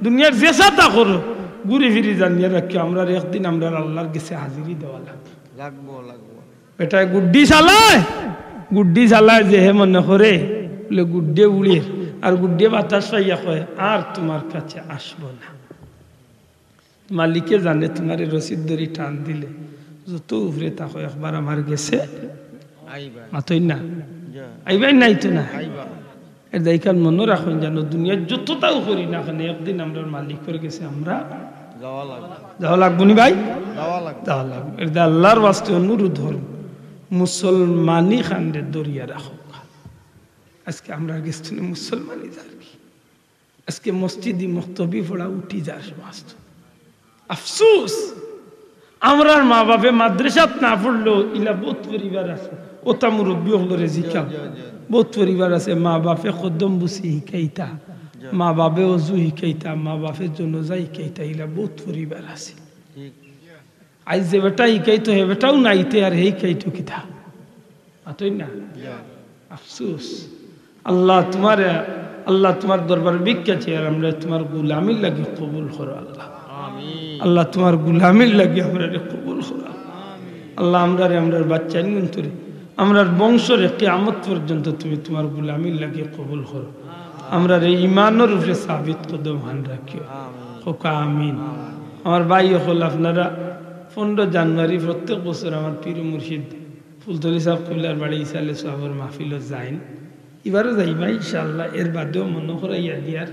দুনিয়ার যেছা তা করো, ঘুরি ফিরি জানিয়া রাখিও, আমরার একদিন আমরার আল্লার গেছে হাজিরি দেওয়া লাগবো। লাগবো, লাগবো। বেটায় গুড্ডি চালায়, গুড্ডি চালায় যে হে মনে করে, বুলে গুড্ডে উড়ের, আর গুড্ডে বাতাস পাইয়া কয়, "আর তুমার কাছে আসবো না।" মালিকে জানে তুমারে রশির দড়ি টান দিলে যত উপরে থাকো, একবার আমার গেছে আইবা। মাতইন না? যা। আইবায় নাইতো না? আইবা। এর দায় খান মনো রাখইন, জানো, দুনিয়ার যততাও করি না কেনে, একদিন আমরার মালিকর গেছে আমরা যাওয়া লাগবো। যাওয়া লাগবো নি ভাই? যাওয়া লাগবো। যাওয়া লাগবো। এর দায় আল্লাহর ওয়াস্তে অনুরোধ করমু, মুসলমানি খানরে ধরিয়া রাখউক্কা। আজকে আমরার গেছ থনে মুসলমানি যার কি? আজকে মসজিদি মক্তবি পড়া উঠি যার সমাজ। আফসোস, আমরার মা বাপে মাদ্রাসাত না পড়লো, ইলা বউত পরিবার আছে। অতা মুরব্বি অকলরে জিকাও। বউত পরিবার আছে, মা বাপে কদম বুসি হিকাইতা, মা বাপে অজু হিকাইতা, মা বাপে জনাজা হিকাইতা, ইলা বউত পরিবার আছে। আইজ যে বেটা হিকাইতো, হে বেটাও নাই তে, আর হে হিকাইতো কিতা? মাতইন না? আফসোস। আল্লাহ তুমারে, আল্লাহ তুমার দরবারে ভিক্ষা চাই, আর আমরারে তুমার গুলামির লাগি কবুল করো আল্লাহ। আল্লাহ তুমার গুলামির লাগি আমরারে কবুল করো। আল্লাহ আমরারে, আমরার বাচ্চাইন্তরে, আমরার বংশরে কিয়ামত পর্যন্ত তুমি তুমার গুলামির লাগি কবুল করো। আমরারে ইমানর উপরে সাবিত কদম হান রাখিও। কউক্কা আমিন। আমার ভাই অকল, আপনারা পনেরো জানুয়ারি প্রত্যেক বছর আমার পীর মুর্শিদ ফুলতলি সাব কিবলার বাড়ি ইসালে সওয়াবর মাহফিলো যাইন। ইবারও যাইবা ইনশাআল্লাহ। এর বাদেও মনো করাইয়া দিয়ার,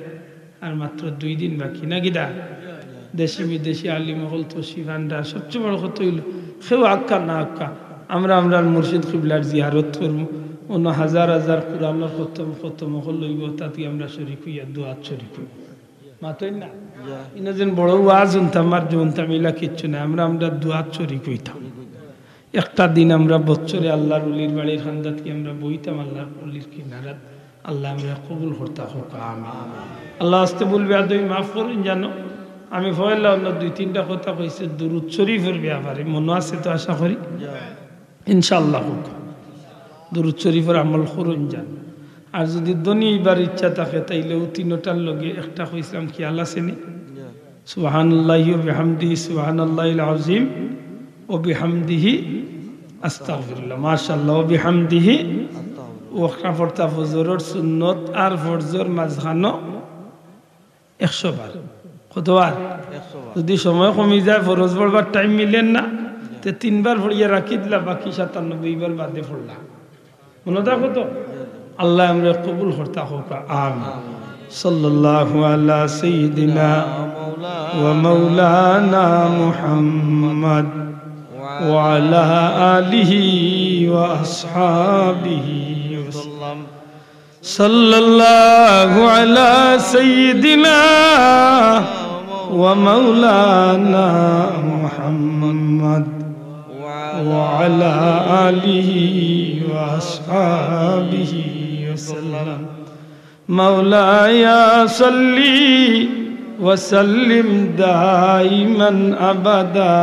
আর মাত্র দুই দিন বাকি, না কিতা? দেশি বিদেশি আলিম অকল তশরিফ আনরা। সবচেয়ে বড় কথা অইলো, কেউ আউক্কা না আউক্কা, আমরা আমরার মুর্শিদ কিবলার জিয়ারত করমু। অনো হাজার হাজার কোরআনর খতম, খতম অকল অইবো, তাতে আমরা শরিক অইয়া দোয়াত শরিক অইমু। মাতইন না? ইনো যেন বড় ওয়াজ হুনতাম আর যে হুনতাম, ইলা কিচ্ছু নাই। আমরা, আমরা দোয়াত শরিক অইতাম। একটা দিন আমরা বছরে আল্লাহর ওলির বাড়ির কান্দাত গিয়া আমরা বইতাম আল্লাহর ওলির কিনারাত। আল্লাহ আমরারে কবুল করতা কউক্কা আমিন। আল্লাহ আস্তে ভুল বেয়াদবি মাফ করইন জানো। আমি পয়লা অন্য দুই তিনটা কথা কইছি দুরুদ শরিফর ব্যাপারে, মনো আছে তো আশা করি? ইনশাআল্লাহ কউক্কা। দুরুদ শরিফর আমল করইন জানো। আর যুদি ধনী অইবার ইচ্ছা থাকে, তাইলে অউ তিনোটার লগে একটা কইছিলাম, খিয়াল আছে নি? সুবহানাল্লাহি ওয়া বিহামদিহি, সুবহানাল্লাহিল আযীম ওয়া বিহামদিহি, আস্তাগফিরুল্লাহ, মাশাআল্লাহ, ওয়া বিহামদিহি। অউ একটা পড়তা ফজরর সুন্নত আর ফরজর মাঝখানো একশো বার। কতবার? যুদি সময় কমি যায়, ফরজ পড়বার টাইম মিলের না, তে তিনবার পড়িয়া রাখি দিলা, বাকি সাতানব্বই বার বাদে পড়লা। মনো থাকো তো? আল্লাহ আমরারে কবুল করতা কউক্কা আমিন। সাল্লাল্লাহু আলা সাইয়্যিদিনা ওয়া মাওলানা মুহাম্মদ ওয়া আলা আলিহি ওয়া আসহাবিহি ওয়া সাল্লাম। সাল্লাল্লাহু আলা সাইয়্যিদিনা ওয়া মাওলানা মুহাম্মদ ওয়া আলা আলিহি ওয়া আসহাবিহি ওয়া সাল্লাম। মাওলায়া সাল্লি ওয়া সাল্লিম দাইমান আবাদা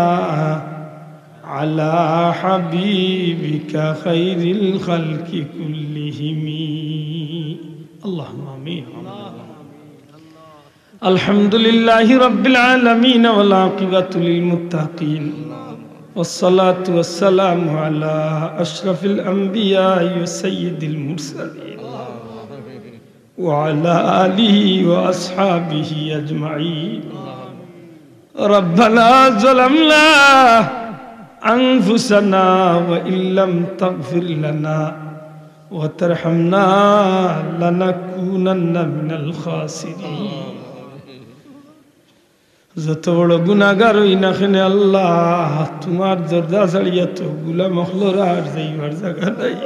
আলা হাবিবিকা খাইরিল খালকি কুল্লিহিম। আল্লাহুম্মা আমিন। الحمد لله رب العالمين والعاقبة للمتقين والصلاة والسلام على أشرف الأنبياء وسيد المرسلين وعلى آله وأصحابه أجمعين. ربنا ظلمنا أنفسنا وإن لم تغفر لنا وترحمنا لنكونن من الخاسرين. যত বড় গুনাগার অই না কেনে আল্লাহ, তুমার দরজা ছাড়িয়া তো গুলাম অকলর আর যাইবার জাগা নাই।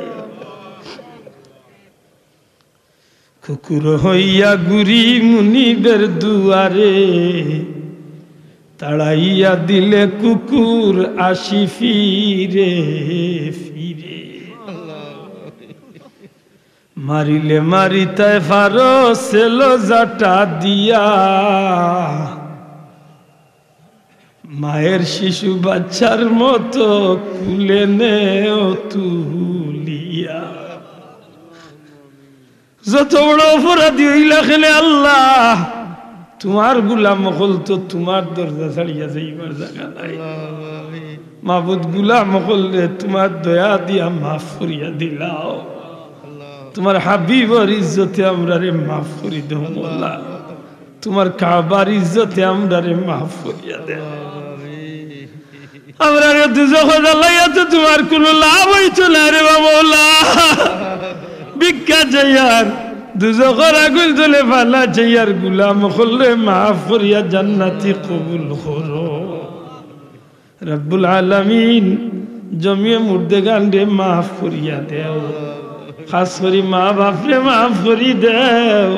কুকুর হইয়া ঘুরি মুনিবের দুয়ারে, তাড়াইয়া দিলে কুকুর আসি ফিরে ফিরে। মারিলে মারিতায় পারো সেলো জাটা দিয়া, মায়ের শিশু বাচ্চার মতো কুলে নেও তুলিয়া। যত বড় অপরাধী অইলা কেনে আল্লাহ, তুমার গুলাম অকল তো তুমার দরজা ছাড়িয়া যাইবার জাগা নাই। মাবুদ, গুলাম অকলরে তুমার দয়া দিয়া মাফ করিয়া দিলাও। তুমার হাবিবর ইজ্জতে আমরারে মাফ করি দেও মওলা। তুমার কাবার ইজ্জতে আমরারে মাফ করিয়া দেও। আমরারে দুজখো জ্বালাইয়া তো তুমার কুনু লাভ অইতো না রে বা মওলা। ভিক্ষা চাইয়ার দুজখর আগুইন তলে ফালাইছে, ইয়ার গুলাম অকলরে মাফ করিয়া জান্নাতি কবুল করো। রব্বুল আলামিন, জমিয়ে মুর্দেগানরে মাফ করিয়া দেও, খাস করি মা বাপরে মাফ করি দেও,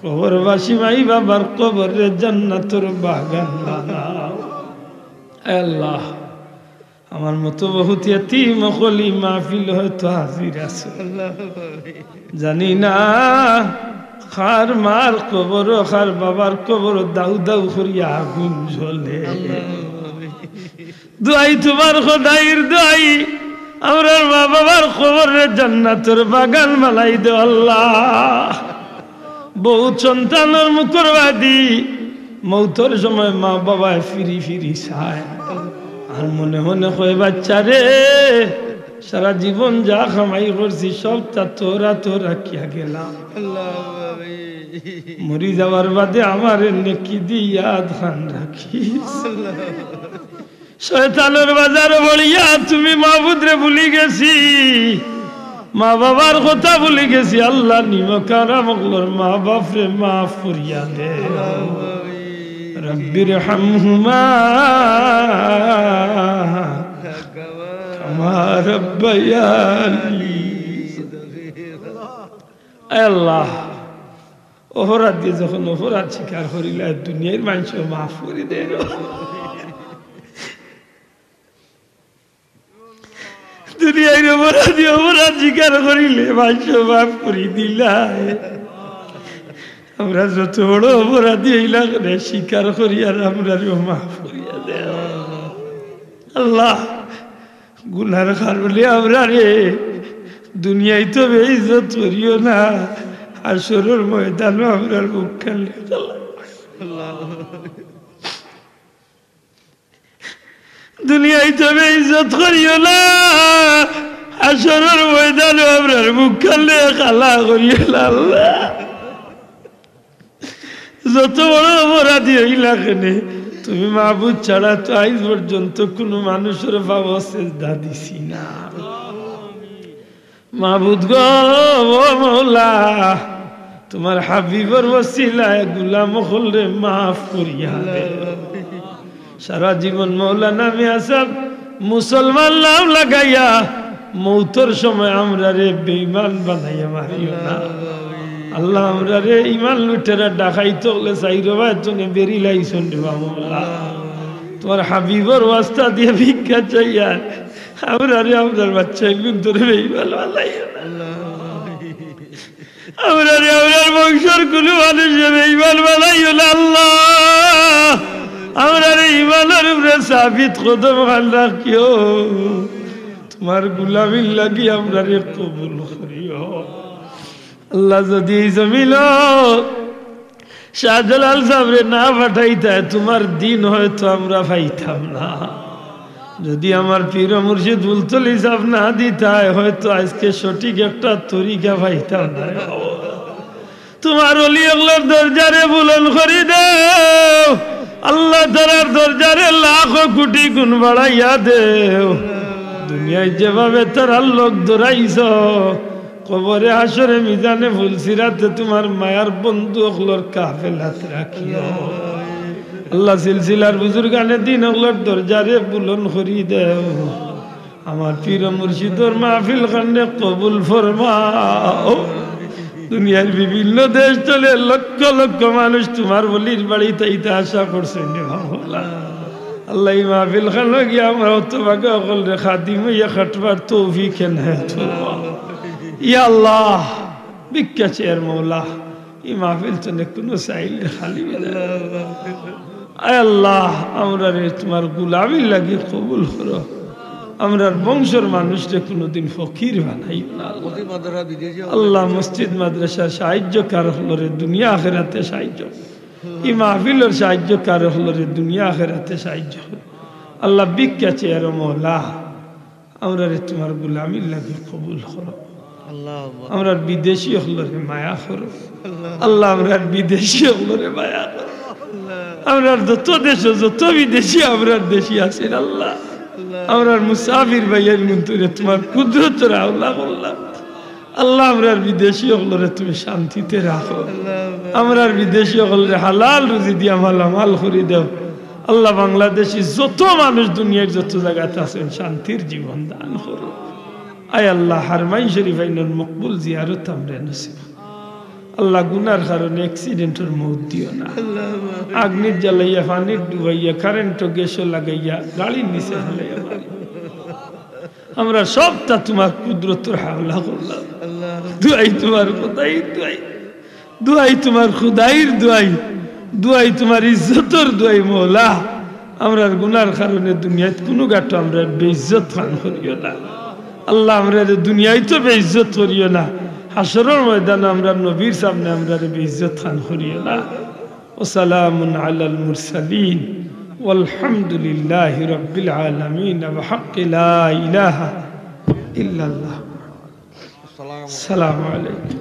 কবরবাসী মাই বাবার কবররে জান্নাতর বাগান বানাও। আয় আল্লাহ, আমার মতো বহুত ইয়াতিম অকল ই মাহফিল হয়তো হাজির আছে। জানি না কার মার কবর, কার বাবার কবর দাউ দাউ করিয়া আগুন জ্বলে। দোয়াই তুমার খোদাইর দোয়াই, আমরার মা বাবার কবররে জান্নাতর বাগান বানাই দেও আল্লাহ। বহুত সন্তানর মুখর বাদি মৌতর সময় মা বাবায় ফিরি ফিরি চায়, আর মনে মনে কয়, "বাচ্চারে, সারা জীবন যা কামাই করছি সবতা তোরা তো রাখিয়া গেলাম, মরি যাওয়ার বাদে আমারে নেকি দি ইয়াদ খান রাখিস।" শয়তানর বাজারো পড়িয়া তুমি মাবুদরে ভুলি গেছি, মা বাবার কথা ভুলি গেছি। আল্লাহ, নিমক হারাম অকলর মা বাপরে মাফ করিয়া দে। রব্বির হামহুমা কামা রব্বায়ানি। আয় আল্লাহ, অপরাধী যখন অপরাধ স্বীকার করিলা, দুনিয়ার মানষে মাফ করি দেয়। দুনিয়ার অপরাধী অপরাধ স্বীকার করিলে মানষে মাফ করি দিলায়। আমরা যত বড় অপরাধী অইলা কেনে স্বীকার করি আর আমরারেও মাফ করিয়া দেও। আল্লাহ, গুনার কারণে আমরারে দুনিয়াইত বেইজ্জত করিও না, হাশরর ময়দানো আমরার মুখ কালে। দুনিয়াইত বেইজ্জত করিও না, হাশরর ময়দানো আমরার মুখ কালে কালা করিও না আল্লাহ। যত বড় অপরাধী অইলা কেনে, তুমি মাবুদ ছাড়া তো আইজ পর্যন্ত কুনু মানুষর পাও সেজদা দিছি না। মাবুদ গো, ও মৌলা, তুমার হাবিবর ওসিলায় গুলাম অকলরে মাফ করিয়া দে। সারা জীবন মৌলানা মিয়া সাব মুসলমান নাম লাগাইয়া মৌতর সময় আমরারে বেঈমান বানাইয়া মারিও না। আল্লাহ, আমরারে ইমান লুটেরা ডাকাইত অকলে চাইরোবায় তুনে বেড়ি লাইছইন রে বা মৌলা। তুমার হাবিবর ওয়াস্তা দিয়া ভিক্ষা চাইয়ার, আমরারে আমরার বাচ্চাইন্তরে বেঈমান বানাইও না। আমরারে আমরার বংশর কুনু মানুষে বেঈমান বানাইও না আল্লাহ। আমরারে ইমানর উপরে সাবিত কদম খান রাখিও। তুমার গুলামির লাগি আমরারে কবুল করিও। আল্লাহ, যুদি ই জমিনো শাহজালাল সাবরে না পাঠাইতায়, তুমার দিন হয়তো আমরা পাইতাম না। যুদি আমার পীর মুর্শিদ ফুলতলি সাব না দিতায়, হয়তো আইজকে সঠিক একটা তরিকা পাইতাম না। তুমার ওলি অকলর দরজারে বুলন্দ করি দেও আল্লাহ, তারার দরজারে লাখো কুটি গুণ বাড়াইয়া দেও। দুনিয়াইত যেভাবে তারার লগ ধরাইছো, কবরে হাশরে মিজানে পুলসিরাতে তুমার মায়ার বন্ধু অকলর কাফেলাত রাখিও। আল্লাহ, সিলসিলার বুজুর্গানে দিন অকলর দরজারে বুলন্দ করি দেও। আমার পীর মুর্শিদর মাহফিল খানরে কবুল ফরমাও। দুনিয়ার বিভিন্ন দেশ তলে লক্ষ লক্ষ মানুষ তুমার ওলির বাড়িত আইতা আশা করছইন রে মৌলা। আল্লাহ, ই মাহফিল খানো গিয়া আমরা হতভাগা অকলরে খাদিম অইয়া খাটবার তৌফিক এনায়েত ফরমাও। ইয়া আল্লাহ, ভিক্ষা চাইয়ার মৌলা, ই মাহফিল তনে কুনু চাইল রে খালি বিদায়। আয় আল্লাহ, আমরারে তুমার গুলামির লাগি কবুল করো। আমরার বংশর মানুষরে কুনুদিন ফকির বানাইও না আল্লাহ। আল্লাহ, মসজিদ মাদ্রাসার সাহায্যকার অকলরে দুনিয়া আখেরাতে সাহায্য করো। ই মাহফিলর সাহায্যকার অকলরে দুনিয়া আখেরাতে সাহায্য করো। আল্লাহ, ভিক্ষা চাইয়ার মৌলা, আমরারে তুমার গুলামির লাগি কবুল করো। আল্লাহুম্মা। আমরার বিদেশি অকলরে মায়া করো। আল্লাহ। আল্লাহ, আমরার বিদেশি অকলরে মায়া করো। আল্লাহ। আমরার যত দেশো যত বিদেশি আমরার দেশি আছইন আল্লাহ, আল্লাহ। আমরার মুসাফির ভাইয়াইন্তরে তুমার কুদরতর হাওলা করলাম। আল্লাহ, আমরার বিদেশি অকলরে তুমি শান্তিতে রাখো। আমরার বিদেশি অকলরে হালাল রুজি দিয়া মালামাল করি দেও। আল্লাহ, বাংলাদেশি যত মানুষ দুনিয়ার যত জাগাত আছইন, শান্তির জীবন দান করো। আয় আল্লাহ, হারমাইন শরীফ আইনর মকবুল জিয়ারত আমরারে নসিব। আল্লাহ, গুনার কারণে অ্যাক্সিডেন্টর মউত দিও না। আগ্নিত জ্বালাইয়া, পানিত ডুবাইয়া, কারেন্টো গ্যাসো লাগাইয়া, গাড়ির নিচে ফালাইয়া মারিও। আমরা সবটা তুমার কুদরতর হাওলা করলাম। দোয়াই তুমার খুদাইর দোয়াই, দোয়াই তুমার খুদাইর দোয়াই, দোয়াই তুমার ইজ্জতর দোয়াই মওলা। আমরার গুনার কারণে দুনিয়াত কুনু গাটো আমরারে বেইজ্জত খান করিও না। আল্লাহ, আমরারে দুনিয়াত তো বেইজ্জত করিও না, হাশরর ময়দানো আমরার নবীর সামনে আমরারে বেইজ্জত খান করিও না। وسلام على المرسلين والحمد لله رب العالمين بحق لا إله إلا الله. السلام عليكم.